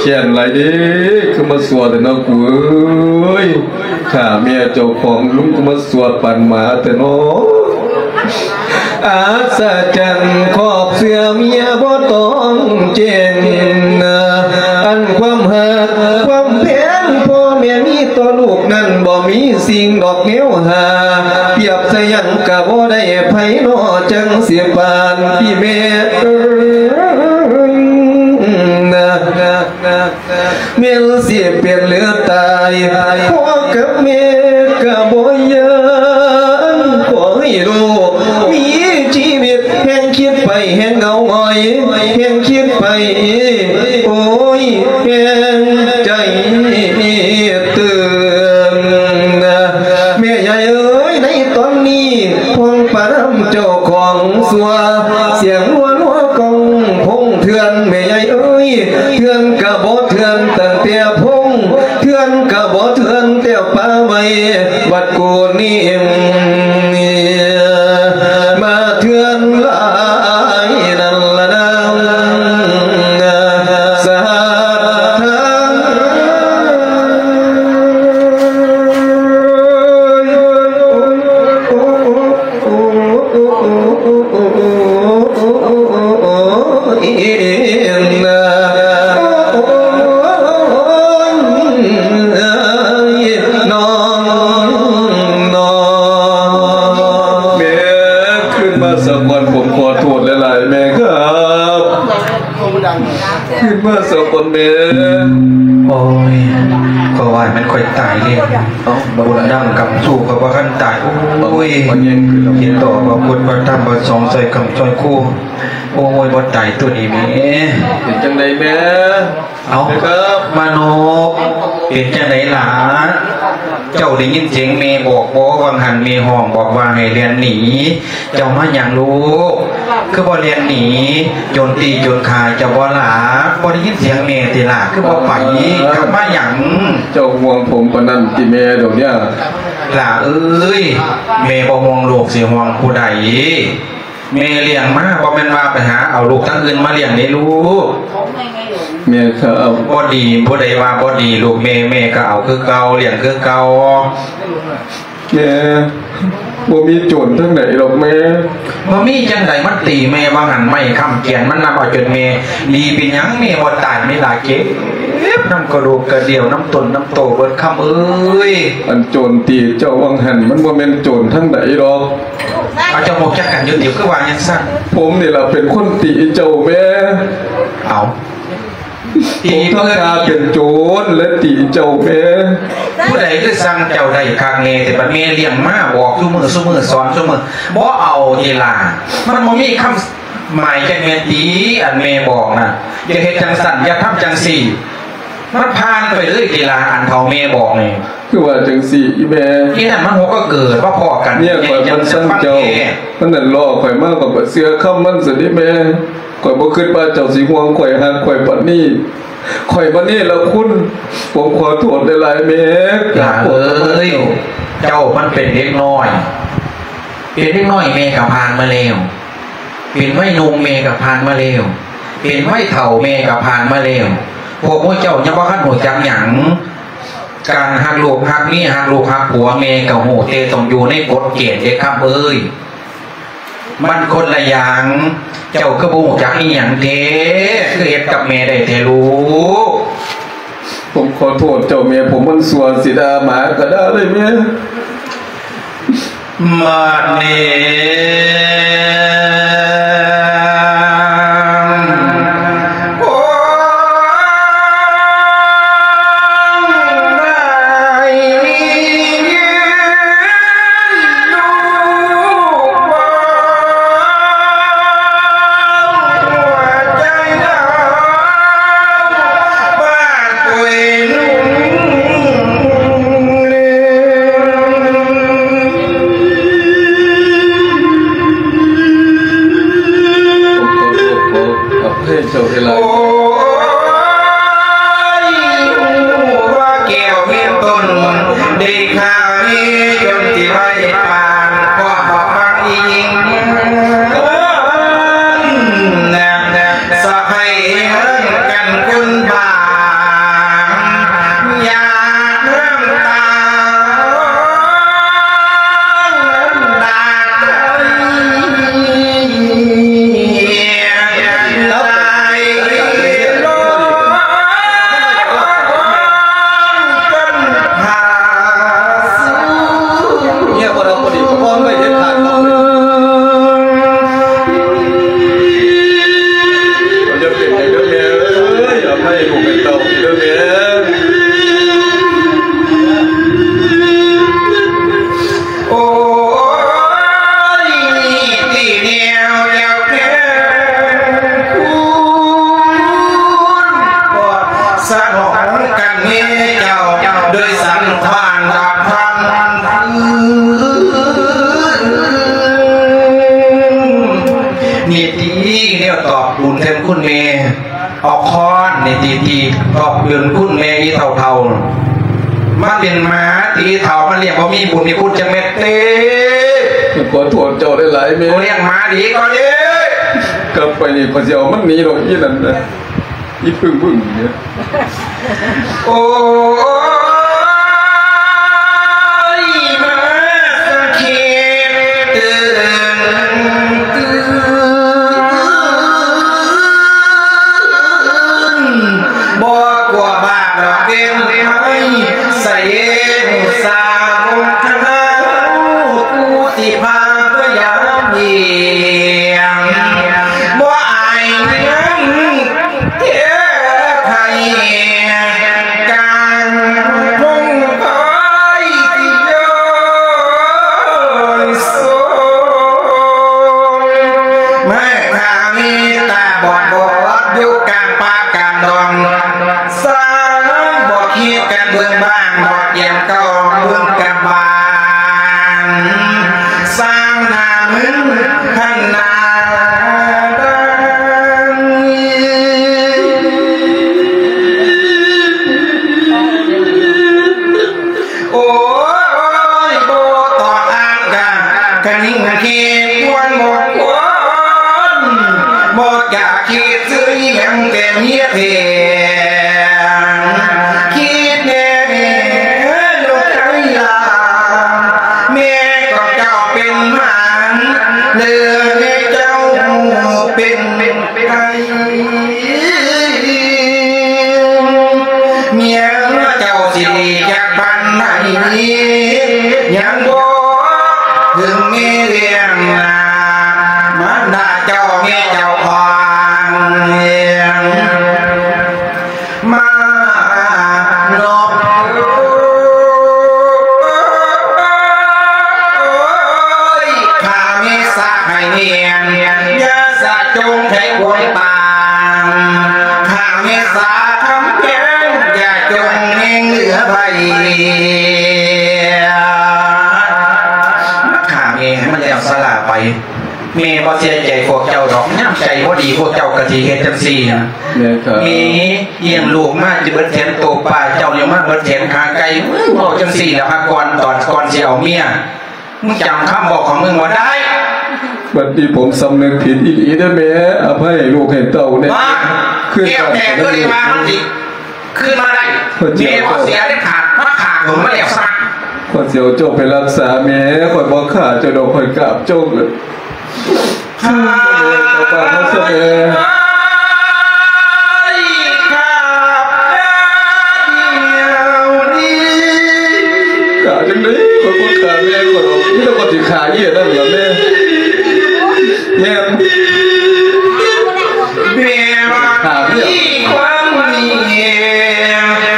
ແຄ້ນຫຼາຍເດ້ ຄືມາຊົ່ວແທ້ເນາະກູເອີຍ ຂ້າແມ່ເຈົ້າຂອງລຸງ ຄືມາຊົ່ວປານໝາແທ້ເນາະ. ອາສະຈັນຂອບເຊື່ອເມຍບໍ່ຕ້ອງແຈ້ງ ອັນຄວາມຮັກຄວາມແພງ ພໍ່ແມ່ມີຕໍ່ລູກນັ້ນ ບໍ່ມີສິ່ງດອກແນວຫາ ປຽບໃສ່ຫຍັງກະບໍ່ໄດ້ໃຜ ເນາະ ຈັ່ງຊິປານທີ່ແມ່ເອີຍນາ. ແມ່ນຊິເປັນຫຼືຕາຍ ພໍ່ກັບແມ່ກະບໍ່ຢ້ານ ຂໍໃຫ້ລູກມີຊີວິດ ແຮ່ງຄິດໄປແຮ່ງເຫງົາຫງອຍ ແຮ່ງຄິດໄປ ໂອ້ຍ ແຮ່ງໃຈຕື່ນນາ. ຊົ່ວ ສຽງຫົວລັວກ້ອງພົງເຖື່ອນ ແມ່ໃຫຍ່ເອີຍ ເຖື່ອນກະບໍ່ເຖື່ອນຕັ້ງແຕ່ພົງ ເຖື່ອນກະບໍ່ເຖື່ອນແຕ່ປ່າໄມ້ ວັດກູນີ ມາເຖື່ອນຫຼາຍນັ້ນລະນາ ສະຫາດທາງ ແມ່ ຄືນມາສາກ່ອນ ຜົມຂໍໂທດຫຼາຍໆ ແມ່ຄັບ. ຄືນມາສາກ່ອນແມ່. ໂອ້ຍ ຂ້ອຍວ່າແມ່ນຂ້ອຍຕາຍແລ້ວ. ເອົ້າ ບຸນນຳກຳຊູ້ຂ້ອຍບໍ່ທັນຕາຍ. ໂອ້ຍ ເຫັນຕໍ່ພະພຸດພະທຳພະສົງ ຊ່ອຍຄ້ຳຊ່ອຍຄູ. ໂອ້ຍ ບໍ່ຕາຍຕົວນີ້ແມ່. ເປັນຈັ່ງໃດແມ່? ເອົ້າ ມາໂນ ເປັນຈັ່ງໃດຫຼານ? ເຈົ້າໄດ້ຍິນສຽງແມ່ບອກບໍ່? ຫວ່າງຫັ້ນແມ່ຮ້ອງບອກວ່າໃຫ້ແລ່ນໜີ. ເຈົ້າມາຫຍັງລູກ? ຄືບໍ່ແລ່ນໜີ? ໂຈນຕີໂຈນຂ້າເຈົ້າບໍ່ລະ? ບໍ່ໄດ້ຍິນສຽງແມ່ຕິລະ? ຄືບໍ່ໄປ? ກັບມາຫຍັງ? ເຈົ້າຫ່ວງຜົມປານນັ້ນຕິແມ່ດຽວນີ້? ຫຼ້າເອີຍ ແມ່ບໍ່ຫ່ວງລູກ ຊິຫ່ວງຜູ້ໃດ? ແມ່ລ້ຽງມາ ບໍ່ແມ່ນວ່າໄປຫາເອົາລູກທາງອື່ນມາລ້ຽງເດ້ລູກ. ແມ່ຄັບ. ບໍ່ດີ ຜູ້ໃດວ່າບໍ່ດີລູກແມ່ ແມ່ກໍເອົາຄືເກົ່າ ລ້ຽງຄືເກົ່າ. ແມ່ ບໍ່ມີໂຈນທາງໃດດອກແມ່. ບໍ່ມີຈັ່ງໃດ ມັນຕີແມ່ວ່າຫັ້ນ ໄມ້ຄ້ຳກຽນມັນນຳເອົາຈົນແມ່. ດີເປັນຫຍັງແມ່ບໍ່ຕາຍ ແມ່ລະເຈັບນຳກະດູກກະດຽວ ນຳຕົນນຳໂຕເບິດ ຄຳເອີຍ. ອັນໂຈນຕີເຈົ້າວ່າງຫັ້ນ ມັນບໍ່ແມ່ນໂຈນທາງໃດດອກ. ເອົາ ເຈົ້າຮູ້ຈັກກັນຢູ່ຕິ ຄືວ່າຈັ່ງຊັ້ນ? ຜົມນີ້ລະເປັນຄົນຕີເຈົ້າແມ່. ເອົາ ຕີເພິ່ນ ຜົມທຳທ່າເປັນໂຈນ ແລະ ຕີເຈົ້າແມ່. ຜູ້ໃດຄືສັ່ງເຈົ້າໄດ້ຄັກແນ່ແຕ່ ບັດແມ່ລ້ຽງມາ ບອກຊຸມື້ ຊຸມື້ ສອນຊຸມື້ ບໍ່ເອົາຕິລະ? ມັນບໍ່ມີຄຳໝາຍຈັກແມ່ນຕິ ອັນແມ່ບອກນະ ຢ່າເຮັດຈັ່ງຊັ້ນ ຢ່າທຳຈັ່ງຊີ້. ມັນຜ່ານໄປເລີຍຕິລະ ອັນເຖົ້າແມ່ບອກນີ້. ຄືວ່າຈັ່ງຊີ້ອີແມ່? ອີນັ້ນມັນຫົວກໍເກີດມາພໍ້ກັນ ເມຍຂ້ອຍມັນຊັງເຈົ້າ. ມັນນັ້ນລໍ້ຂ້ອຍມາ ຂ້ອຍບໍ່ເຊື່ອຄຳມັນຊັ້ນເດ້ແມ່. ຂ້ອຍບໍ່ຄິດວ່າເຈົ້າຊິຫ່ວງຂ້ອຍ ຮັກຂ້ອຍປານນີ້. ຂ້ອຍມາເນລະຄຸນ ຜົມຂໍໂທດຫຼາຍໆແມ່. ຫຼ້າເອີຍ ເຈົ້າມັນເປັນເດັກນ້ອຍ ເປັນເດັກນ້ອຍແມ່ກໍຜ່ານມາແລ້ວ. ເປັນໄວໜຸ່ມແມ່ກໍຜ່ານມາແລ້ວ. ເປັນໄວເຖົ້າແມ່ກໍຜ່ານມາແລ້ວ. ພວກໝູ່ເຈົ້າຍັງບໍ່ທັນຮູ້ຈັກຫຍັງ. ການຮັກລູກຮັກເມຍ ຮັກລູກຮັກຜົວ ແມ່ກໍຮູ້ ແຕ່ຕ້ອງຢູ່ໃນກົດເກນເດ້ຄຳເອີຍ. ມັນຄົນລະຢ່າງ. ເຈົ້າຄືບໍ່ຮູ້ຈັກອີຫຍັງແທ້ ຄືເຮັດກັບແມ່ໄດ້ແທ້ລູກ? ຜົມຂໍໂທດເຈົ້າແມ່ ຜົມມັນຊົ່ວ ຊິດ່າໝາກໍດ່າເລີຍແມ່. ມາເນ ເປັນຄຸນແມ່ ເອົາຄ້ອນນີ້ຕີໆ ຕອບເປັນຄຸນແມ່ອີເຖົ້າໆ ມັນເປັນໝາຕີເຖົ້າ ມັນລ້ຽງບໍ່ມີບຸນມີຄຸນຈັກເມັດເດ້. ຂ້ອຍຂໍໂທດເຈົ້າຫຼາຍໆ ແມ່. ກູລ້ຽງໝາດີກ່ອນເດ້. ກັບໄປນີ້ຂ້ອຍຊິເອົາມັນໜີດອກ ອີນັ້ນນະ ອີປຶ້ງໆນີ້. ໂອ້ຍ ມາສັງເຂດຕື່ນ ຕື່ນ ບໍ່ກົວບາບດອກເວັນໄພ ສະເຫດມຸສາວົງຄະນາ ກູຊິພາພະຍາມເຫຍງ ບໍ່ອາຍເໜືອ ເທໄທກາງພົງໄພທີ່ຍ້ອນສົມ ແມ່ຂ້າມີຕາບອດບອດຢູ່ກາງປ່າກາງດອງ ສາງບໍ່ຄິດກັນເບິ່ງບ້າງ ບໍ່ກຽມເກົ່າເບິ່ງກັບບ້ານ ສ້າງໜ້າມຶງ ຄັນນາດານ ໂອ້ຍ ບໍ່ຕ້ອງອ້າງການ ກະນິງກະເກກວນບໍ່ຄວນ ບໍ່ຈະຄິດຊື້ຫຍັງແຕ່ເມຍແພງ ຄິດແນ່ແມ່ລູກໄທລາ ແມ່ຂອງເຈົ້າເປັນໝານ ຫຼືແມ່ເຈົ້າເປັນໄກ່ ເມຍເຈົ້າຊິດີຈັກປານໃດ ຍັງບໍ່ເຖິງແມ່ລ້ຽງນາ ມານດາເຈົ້າແມ່ເຈົ້າຂອງ ມານອກ ໂອ້ຍ ຂ້າເມສາໃຫ້ແມ່ນ ຢ່າສະຈົງໃຫ້ຄວາມປານ ຂ້າເມສາຄຳແພງ ຢ່າຈົງແຮງເຫຼືອໄພ ຂ້າແມ່ໃຫ້ມັນແລ້ວສາລາໄປ. ແມ່ບໍ່ເສຍໃຈພວກເຈົ້າດອກ ຍາມໃຈບໍ່ດີພວກເຈົ້າກໍຊິເຮັດຈັ່ງຊີ້ນະ ແມ່ ລ້ຽງລູກມາຈະເບິດແຂນໂຕປາ ເຈົ້າຍັງມາເບິດແຂນຂາໄກ່ ເວົ້າຈັ່ງຊີ້ລະ ຫາກ່ອນຕອນກ່ອນຊິເອົາເມຍ ມຶງຈຳຄຳເວົ້າຂອງມຶງບໍ່ໄດ້. ບັດນີ້ຜົມສຳນຶກຜິດອີ່ຫຼີເດີແມ່ ອະໄພໃຫ້ລູກໃຫ້ເຕົ້າແດ່ ຄືນມາ ແກ້ວແຕກເລີຍວ່າມັນຊິ ຄືນມາໄດ້ ແມ່ບໍ່ເສຍເດັດຂາດ ມາຂ້າຜົມມາແລ້ວຊະ. ຂ້ອຍຊິເອົາເຈົ້າໄປຮັກສາແມ່ ຂ້ອຍບໍ່ຂ້າເຈົ້າດອກ ຂ້ອຍກາບເຈົ້າເກີດ ຄືນມາເລີຍເຈົ້າບ້ານເຮົາຊະແມ່. ຂ້າດຽວນີ້ ຂ້າຈັ່ງໃດ ຂ້ອຍບໍ່ຂ້າແມ່ຂ້ອຍດອກ ມີແຕ່ຂ້ອຍຊິຂ້າອີ່ນັ້ນລະແມ່ ແມ່ນ. ແມ່ວ່າມີຄວາມເມ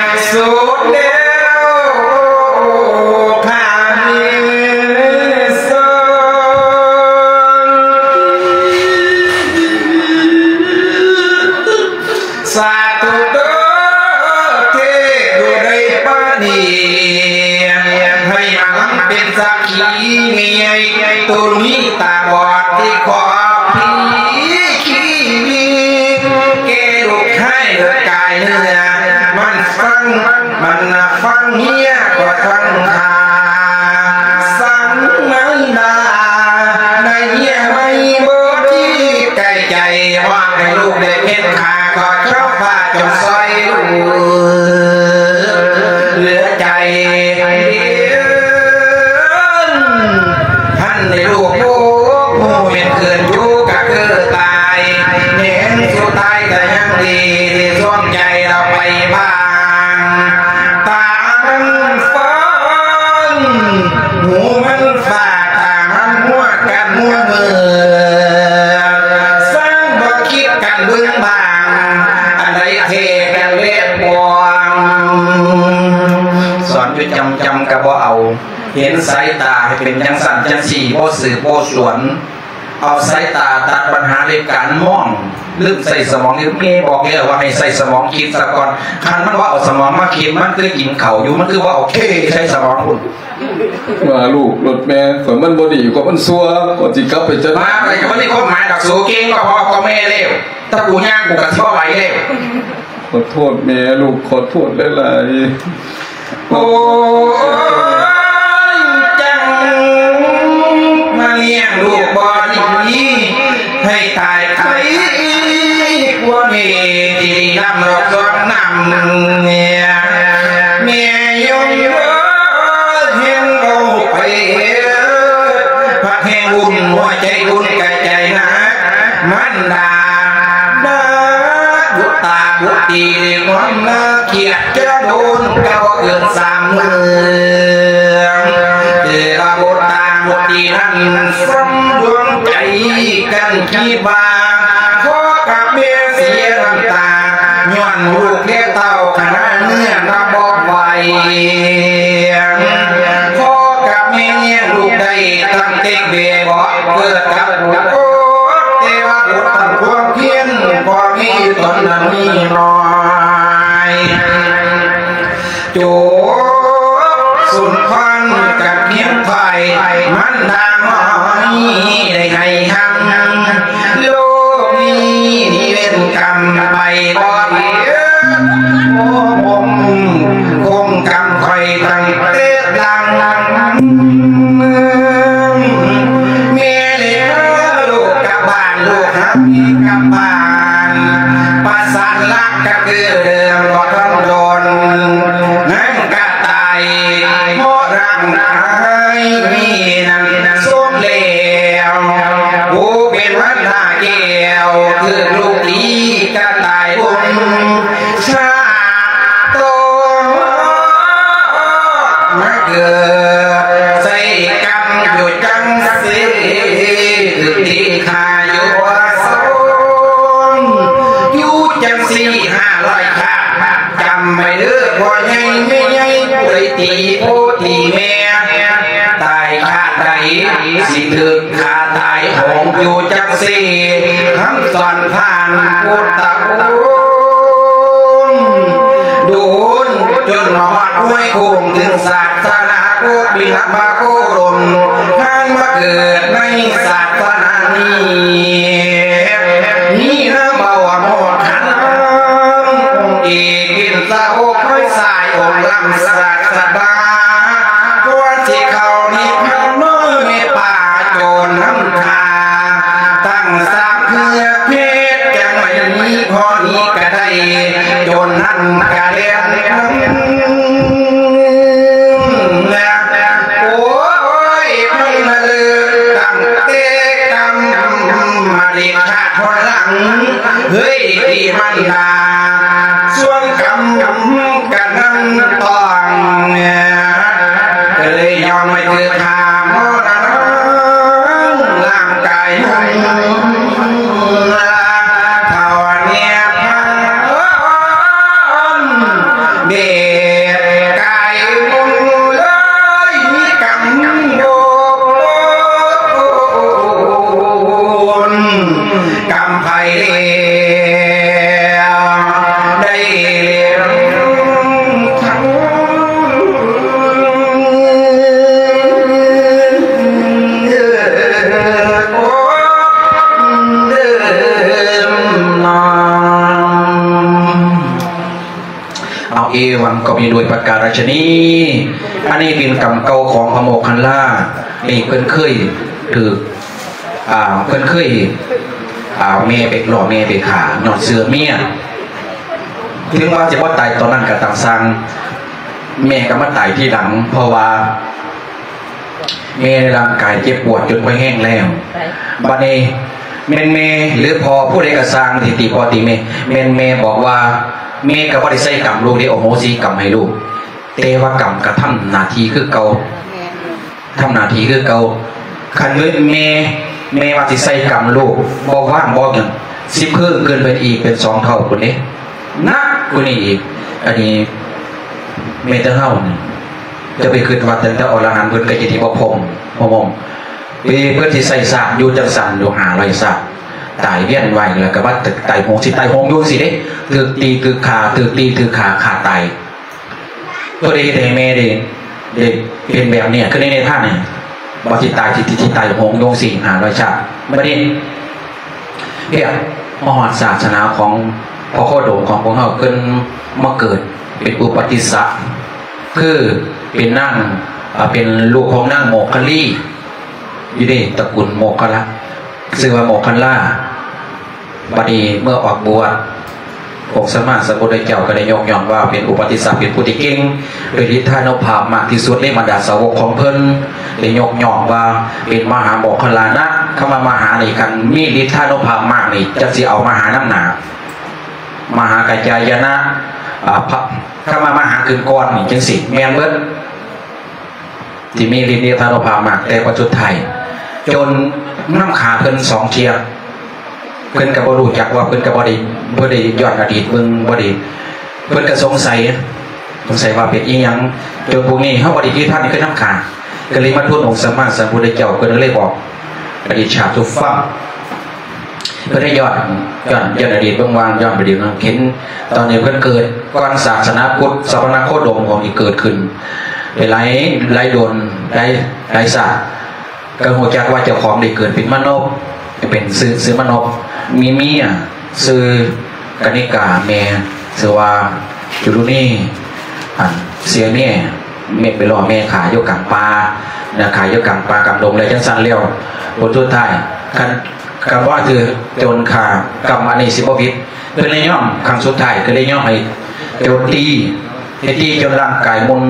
ດສຸດແລ້ວ ຂ້າມີສອງ ສາທຸເດີ ເທວະໄດ້ປານີ ໃຫ້ມາເປັນສັກ ທີ່ແມ່ໃຫຍ່ໂຕນີ້ຕາບອດທີ່ຂອບທີ່ຂີ້ແກ່ລູກຊາຍເລີດກາຍເນື້ອ ມັນຟັງ ມັນນະຟັງເມຍກໍຟັງຂ້າ ສັງມານດາ ໃນເມຍໃໝ່ບໍ່ທີ່ໃກ້ໃຈ ວ່າໃຫ້ລູກໄດ້ເຮັດຂ້າ ຂໍເຈົ້າພາຈົ່ງຊ່ອຍເຫຼືອໃຈ ຫັ້ນໃຫ້ລູກຮູ້ ຜູ້ເປັນເຂື່ອນຢູ່ກໍຄືຕາຍ ແມ່ນສຸດທ້າຍກໍຍັງດີ ທີ່ຊ່ວງໃຈລາວໄປບ້ານ ຕາມັນຟານ ຫູມັນຟາດ ຕາມັນຫົວກັນຫົວເມືອ ຊ່າງບໍ່ຄິດກັນເບິ່ງບາງ ອັນໃດເທກັນເລັບບອງ ສອນຢູ່ຈຳໆກໍບໍ່ເອົາ ເຫັນສາຍຕາໃຫ້ເປັນຈັ່ງຊັ້ນຈັ່ງຊີ້ ບໍ່ສືບບໍ່ສວນ ເອົາສາຍຕາຕັດບັນຫາດ້ວຍການມອງ ລືມໃຊ້ສະໝອງ. ແມ່ບອກແລ້ວວ່າໃຫ້ໃຊ້ສະໝອງຄິດສາກ່ອນ ຄັນມັນບໍ່ເອົາສະໝອງມາຄິດ ມັນຄືກິນເຂົ້າຢູ່ ມັນຄືບໍ່ເອົາເຄໃສ່ສະໝອງພຸ້ນ. ວ່າລູກລົດແມ່ ຂ້ອຍມັນບໍ່ດີ ຂ້ອຍມັນຊົ່ວ ຂ້ອຍຊິກັບໄປຈັດ ມາໄປກໍບໍ່ມີຄວາມໝາຍດອກ ສູເກັ່ງກໍພໍກໍແມ່ແລ້ວ. ຖ້າກູຍ່າງກູກໍຊິບໍ່ໄຫວແລ້ວ. ຂໍໂທດແມ່ລູກ ຂໍໂທດຫຼາຍໆ. ໂອ້ຍ ຈັ່ງມາລ້ຽງລູກບໍ່ດີ ໃຫ້ຕາຍໄຄກວ່າແມ່ທີ່ນຳດອກສອງນຳ. ແມ່ຍົມເອີຍ ເຫັນເວົ້າໄປ ພັກແຮງອຸ່ນຫົວໃຈ ອຸ່ນກະໃຈໜັກ ມັນດາ ນາບຸດຕາບຸດຕີ ຄວາມນາຄຽດຈະໂດນ ເຈົ້າເກີດສາມເມືອງ ເທວະບຸດຕາບຸດຕີນັ້ນ ສົມດວງໃຈກັນຄິດວ່າ ພໍ່ກັບແມ່ເສຍນ້ຳຕາ ຍ້ອນລູກແລະເຕົ້າຂະໜາດເນື້ອນະບໍ່ໄຫວ. ພໍ່ກັບແມ່ລ້ຽງລູກໄດ້ຕັ້ງແຕ່ແບເບາະ ເກີດກັບບຸດ ແຕ່ວ່າອົດທົນຄວາມພຽນ ພໍມີຢູ່ຕົນນັ້ນມີໜ້ອຍ. ຈົບສົມພອນກັບຮຽນໄພ ມັນດານ້ອຍໄດ້ໃຫ້ຮັງ ໂລກນີ້ມີເວນກຳໄປບໍ່ເຫັນ ໂອ້ ຄົງກຳຂ້ອຍຕັ້ງແຕ່ຫຼັງ ແມ່ເລີຍພາລູກກັບບ້ານ ລູກຫາແມ່ກັບບ້ານ ປະສານລັກກະຄືເດີມບໍ່ທັນດົນ ນາງກະຕາຍ ເພາະຮ່າງກາຍນັ້ນສົມແລ້ວ ຜູ້ເປັນພັນດາແກ້ວ ຖືກລູກຕີກະຕາຍບຸນ ຊາດຕໍ່ມາເກີດໃສ່ກຳຢູ່ຈັ່ງຊີ້ ຖືກຕີຂ້າຢູ່ສອງ ຢູ່ຈັ່ງຊີ້ຫ້າຮ້ອຍຊາດ. ຈຳໄວ້ເດີພໍ່ໃຫຍ່ແມ່ໃຫຍ່ ຜູ້ໃດຕີພໍ່ຕີແມ່ ຕາຍຊາດໃດຊິຖືກ ຂ້າຕາຍໂຫງຢູ່ຈັກຊີ້ ຄຳສອນຜ່ານພຸດທະອົງ ໂດນຈົນມາຮອດຫ້ວຍໂຂງ ເຖິງສາສະໜາພຸດ ວິນະມະໂຄດົມ ທ່ານມາເກີດໃນສາສະໜານີ້ ມີນາມວ່າໂມກຂັນ ອົງເອກ ເປັນສາວົກ ຄອຍສາຍອົງລ້ຳສາສະດາ ກ່ອນຊິເຂົ້ານິບພານ ນ້ອຍແມ່ປ່າໂຈນນຳຂ້າ ຕັ້ງສາມເທື່ອເພດ ຈັ່ງໄດ້ມີພໍນີ້ກະໄດ້ ໂຈນນັ້ນກະແລ່ນນຳ ໂອ້ຍ ເພິ່ນລະເລີກຕັ້ງແຕ່ກຳມະເດັດຂາດ ຄົນຫຼັງ ເຮີ້ຍ ທີ່ມັນດາ ສ່ວນກຳກະນຳຕ້ອງ ກະເລີຍຍອມໃຫ້ຖືກຂ້າມໍລະນາງ ຮ່າງກາຍມັນເທົ່າແນວພານ ເດັດກາຍບຸນເລີຍ ມີກຳໂດນ ກຳໄພໄດ້ເລັບທັງເດີມນອງ. ເອົາ ເອວັງກໍມີດ້ວຍປະການລັດຊະນີ. ອັນນີ້ເປັນກຳເກົ່າຂອງພະໂມກຄັນລາ ນີ້ເພິ່ນເຄີຍຖືກ ອ່າ ເພິ່ນເຄີຍ ອ່າ ແມ່ໄປ ລໍ້ແມ່ໄປຂ້າຍ້ອນເຊື່ອເມຍ ເຖິງວ່າຊິບໍ່ຕາຍຕອນນັ້ນກໍຕາມຊ່າງ ແມ່ກໍມາຕາຍທີຫຼັງ ເພາະວ່າ ແມ່ຮ່າງກາຍເຈັບປວດຈົນບໍ່ແຮງແລ້ວ ບັດນີ້ແມ່ນແມ່ ຫຼື ພໍ່ຜູ້ໃດກໍຊ່າງທີ່ຕີພໍ່ຕີແມ່ ແມ່ນແມ່ບອກວ່າ ແມ່ກໍບໍ່ໄດ້ໃສ່ກຳລູກເດ້ ອະໂຫສິກຳໃຫ້ລູກ ແຕ່ວ່າກຳກໍທຳໜ້າທີ່ຄືເກົ່າ ທຳໜ້າທີ່ຄືເກົ່າ. ຄັນເງິນແມ່ ແມ່ວ່າຊິໃສ່ກຳລູກ ບໍ່ວ່າງບໍ່ຫຍັງ ຊິເພີ່ມຂຶ້ນເປັນອີກເປັນສອງເທົ່າພຸ້ນເດ້ ໜັກກວ່ານີ້ອີກ. ອັນນີ້ແມ່ນແຕ່ເຮົານີ້ ຈະໄປຄິດວ່າຕັ້ງແຕ່ອະລະຫັນເພິ່ນກໍຈະທີ່ບໍ່ພົມ ບໍ່ມົມ ເອີ ເພິ່ນຊິໃຊ້ຊາດຢູ່ຈັ່ງຊັ້ນຢູ່ຫ້າຮ້ອຍຊາດ ຕາຍວຽນວ່າຍ ແລ້ວກໍມາຕາຍໂຫງ ຊິຕາຍໂຫງຢູ່ຊີ້ເດ້ ຖືກຕີຖືກຂ້າ ຖືກຕີຖືກຂ້າ ຂ້າຕາຍ. ເພິ່ນໄດ້ເຮັດໃຫ້ແມ່ໄດ້ ໄດ້ເປັນແບບນີ້ ຄືໃນນິທານນີ້ ວ່າຊິຕາຍ ຊິ ຊິຕາຍໂຫງຢູ່ຊີ້ຫ້າຮ້ອຍຊາດ. ບັດນີ້ ເພຍ ມາຮອດສາສະໜາຂອງພໍ່ໂຄດົມຂອງພວກເຮົາ ເພິ່ນມາເກີດເປັນອຸປະຕິສະ ຄືເປັນນາງ ເປັນລູກຂອງນາງໂມກຄະລີ ຢູ່ໃນຕະກຸນໂມກຄະລະ ຊື່ວ່າໂມກຄະລາ. ບັດນີ້ເມື່ອອອກບວດ ອົງສຳມາສຳພຸດທະເຈົ້າກໍໄດ້ຍົກຍ້ອງວ່າເປັນອຸປະຕິສະ ເປັນຜູ້ທີ່ເກັ່ງ ໂດຍລິດທານຸພາບມາກທີ່ສຸດໃນບັນດາສາວົກຂອງເພິ່ນ ໄດ້ຍົກຍ້ອງວ່າເປັນມະຫາໂມກຄະລານະ. ຄຳວ່າມະຫານີ້ ຄັນມີລິດທານຸພາບມາກນີ້ ຈັກຊິເອົາມະຫານຳໜ້າ ມະຫາກັດຈາຍະນະ ອາ ພະ ຄຳວ່າມະຫາຂຶ້ນກ່ອນນີ້ ຈັ່ງຊີ້ແມ່ນເບິດ ທີ່ມີລິດທານຸພາບມາກ ແຕ່ບັດສຸດທ້າຍຈົນນຳຂ້າເພິ່ນສອງເທື່ອ. ເພິ່ນກໍບໍ່ຮູ້ຈັກວ່າ ເພິ່ນກໍບໍ່ໄດ້ ບໍ່ໄດ້ຍ້ອນອະດີດເບິ່ງ ບໍ່ໄດ້ ເພິ່ນກໍສົງໄສ ສົງໄສວ່າເປັນອີ່ຫຍັງ ຈົນພວກນີ້ເຮົາບໍ່ໄດ້ຕິດພັນຄືນຳຂ້າ ກໍເລີຍມາທູນອົງສຳມາສຳພຸດທະເຈົ້າ. ເພິ່ນກໍເລີຍບອກອະດິດຊາດສູ່ຟັງ ເພິ່ນໄດ້ຍ້ອນ ຍ້ອນ ຍ້ອນອະດີດເບິ່ງວ່າ ຍ້ອນອະດີດເນາະ ເຫັນຕອນນີ້ເພິ່ນເກີດກ່ອນສາສະໜາພຸດ ສະຫະນະໂຄດົມຂອງທີ່ເກີດຂຶ້ນໄປຫຼາຍ ຫຼາຍດົນ ຫຼາຍ ຫຼາຍຊາດ ກໍຮູ້ຈັກວ່າເຈົ້າຂອງໄດ້ເກີດເປັນມະນົບ ເປັນຊື່ ຊື່ມະນົບ ມີເມຍຊື່ກະນິກາ ແມ່ຊື່ວ່າຈຸລຸນີ ອັນເສຍເມຍ ແມ່ໄປລໍ້ແມ່ຂ້າຢູ່ກາງປ່ານະ ຂ້າຢູ່ກາງປ່າກາງດົງ ແລ້ວຈັ່ງຊັ້ນແລ້ວ ຜົນສຸດທ້າຍ ຄັນ ກຳວ່າຖືກໂຈນຂ້າ ກຳອັນນີ້ຊິບໍ່ຜິດ ເພິ່ນເລີຍຍອມ ຄັ້ງສຸດທ້າຍກໍເລີຍຍອມໃຫ້ໂຈນຕີ ໃຫ້ຕີຈົນຮ່າງກາຍໝຸ່ນ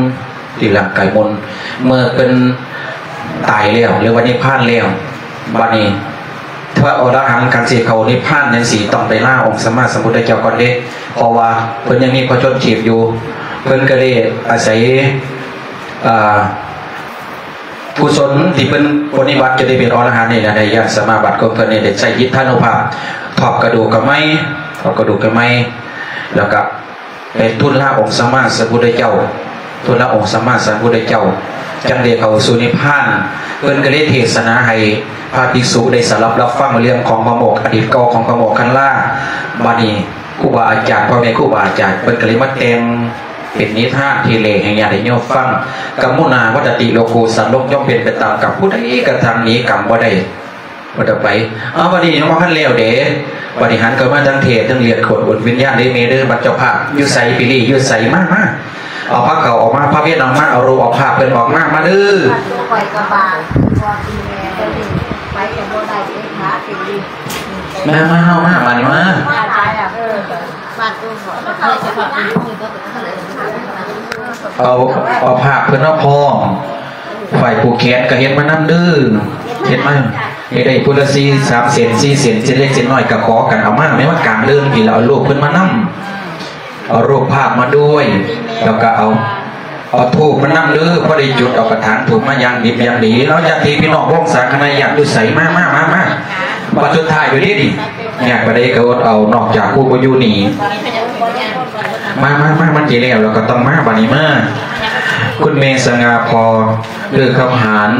ຕີຮ່າງກາຍໝຸ່ນ ເມື່ອເພິ່ນຕາຍແລ້ວ ຫຼືວ່ານິບພານແລ້ວ ບັດນີ້ພະອໍລະຫັນ ຄັນຊິເຂົ້ານິບພານຈັ່ງຊີ້ ຕ້ອງໄປລາອົງສຳມາສຳພຸດທະເຈົ້າກ່ອນເດ້ ເພາະວ່າເພິ່ນຍັງມີພະຊົນຊີບຢູ່ ເພິ່ນກໍເລີຍອາໄສ ອາ ກຸສົນທີ່ເພິ່ນປະຕິບັດຈົນໄດ້ເປັນອໍລະຫັນນີ້ນະ ໄດ້ຍາດສະມາບັດຂອງເພິ່ນນີ້ ໄດ້ໃຊ້ອິດທານຸພາບຖອກກະດູກກະໄມ ຖອກກະດູກກະໄມ ແລ້ວກະໄປທູນລາອົງສຳມາສຳພຸດທະເຈົ້າ ທູນລາອົງສຳມາສຳພຸດທະເຈົ້າ ຈັ່ງໄດ້ເຂົ້າສູ່ນິບພານ. ເພິ່ນກໍເລີຍເທດສະໜາໃຫ້ພະພິກສຸໄດ້ສະດັບຮັບຟັງເລື່ອງຂອງພະໂມກ ອະດີດເກົ່າຂອງພະໂມກຄັນລາ. ບັດນີ້ຄູບາອາຈານ ພໍ່ແມ່ຄູບາອາຈານ ເພິ່ນກໍເລີຍມາແຕ່ງ ເປັນນິທານທີ່ເລົ່າໃຫ້ຍາດໃຫ້ໂຍມຟັງ. ກຳມຸນາວັດຕະຕິໂລໂກ ສັດໂລກຍ່ອມເປັນໄປຕາມກຳ ຜູ້ໃດກະທຳໜີກຳບໍ່ໄດ້ ບໍ່ໄດ້ໄປ. ເອົາ ບັດນີ້ຍັງບໍ່ທັນແລ້ວເດ້ ບັດນີ້ຫັນເຂົ້າມາທາງເທດ ທັງເລືອດ ຂົນ ອຸ່ນ ວິນຍານເດ້ແມ່ເດີ ບັດເຈົ້າພາບຢູ່ໃສ ປີລີຢູ່ໃສ ມາ ມາ ເອົາພາເຂົ້າອອກມາ ພາເວດອອກມາ ເອົາໂລກອອກພາບເພິ່ນອອກມາ ມາເດີ. ມາ ມາ ເຮົາມາ ມານີ້ມາ ເອົາ ເອົາພາບເພິ່ນມາພ້ອມ ຝ່າຍຜູກແຂນກໍເຮັດມານຳເດີ ເຮັດມາ ເຮັດໄດ້ຜູ້ລະສີ່ ສາມເສັ້ນ ສີ່ເສັ້ນ ເສັ້ນເລັກເສັ້ນນ້ອຍກໍຂໍກັນເອົາມາ ແມ່ນວ່າກາງເດີ່ນພີ້ລະ ເອົາຮູບເພິ່ນມານຳ ເອົາຮູບພາບມາດ້ວຍ ແລ້ວກໍເອົາ ເອົາທູບມານຳເດີ ພໍໄດ້ຈຸດເອົາກະຖາງທູບມາຢ່າງດິບຢ່າງດີເນາະ ຍາດຕິພີ່ນ້ອງວົງສາຄະນະຍາດຢູ່ໃສ ມາ ມາ ມາ ມາ ບັດສຸດທ້າຍຢູ່ເດ້ນີ້ ຍາກປານໃດກໍອົດເອົາ ນອກຈາກຜູ້ບໍ່ຢູ່ນີ້ ມາ ມາ ມາ ມັນຊິແລ້ວ ແລ້ວກໍຕ້ອງມາ ບັດນີ້ມາ ຄຸນແມ່ສະຫງ່າ ພໍ່ເລີກຄຳຫານ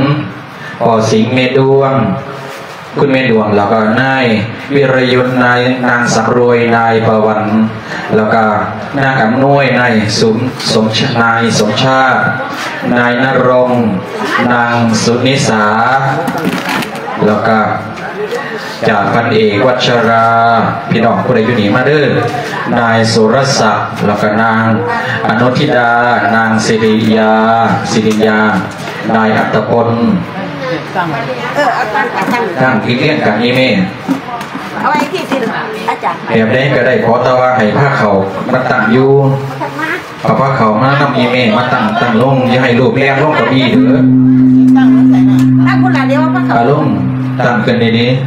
ພໍ່ສິງ ແມ່ດວງ ຄຸນແມ່ດວງ ແລ້ວກໍນາຍວິລະຍຸດ ນາຍ ນາງສຳລວຍ ນາຍປະວັນ ແລ້ວກໍນາງອຳນວຍ ນາຍສົມ ສົມ ນາຍສົມຊາດ ນາຍນະລົງ ນາງສຸນິສາ ແລ້ວກໍຈາກພັນເອກວັດຊະລາ ພີ່ນ້ອງຜູ້ໃດຢູ່ນີ້ມາເດີ ນາຍສຸລະສັກ ແລ້ວກໍນາງອະນຸທິດາ ນາງສິລິຍາ ສິລິຍາ ນາຍອັດຕະພົນ ເອີ ເອົາຕັ້ງ ຕັ້ງ ຕັ້ງ ຕັ້ງ ຕັ້ງ ທີ່ລຽງກັນນີ້ແມ່ ເອົາໄວ້ທີ່ ທີ່ອາຈານ ແບບໃດກໍໄດ້ ຂໍແຕ່ວ່າໃຫ້ພາເຂົ້າມາຕັ້ງຢູ່ ເອົາພາເຂົ້າມານຳອີ່ແມ່ ມາຕັ້ງ ຕັ້ງລົງ ຢ່າໃຫ້ລູກແລ່ນລົງເກົ້າอี้ເດີ ຕັ້ງພຸ້ນລະ ດຽວເອົາພາເຂົ້າ ອາລົງ ຕັ້ງຂຶ້ນດີໆ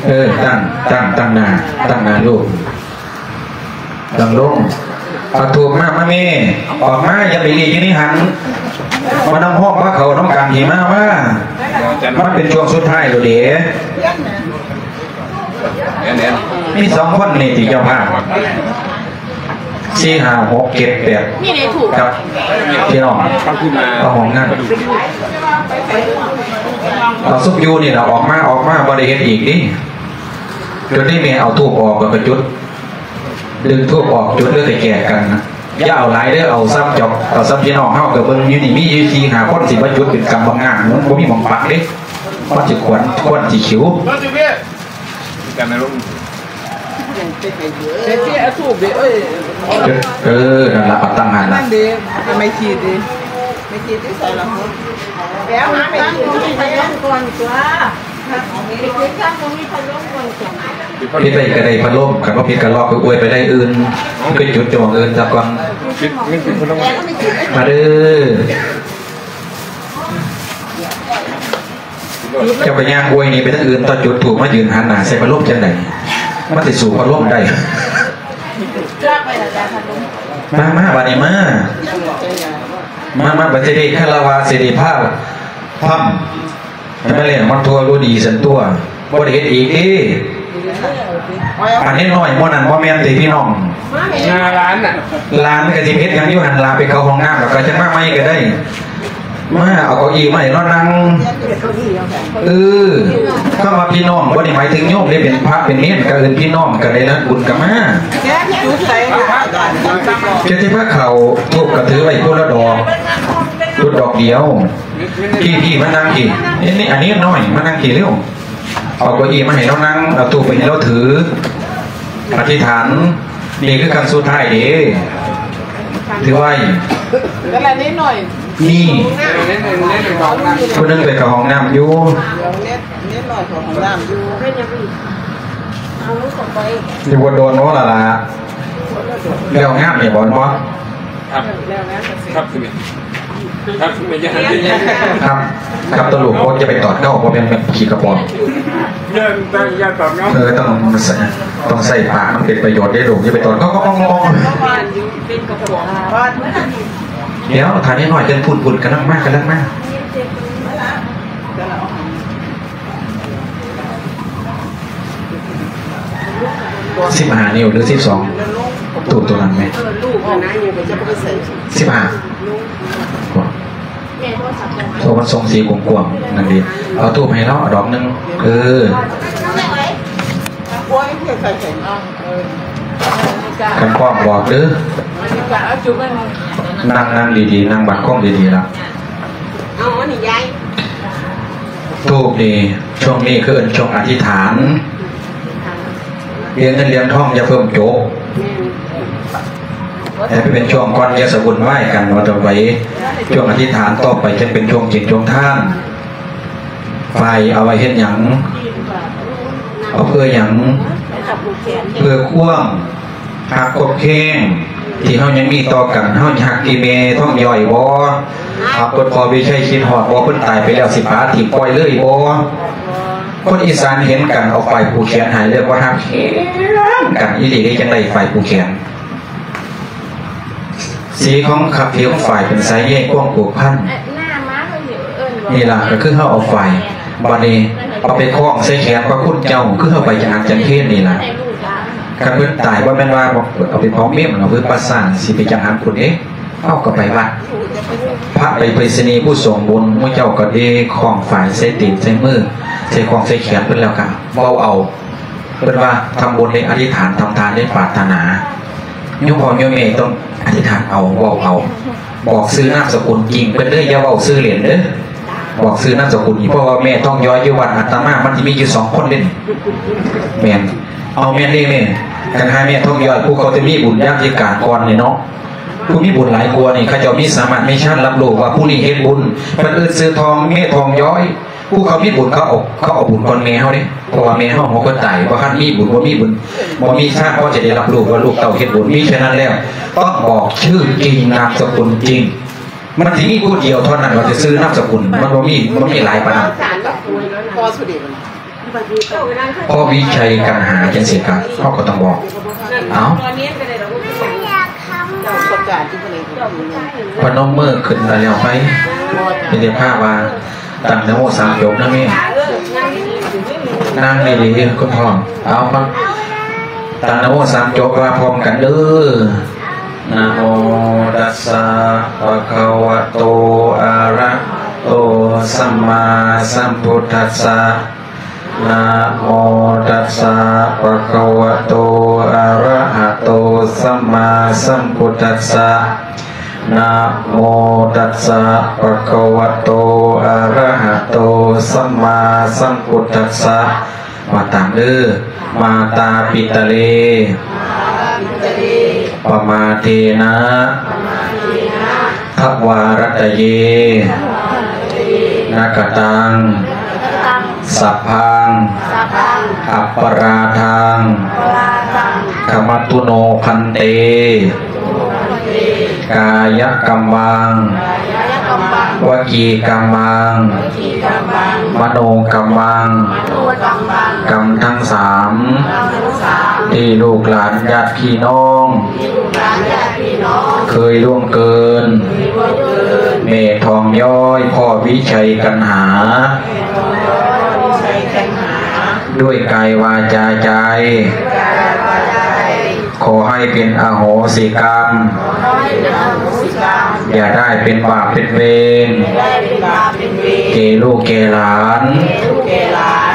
ເອີ ຕັ້ງ ຕັ້ງ ຕັ້ງໜ້າ ຕັ້ງໜ້າລູກ ຕັ້ງລົງ ເອົາທູບມາ ມາແມ່ ອອກມາ ຢ່າໄປຫຼີກຢູ່ໃນຫັ້ນ ມານຳຮ້ອງພາເຂົ້ານຳກັນ ທີ່ມາ ມາ ມັນເປັນຊ່ວງສຸດທ້າຍແລ້ວເດ້ ມີສອງຄົນນີ້ຕິເຈົ້າພາບ ສີ່ ຫ້າ ຫົກ ເຈັດ ແປດ ກັບພີ່ນ້ອງເຂົ້າຫ້ອງງານ ເອົາຊຸມຢູ່ນີ້ລະ ອອກມາ ອອກມາ ບໍ່ໄດ້ເຮັດອີກຕິ ຈົນໄດ້ແມ່ເອົາທູບອອກ ແລ້ວກໍຈຸດ ດຶງທູບອອກ ຈຸດ ຫຼືໄປແຈກກັນນະ ຢ່າເອົາຫຼາຍເດີ ເອົາສ່ຳເຈົ້າ ເອົາສ່ຳພີ່ນ້ອງເຮົາ ກໍເບິ່ງຢູ່ນີ້ມີຢູ່ສີ່ຫ້າຄົນ ຊິມາຈຸດເປັນກຳບັງງານ ມັນບໍ່ມີໝ່ອງປັກເດ້ ມັນຊິຄວັນ ຄວັນຊິຂິວ. ເອີ ນັ້ນລະ ເອົາຕັ້ງຫັ້ນລະ ໄມ້ຂີດເດ້ ໄມ້ຂີດຢູ່ໃສລະ ໄປເອົາມາໄມ້ຂີດ ໄປເອົາກ່ອນຕົວະ. ຜິດໄດ້ກໍໄດ້ພັດລົມ ຄັນບໍ່ຜິດກໍລອກໄປອວຍໄປໄດ້ອື່ນ ໄປຈຸດຢູ່ໝ່ອງອື່ນຊະກ່ອນ. ມາເດີ ເຈົ້າກໍຍ່າງອວຍໜີໄປທາງອື່ນ ຕໍ່ຈຸດທູບມາຢືນຫັນໜ້າໃສ່ພັດລົມຈັ່ງໃດ ມັນຊິສູ້ພັດລົມໄດ້. ມາ ມາ ບາດນີ້ມາ ມາ ມາ ບັດຊິໄດ້ຄາລະວະ ຊິໄດ້ພາ ພຳ ໃຫ້ມັນແລ້ວມັນທົ່ວຮູ້ດີຊັ້ນຕົວະ ບໍ່ໄດ້ເຮັດອີກເດ້. ອັນນ້ອຍໆໝູ່ນັ້ນບໍ່ແມ່ນຕິພີ່ນ້ອງ? ນາຫຼານນະ ຫຼານກໍຊິເຮັດຫຍັງຢູ່ຫັ້ນລະ ໄປເຂົ້າຫ້ອງນ້ຳ ແລ້ວກໍຈັ່ງມາໃໝ່ກໍໄດ້. ມາເອົາເກົ້າอี้ມາໃຫ້ລາວນັ່ງ. ເອີ ຄຳວ່າພີ່ນ້ອງບໍ່ໄດ້ໝາຍເຖິງໂຍມເດ້ ເປັນພະເປັນເນນກໍເອີ້ນພີ່ນ້ອງ ກໍໄດ້ຮັບບຸນກໍມາ. ຈຸດໃສລະ ຈະຊິພາເຂົ້າ ທູບກໍຖືໄວ້ຄົນລະດອກ ຈຸດດອກດຽວ. ພີ່ ພີ່ມານັ່ງພີ່ ນີ້ ອັນນີ້ນ້ອຍມານັ່ງພີ່ເລັວ. ເອົາເກົ້າอี้ມາໃຫ້ລາວນັ່ງ ເອົາທູບໄປໃຫ້ລາວຖື ອະທິຖານ. ນີ້ຄືຄັ້ງສຸດທ້າຍເດ້ ຖືໄວ້. ນີ້ ຜູ້ໜຶ່ງໄປເຂົ້າຫ້ອງນ້ຳຢູ່ ຢູ່ບໍ່ດົນໂນ້ນລະລະ ແລ້ວງາມນີ້ບໍ່ ແມ່ນບໍ່? ຄັບ ຄັບ ຄັບ ຕະຫຼຸກ ບໍ່ ຢ່າໄປຕອດເກົ້າ ບໍ່ແມ່ນ ແມ່ນຂີ້ກະປອມ. ເອີ ຕ້ອງ ຕ້ອງໃຊ້ປາກ ມັນເປັນປະໂຫຍດເດ້ລູກ ຢ່າໄປຕອດເກົ້າ. ດຽວ ຖ້ານ້ອຍໆ ຈັ່ງພຸ້ນໆ ກຳລັງມາ ກຳລັງມາ. ສິບຫ້ານິ້ວ ຫຼື ສິບສອງ ຕູບໂຕນັ້ນແມະ ເອີ ລູກຫັ້ນນະ ຍັງກໍຈະບໍ່ໄດ້ໃສ່ ສິບຫ້າ ໂຕມັນສົ່ງສີກວ້າງໆ ນັ້ນເດ້. ເອົາທູບໃຫ້ລາວດອກໜຶ່ງ ເອີ ຄັນພ້ອມບອກເດີ. ນັ່ງ ນັ່ງດີໆ ນັ່ງບັດຄົມດີໆ ລະ. ເອົາອັນນີ້ຍາຍ ທູບນີ້ ຊ່ວງນີ້ຄືເອີ້ນຊ່ວງອະທິຖານ ເລື່ອງເງິນເລື່ອງທອງຢ່າເພີ່ມໂຈກ ແມ່ນ ໃຫ້ເປັນຊ່ວງກ່ອນ ຢ່າສະວຸ່ນວາຍກັນ ວ່າຕໍ່ໄປ ຊ່ວງອະທິຖານ ຕໍ່ໄປຈັ່ງເປັນຊ່ວງກິນຊ່ວງທານ. ໄຟເອົາໄວ້ເຮັດຫຍັງ? ເອົາເພື່ອຫຍັງ? ເພື່ອຄວາມຮັກຄວາມແຄງທີ່ເຮົາຍັງມີຕໍ່ກັນ. ເຮົາຮັກອີ່ແມ່ທອງຍ້ອຍບໍ່? ຮັກເພິ່ນພໍ່ວິໄຊຄິດຮອດບໍ່? ເພິ່ນຕາຍໄປແລ້ວຊິປະຖິ້ມປ່ອຍເລີຍບໍ່? ຄົນອີສານເຫັນກັນເອົາຝ້າຍຜູກແຂນໃຫ້ ເລີຍບໍ່ຮັກແຮງກັນອີ່ຫຼີເດ້. ຈັ່ງໃດຝ້າຍຜູກແຂນ? ສີຂອງຄັບຜິວຂອງຝ້າຍເປັນສາຍໃຍຄວາມຜູກພັນ. ນີ້ລະກໍຄືເຮົາເອົາຝ້າຍ ບາດນີ້ເອົາໄປຄ້ອງໃສ່ແຂນພະຄຸນເຈົ້າ ຄືເຮົາໄປຈັງຫັນຈັງເພນນີ້ລະ. ຄັນເພິ່ນຕາຍບໍ່ແມ່ນວ່າເອົາໄປເຜົາເມນ ເອົາໄປປະສານ ຊິໄປຈັງຫັນພຸ້ນເດ້. ເຮົາກໍໄປວັດ ພະໄປໄປສະນີຜູ້ຊົງບຸນ ໝູ່ເຈົ້າກໍເດຄ້ອງຝ້າຍໃສ່ຕີນໃສ່ມື ໃສ່ຄ້ອງໃສ່ແຂນເພິ່ນ ແລ້ວກໍເວົ້າເອົາ ເພິ່ນວ່າທຳບຸນໃນອະທິຖານ ທຳທານໃນປາດຖະໜາ. ໂຍມພໍ່ໂຍມແມ່ຕ້ອງອະທິຖານເອົາ ເວົ້າເອົາ ບອກຊື່ນາມສະກຸນຈິງເພິ່ນເດີ ຢ່າເວົ້າຊື່ເລ່ນເດີ. ບອກຊື່ນາມສະກຸນ ເພາະວ່າແມ່ທອງຍ້ອຍຢູ່ວັດອາດຕະມາ ມັນຊິມີຢູ່ສອງຄົນເດ້. ແມ່ນ ເອົາ ແມ່ນເດ້ແມ່. ຄັນຫາແມ່ທອງຍ້ອຍ ຜູ້ເຂົາຈະມີບຸນຍາມທິການກ່ອນນີ້ເນາະ ຜູ້ມີບຸນຫຼາຍກວ່ານີ້ ເຂົາເຈົ້າມີສາມາດມີຊານຮັບຮູ້ວ່າຜູ້ນີ້ເຮັດບຸນ ເພິ່ນເອີ້ນຊື່ທອງ ແມ່ທອງຍ້ອຍ. ຜູ້ເຂົາມີບຸນເຂົາເອົາ ເຂົາເອົາບຸນກ່ອນແມ່ເຮົາເດ້ ເພາະວ່າແມ່ເຮົາຫົວຄົນຕາຍ ບໍ່ທັນມີບຸນ ບໍ່ມີບຸນ ບໍ່ມີຊາດພໍຈະໄດ້ຮັບຮູ້ວ່າລູກເຕົ້າເຮັດບຸນ. ມີແຄ່ນັ້ນແລ້ວ ຕ້ອງບອກຊື່ຈິງນາມສະກຸນຈິງ. ມັນຊິມີຜູ້ດຽວເທົ່ານັ້ນວ່າຈະຊື່ນາມສະກຸນ ມັນບໍ່ມີ ມັນມີຫຼາຍປານນັ້ນ. ພໍ່ສຸເດດ ພໍ່ວິໄຊກັນຫາ ຈັ່ງຊີ້ກະ ເຮົາກໍຕ້ອງບອກ. ເອົ້າ ພະນົມມືຂຶ້ນແລ້ວໄປ ເປັນເຈົ້າພາບວ່າ ຕັ້ງນະໂມສາມຈົບນະແມ່. ນັ່ງດີໆ ຄຸນພໍ່. ເອົາ ຟັງ ຕັ້ງນະໂມສາມຈົບວ່າພ້ອມກັນເດີ. ນະໂມຕັດສະ ພະຄະວະໂຕ ອະລະຫະໂຕ ສຳມາສຳພຸດທັດສະ. ນະໂມຕັດສະ ພະຄະວະໂຕ ອະລະຫະໂຕ ສຳມາ ສຳພຸດທັດສະ ນະໂມຕັດສະ ພະຄະວະໂຕ ອະຣະຫະໂຕ ສຳມາສຳພຸດທັດສະ. ວ່າຕາມເດີ. ມາຕາປິຕາເລ ປະມາເທນະ ທະວາຣັດຕະເຍ ນະກະຕັງ ສັບພັງ ອັບປະລາທັງ ຂະມັດຕຸໂນ ພັນເຕ. ກາຍະກຳມັງ ວະຈີກຳມັງ ມະໂນກຳມັງ ກຳທັງສາມ ທີ່ລູກຫຼານຍາດພີ່ນ້ອງ ເຄີຍລ່ວງເກີນ ແມ່ທອງຍ້ອຍ ພໍ່ວິໄຊກັນຫາ ດ້ວຍກາຍ ວາຈາ ໃຈ ຂໍໃຫ້ເປັນອະໂຫສິກຳ ຢ່າໄດ້ເປັນບາບເປັນເວນ ແກ່ລູກແກ່ຫຼານ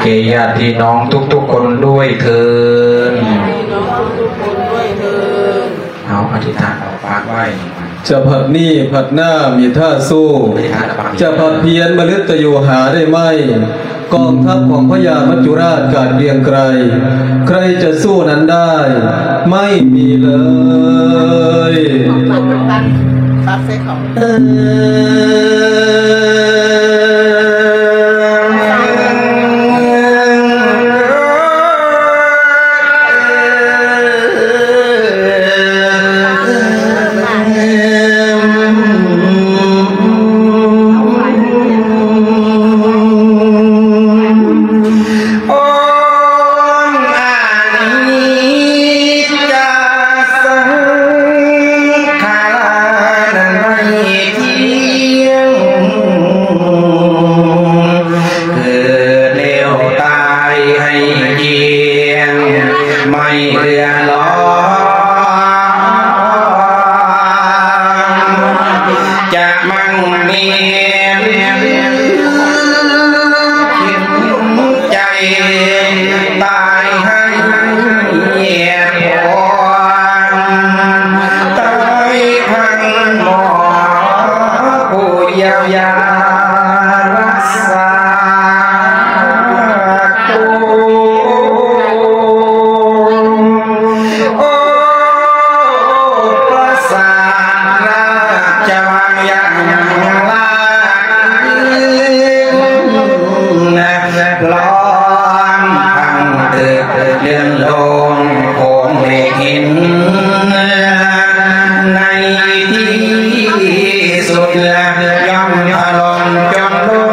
ແກ່ຍາດພີ່ນ້ອງທຸກໆຄົນດ້ວຍເທີ້ນ. ເອົາ ອະທິຖານເອົາປາກໄວ້. ຈະພັດນີ້ພັດໜ້າມີທ່າສູ້ ຈະພັດພຽນມະລຶດຕະໂຍຫາໄດ້ໄໝ? ກອງທັບຂອງພະຍາມັດຈຸລາດກາດກຽງໄກ ໃຄຈະສູ້ນັ້ນໄດ້ ໄມ່ມີເລີຍ. ເກີດແລ້ວຕາຍໃຫ້ກ້ຽງ ໄມ່ເຫຼືອຫຼອງ ຈະມັ່ງມີໃຈ ຕາຍໃຫ້ແຍກອອກ ຕາຍທັງໝໍຜູ້ຢຽວຢາ ຮັກສາໂຕ. ໂອ້ ປາສາດລາຊະວັງຢ່າງລາກ ລອງພັງເຖິກເລື່ອນລົງ ໂຂງເລກຫີນ ໃນທີ່ສຸດ ຍ່ອມຖະຫຼົ່ມຈົນລົງ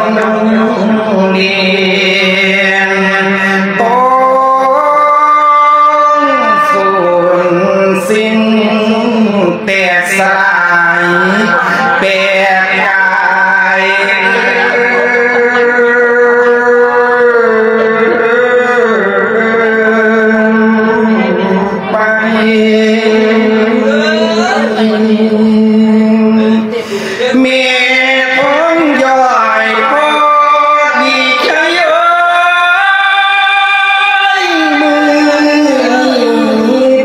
ດິນ ໂປ້ງສູນສິ້ນແຕກສລາຍ ແປດກາຍ ໄປ ແມ່ຂອງຢອຍ ພໍດີໃຈເອີຍ ມື້ນີ້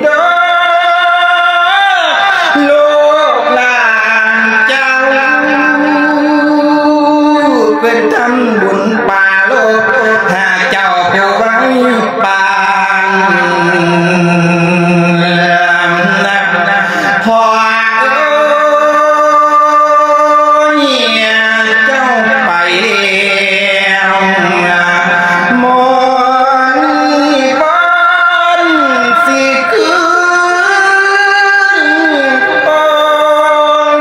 ເດີ ລູກຫຼານເຈົ້າ ເພິ່ນທຳບຸນປາລົກ ຫາເຈົ້າຜູ້ໄວ ປານ ພໍ່ເອີຍ ເຈົ້າໄປແລ້ວ ໝໍນີ້ບໍ່ຊິຄືນ ຕ້ອງ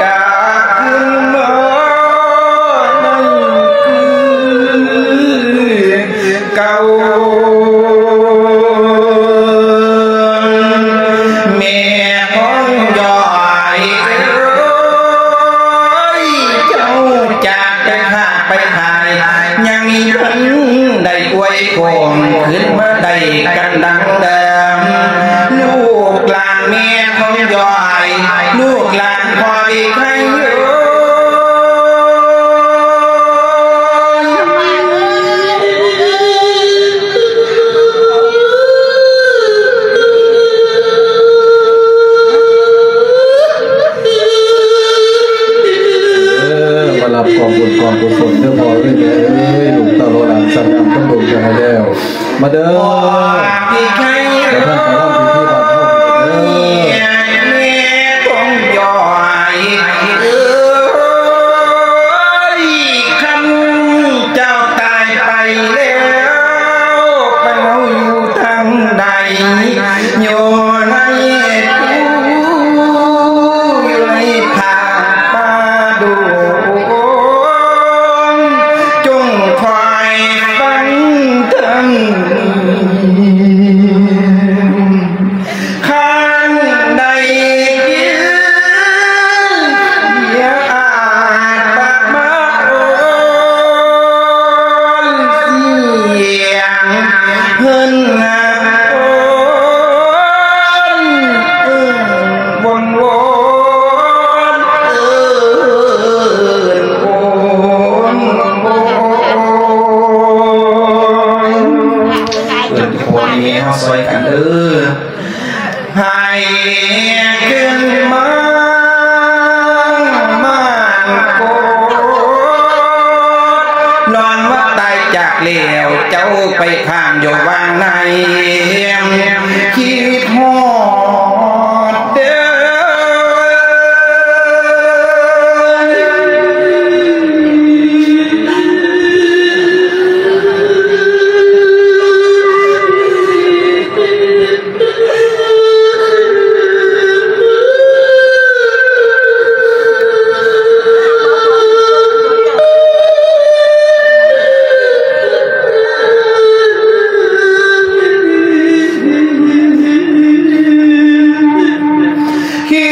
ກັບຄືນມາ ໃນຄືນ ເກົ່າ ແມ່ຂອງຢອຍເອີຍ ເຈົ້າຈາກໄປຂາດໄປຂາຍ ຍັງມີເພິ່ນໄດ້ອວຍໂຄມ ຄືນມາໄດ້ກັນດັ່ງເດີມ ລູກຫຼານແມ່ຂອງຢອຍ ລູກຫຼານພໍ່ເອກໄຄເອີຍ. ເອີ ເດີນທາງໄປຮ່ວມພິທີບ້ານເຮົາເດີ ແມ່ຕົງຢອຍເອີຍ ຄັນເຈົ້າຕາຍໄປແລ້ວ ໄປເຮົາຢູ່ທາງໃດ ຢູ່ໃນພູຢູ່ໃນຜາປ່າດົງ ຈົ່ງຄອຍຟັງເຖິງ ຄັນໄດ້ຍິນສຽງອາດຕະມາໂອນ ສຽງເພິ່ນໂອນ ເອີ້ນວົນວອນ ເອີ້ນໂອນ ໂອນ ໂອນ ເອີ ພໍ່ແມ່ເຮົາຊ່ອຍກັນເດີ ໃຫ້ຂຶ້ນມາບ້ານໂກດ ຍ້ອນວ່າຕາຍຈາກແລ້ວ ເຈົ້າໄປຄ້າງຢູ່ວັງໃນ ຄິດຮອດເດີ ຄິ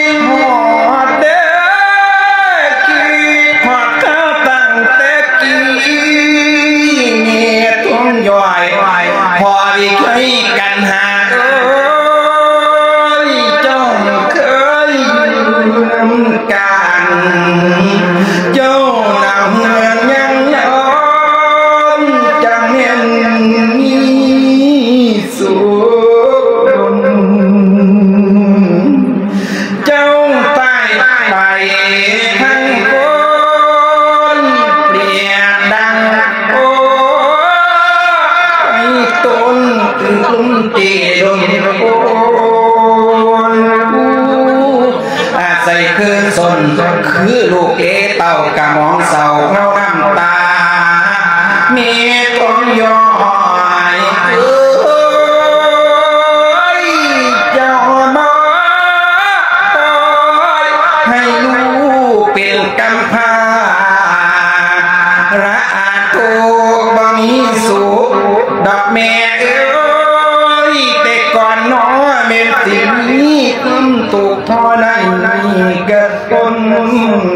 ດຮອດເດີ ຄິດຮອດເຈົ້າຕັ້ງແຕ່ກີ້ ແມ່ຕົງຢອຍ ພໍໄດ້ເຄີຍກັນຫາເອີຍ ເຈົ້າເຄີຍຢູ່ນຳກັນ ເຈົ້ານຳເຮືອນຍັງຍອມ ຈັກແມ່ນມີ ສຸກດົນ ເຈົ້າຕາຍໄປທັງຄົນ ເປຍດດັ່ງໂອຍ ຕົ້ນຕື່ນລົມເຕດົນໂອນ ອາໄສຄືຊົນ ຄືລູກເອເຕົ້າກະໝອງເສົ້າເງົານ້ຳຕາ ແມ່ຕົງຢອຍເອີຍ ເຈົ້າມາປ່ອຍໃຫ້ລູກເປັນກຳພ້າ ລະອາດທຸກບໍ່ມີສຸກດອກແມ່ເອີຍ ແຕ່ກ່ອນໜໍແມ່ນຊິມີຄວາມທຸກທໍລະມານກະ ຄົນ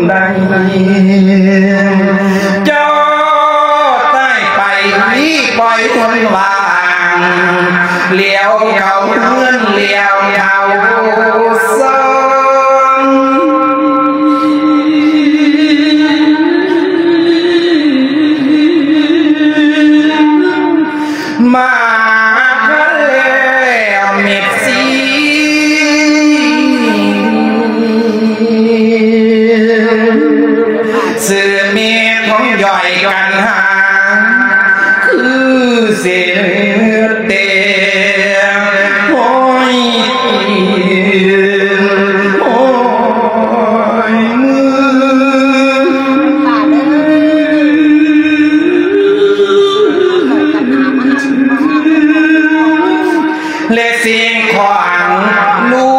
ໃດ ເຈົ້າຕາຍໄປ ປ່ອຍຄົນວ່າງ ຫຼຽວເຂົ້າເຮືອນ ຫຼຽວເຂົ້າຊານ ມາແລ້ວເມັດສີ ຊື່ເມັດຂອງຢອຍກັນຫາ ຄືເສດແຕ່ ໂອ້ຍ ໂອ້ຍ ມື ແລະສິ່ງຂອງລູ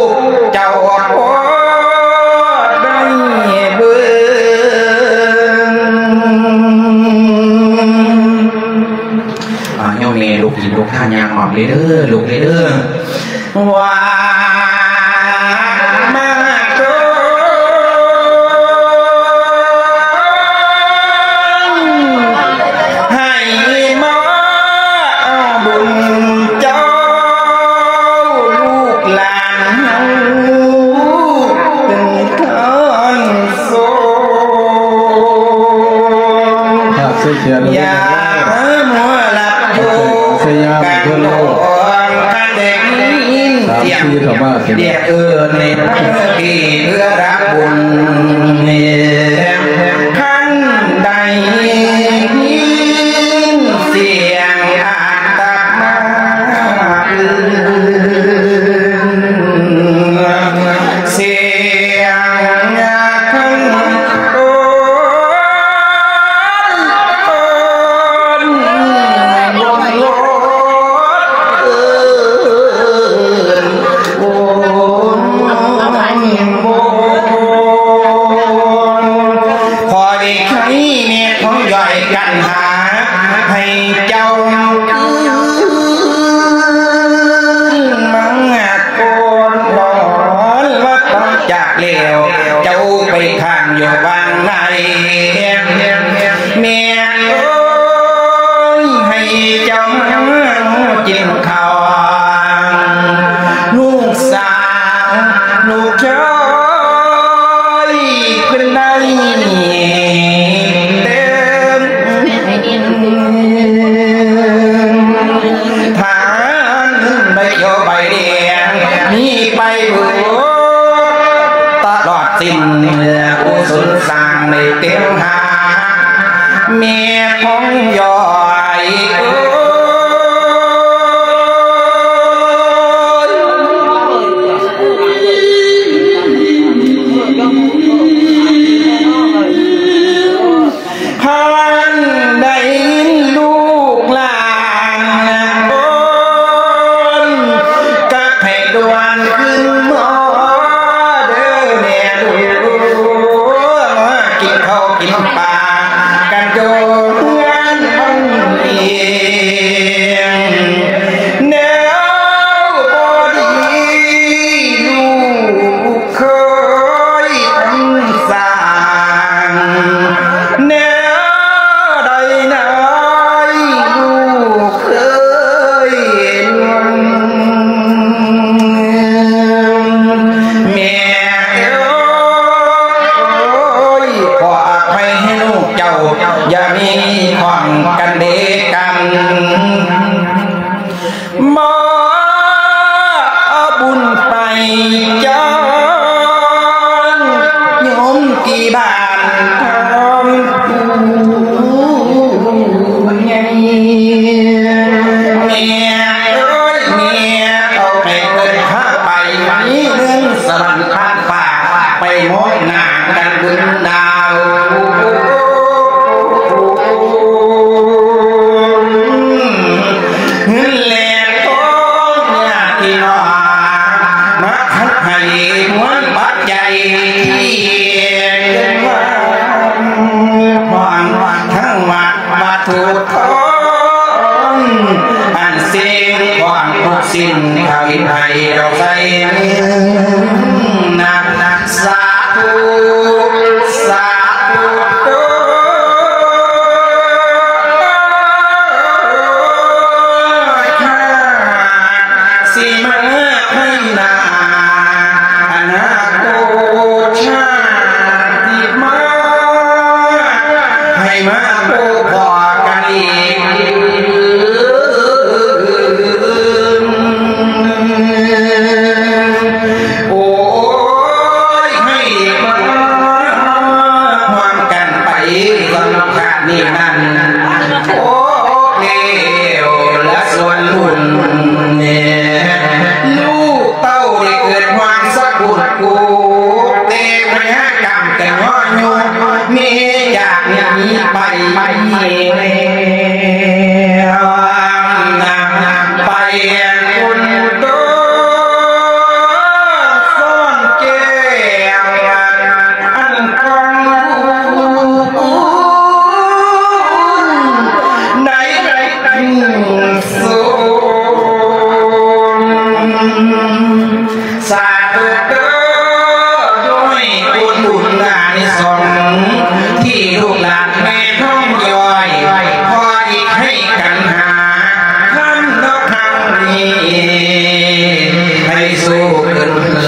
ກເຈົ້າພໍໄດ້ເບິ່ງ ອາ ໂຍມແມ່ລູກກິນລູກທານຍ່າງອອກເລີຍເດີ ລູກເລີຍເດີ ວ່າມາໂຕ ໃຫ້ມາເອົາບຸນເຈົ້າ ລູກຫຼານເຮົາເປັນທານ ໂສນ ພາກເຊແຄນ ຢ່າມົວຫຼັບຢູ່ກັນດອງ ຄັນໄດ້ຍິນສຽງດຽກເອີ້ນໃນເມືອທີ່ເພື່ອຮັບບຸນ ຄັນໄດ້ຍິນສຽງອາດ ທ່ານໃບຂຽວໃບແດງມີໄປເບີດຕະຫຼອດສິ້ນ ກຸສົນສ້າງໃນເຕັມຫາ ແມ່ຂອງຢອຍເອີຍ. ທ່ານໄດ້ຍິນລູກຫຼານໂອນ ກະໃຫ້ດ່ວນຄືນມາເດີແມ່ລູກ ກິນເຂົ້າກິນປາກັນຢູ່ເຮືອນເຮົາເອງ ແນວບໍ່ດີລູກ ເຄີຍທຳສ້າງ ແນວໃດນາຍລູກເອີຍ ແມ່ເອີຍ ຂໍອະໄພໃຫ້ລູກເຈົ້າ ຢ່າມີຂ້ອງກັນເດກັນ. ມາເອົາບຸນໄປຈານໂຍມທີ່ບ້ານທອງຜູ້ໃຫຍ່ ແມ່ເອີຍ ແມ່ເອົາໃຫ້ເພິ່ນພາໄປ ມີເງິນສະຫວັນຜ່ານຟ້າ ໄປມອບໜ້າກັນບຸນດາວ ເງິນແລນທອງຍາດພີ່ນ້ອງ ມາທັກໃຫ້ມວນປັດໄຈ ເປັນວັນທອງທັງວັດ ວັດຖຸທອງ ອັນສິ່ງຂອງທຸກສິ່ງ ທຳໃຫ້ເຮົາໃສ່ນະ ສາທຸ ສາທຸ ໂຕ ຂ້າ ຊິມາໃຫ້ນາ ອະນາຄົດຊາດທີ່ມາ ໃຫ້ມາພົບພໍ້ກັນອີກ ໂອ້ຍ ໃຫ້ມາຮ່ວມກັນໄປສຳຄັນນີ້ນັ້ນ ໂອ້ ແກ້ວລະສ່ວນບຸນ ແມ່ລູກເຕົ້າໄດ້ເກີດຮ່ວມສະກຸນກູ ແຕ່ພະຍາກຳກະຍໍຍຸ ມີຈາກນີ້ໄປແລ້ວ ໄປບຸນໂຕ ສອນແກ້ວ ອັນກອງບຸນໃນໄກສວນ ສາທຸເດີ ດ້ວຍບຸນອານິສົງທີ່ລູກຫຼານແມ່ທອງຢອຍ ພໍອີກໃຫ້ກັນຫາທຳນອກທາງນີ້ ໃຫ້ສູ້ຂຶ້ນເຮື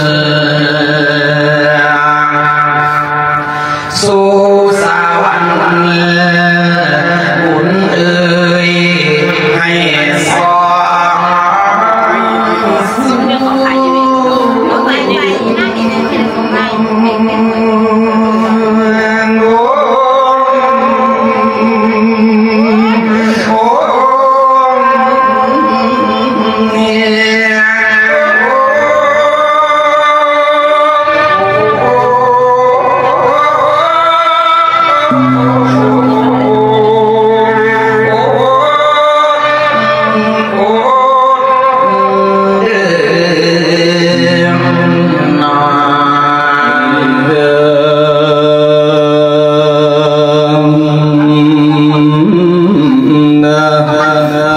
ອ ສູ່ສະຫວັນບຸນເອີຍ ໃຫ້ສອງ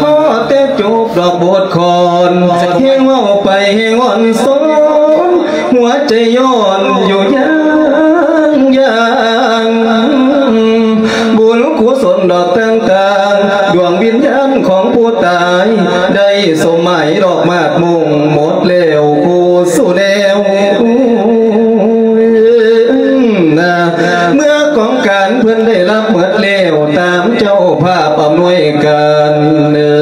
ພໍແຕ່ຈົບດອກບົດຂອນ ແຮງເວົ້າໄປແຮງອ່ອນຊອນ ຫົວໃຈຍ້ອນຢູ່ຢ່າງຢ່າງ ບຸນກຸສົນດອກຕ່າງໆ ດວງວິນຍານຂອງຜູ້ຕາຍ ໄດ້ສົມໝາຍດອກໝາກມຸງ ໝົດແລ້ວຄູ່ສູ່ແນວ ເມື່ອກອງການເພິ່ນໄດ້ຮັບໝົດແລ້ວ ຕາມເຈົ້າພາບອຳນວຍການ ເອີ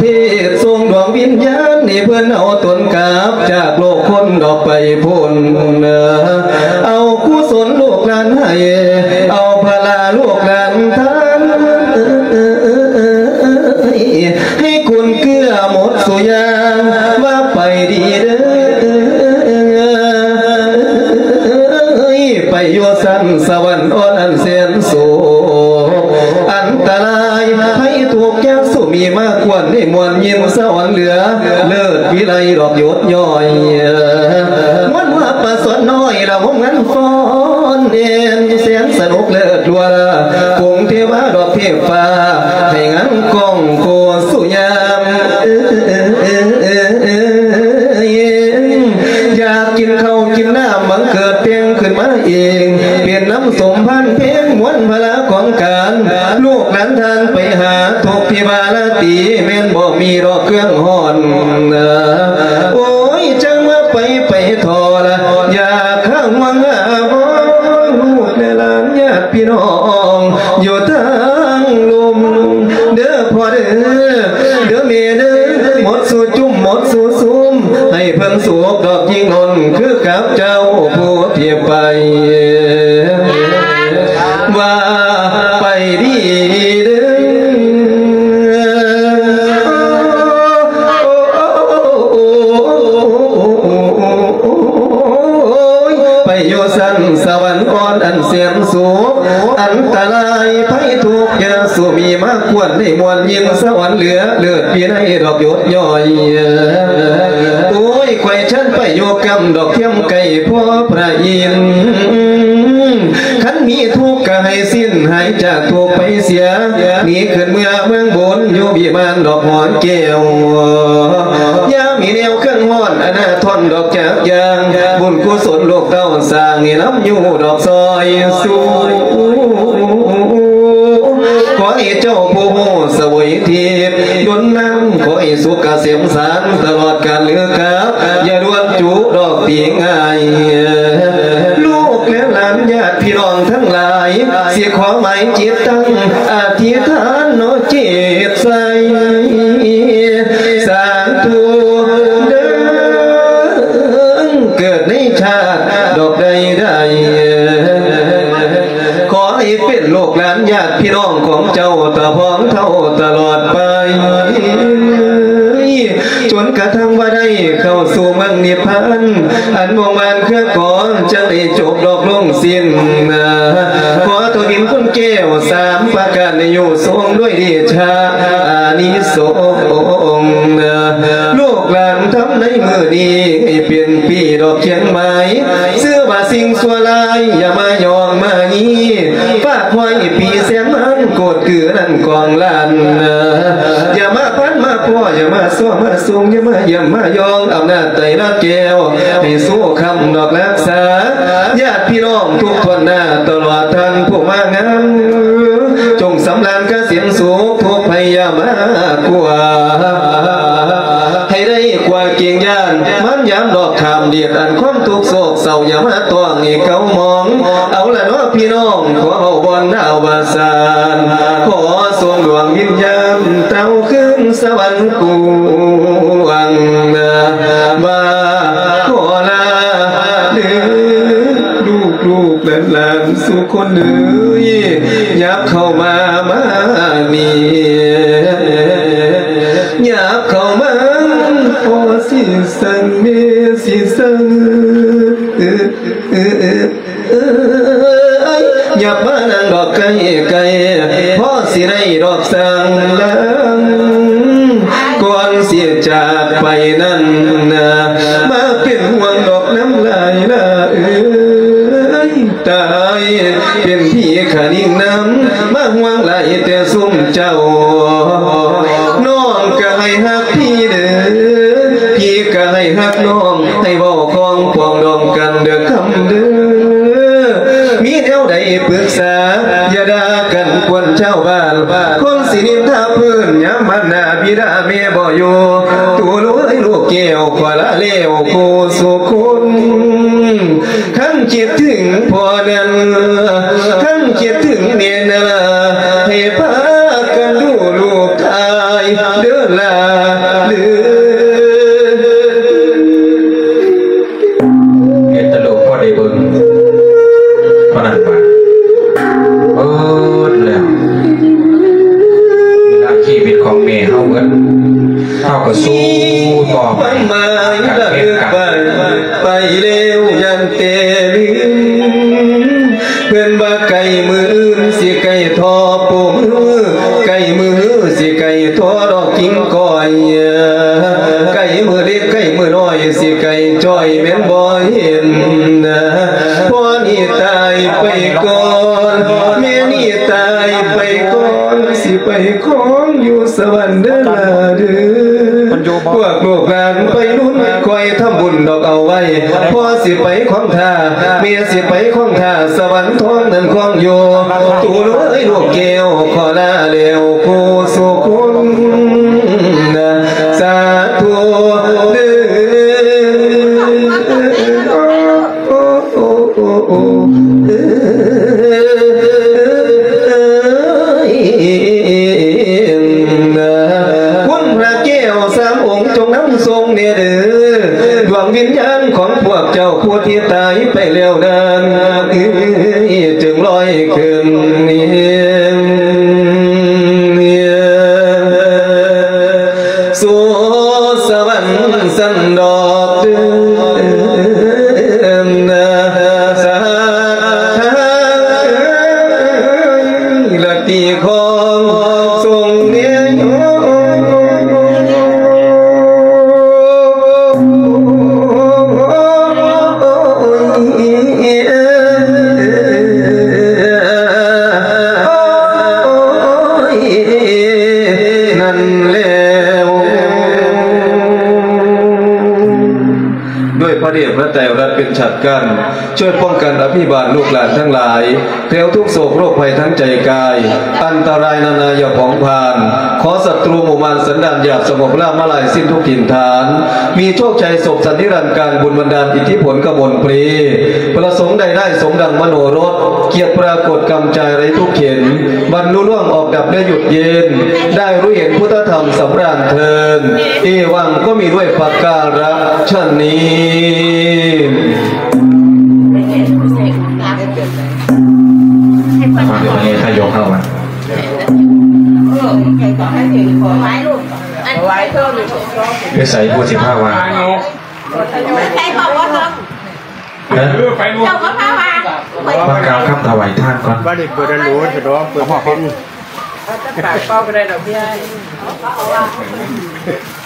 ເທດສົ່ງດວງວິນຍານໃຫ້ເພິ່ນເອົາຕົນກັບຈາກໂລກຄົນອອກໄປພົ້ນ. ເອົາກຸສົນລູກຫຼານໃຫ້ ເອົາພະລາລູກຫຼານທານ ໃຫ້ກຸນເກື້ອໝົດສູ່ຢ່າງ ວ່າໄປດີເດີ ໄປຢູ່ຊັ້ນສະຫວັນອ່ອນອັນແສນ ໂສກອັນຕະລາຍ ໄພທຸກຍາກສຸມີມາກວນ ໄດ້ມ່ວນຍິນສະອອນເຫຼືອ ເລີດວິໄລດອກຢົດຍ້ອຍ ມ່ວນວ່າປາສອນນ້ອຍລະວົງງານຟ້ອນແອນ ແສນສະໜຸກເລີດລົວ ກົງເທວາດອກເທບຟ້າ ໃຫ້ງານກ້ອງໂຄສຸຍາມ ຢາກກິນເຂົ້າກິນນ້ຳ ບັງເກີດແຕ່ງຂຶ້ນມາເອງ ເປັນນ້ຳສົມພັນເພງ ມວນພະລາຂອງການ ລູກຫຼານທ່ານໄປຫາທຸກທີ່ວ່າລາຕີ ແມ່ນບໍ່ມີດອກເຄື່ອງຮ້ອນ ໂອ້ຍ ຈັ່ງວ່າໄປໄປທໍ່ລະ ຢາກຫາຫວງຫາບໍ່ ລູກແລະຫຼານຍາດພີ່ນ້ອງ ຢູ່ທາງລຸ່ມ ເດີພໍ່ເດີ ເດີແມ່ເດີ ໝົດສູ່ຈຸ້ມ ໝົດສູ່ຊຸມ ໃຫ້ເພິ່ນສຸກດອກຍິ່ງໜົນ ຄືກັບເຈົ້າຜູ້ທີ່ໄປ ວ່າໄປດີເດີ ໄປຢູ່ຊັ້ນສະຫວັນອ່ອນອັນແສນສຸກ ອັນຕະລາຍໄພທຸກຢ່າສູ່ມີມາກວນ ໄດ້ມ່ວນຍິນສະຫວັນເຫຼືອ ເລີດວິໄລດອກຢົດຍ້ອຍ ໂອ້ຍ ຂ້ອຍເຊີນໄປຢູ່ກຳດອກທຽມໄກ່ພໍ່ພະອິນ ຄັນມີທຸກກະໃຫ້ສິ້ນຫາຍຈາກທຸກໄປເສຍ ໜີຂຶ້ນເມືອເມືອງບຸນ ຢູ່ວິມານດອກຫົວແກ້ວ ຢ່າມີແນວເຄື່ອງຮ້ອນ ອະນາທົນດອກຈາກຢ່າງ ບຸນກຸສົນລູກເຕົ້າສ້າງໃຫ້ນຳຢູ່ດອກຊອຍຊູ ຂໍໃຫ້ເຈົ້າຜູ້ຮູ້ສະເຫວີຍທິບດົນນຳ ຂໍໃຫ້ສຸກກະເສມສານຕະຫຼອດການເຫຼືອກັບ ຢ່າດ່ວນຈຸດອກຕີງ່າຍ ລູກແລະຫຼານຍາດພີ່ນ້ອງທັງຫຼາຍ ຊິຂໍໝາຍຈິດຕັ້ງອະທິຖານເນາະເຈດໄຊ ສາທຸເດີ ເກີດໃນຊາດດອກໃດໆ ຂໍໃຫ້ເປັນລູກຫຼານຍາດພີ່ນ້ອງຂອງເຈົ້າ ຕາພອງເທົ່າຕະຫຼອດໄປ ຈົນກະທັ່ງວ່າໄດ້ເຂົ້າສູ່ເມືອງນິບພານ ອັນວົງວານເຄືອກອງ ຈັ່ງໄດ້ຈົບດອກລົງສິ້ນ ຂໍເທົ່າດິນຄຸນແກ້ວສາມປະການ ໃຫ້ຢູ່ຊົມດ້ວຍເດຊະອານິສົງ ລູກຫຼານທຳໃນມື້ນີ້ ໃຫ້ເປັນປີດອກຄຽງໄມ້ ຊື່ວ່າສິ່ງຊົ່ວຮ້າຍ ຢ່າມາຍ້ອງມາຢີ ຝາກຫ້ອຍປີແສນລ້ານ ໂກດກືນັ້ນກອງລ້ານ ຢ່າມາພັນມາພໍ້ ຢ່າມາຊໍມາຊຸງ ຢ່າມາຢ້ຽມມາຢອງ ອຳນາດໄຕລະແກ້ວ ໃຫ້ສູ້ຄ້ຳດອກລະ ສາຍາດພີ່ນ້ອງທຸກຖ້ວນໜ້າ ຕະຫຼອດທ່ານຜູ້ມາງານ ຈົ່ງສຳລານກະສິນສຸກ ທຸກໄພຢ່າມາກວາ ໃຫ້ໄດ້ກວ່າເກງຢ້ານ ມານຍາມດອກຂ້າມເດດ ອັນຄວາມທຸກໂສກເສົ້າ ຢ່າມາຕ້ອງໃຫ້ເກົາໝອງ ເອົາລະເນາະພີ່ນ້ອງ ຂໍເວົ້າບ່ອນອະວະສານ ຂໍສົ່ງດວງວິນຍານ ເຕົ້າຄືນສະຫວັນກວ້າງ ວ່າຂໍລາເດີ ລູກໆຫຼານໆ ສູ່ຄົນເອີຍ ຫຍັບເຂົ້າມາ ມານີ້ ຫຍັບເຂົ້າມາ ພໍ່ຊິສັ່ງ ແມ່ຊິສັ່ງ ເອີ ຫຍັບມານັ່ງດອກໃກ້ໆ ພໍຊິໄດ້ດອກສ້າງລາງ ກ່ອນຊິຈາກໄປນັ້ນນະ ມາເປັນຫ່ວງດອກນຳຫຼາຍລະເອີຍ ຕາຍເປັນຜີຂະນິງນຳ ມາຫ່ວງຫຼາຍແຕ່ຊຸມເຈົ້າ ນ້ອງກະໃຫ້ຮັກພີ່ເດີ ພີ່ກະໃຫ້ຮັກນ້ອງ ໃຫ້ເວົ້າຄອງປອງດອງກັນເດີຄຳເດີ ມີແນວໃດປຶກສາ ຢ່າດ່າກັນກວນຊາວບ້ານ ຄົນຊິນິນທາເພິ່ນ ຍາມມານດາບິດາແມ່ບໍ່ຢູ່ ໂຕລູກເອີຍລູກແກ້ວ ຂໍລາແລ້ວຄູ່ສູ່ຄົນ ຄັນຄິດເຖິງພໍ່ນັ້ນ ຄັນຄິດເຖິງແມ່ນັ້ນ ໃຫ້ພາກັນດູລູກຊາຍເດີຫຼາ ເຮັດແຕ່ລູກພໍໄດ້ເບິ່ງ ເທົ່ານັ້ນວ່າ ເບິດແລ້ວ ເວລາຊີວິດຂອງແມ່ເຮົາເບິດ ເຮົາກໍສູ້ຕໍ່ໄປ ການເຮັດການ ໄປແລ້ວຢ້ານແຕ່ລືມ ເພິ່ນວ່າໃກ້ມື້ອື່ນຊິໃກ້ທໍ່ປູມື ໃກ້ມື້ຮືຊິໃກ້ທໍ່ດອກກິງກ້ອຍ ໃກ້ມື້ເລັກໃກ້ມື້ນ້ອຍຊິໃກ້ຈ້ອຍແມ່ນບໍ່ເຫັນ ພໍ່ນີ້ຕາຍໄປກ່ອນ ແມ່ນີ້ຕາຍໄປກ່ອນ ຊິໄປຄອງຢູ່ສະຫວັນເດີລາເດີ ພວກລູກຫຼານໄປລຸ້ນ ຂ້ອຍທຳບຸນດອກເອົາໄວ້ ພໍ່ຊິໄປຄອງທ່າ ແມ່ຊິໄປຄອງທ່າ ສະຫວັນທອງນັ້ນຄອງຢູ່ ຕູເອີຍລູກແກ້ວ ຂໍລາແລ້ວຄູ່ສູ່ຄົນ ສາທຸເດີ. ຄຸນພະແກ້ວສາມອົງ ຈົ່ງນຳສົ່ງແດ່ເດີ ດວງວິນຍານຂອງພວກເຈົ້າຜູ້ທີ່ຕາຍໄປແລ້ວນັ້ນ ຈຶ່ງລອຍຂຶ້ນ ສູ່ສະຫວັນຊັ້ນດອກເດີ ສາທຸ ລະຕີຂອງຊົງເນຍ ນັ້ນແລ້ວ ດ້ວຍພະເດດພະໄຕລັດເປັນສັດກັ້ນ ຊ່ວຍປ້ອງກັນອະພິບານລູກຫຼານທັງຫຼາຍ ແຄล้วທຸກໂສກໂລກໄພທັງໃຈກາຍ ອັນຕະລາຍນານາຢ່າຜອງຜ່ານ ຂໍສັດຕູໝູ່ມານສັນດານຫຍາບສະຫງົບລາບມາລາຍສິ້ນທຸກຖິ່ນຖານ ມີໂຊກໄຊສົບສັນນິລັນການ ບຸນບັນດານອິດທິຜົນກະມົນເພ ປະສົງໄດ້ໄດ້ສົມດັ່ງມະໂນລົດ ກຽດປາກົດກຳຈາຍໄຮ້ທຸກເຂັນ ບັນລຸລ່ວງອອກດັບແລະຢຸດເຢັນ ໄດ້ຮູ້ເຫັນພຸດທະທຳສຳຣານເທີນ ເອວັງ ກໍມີດ້ວຍປະກາລະ ຊັ້ນນີ້ ຟັງເພິ່ນເທດນາຍົກເຮົາວ່າ ໄປໃສຜູ້ຊິພາວ່າ ຮະ ເຈົ້າກໍພາວ່າ ມາກ່າວຄຳຖວາຍທານກ່ອນ ວ່າໄດ້ເປີດອັນໂຫຼ ສະດອງເປີດບໍ່ເປັນ ເປົ່າປາກເປົ່າກໍໄດ້ດອກເບ້ຍ.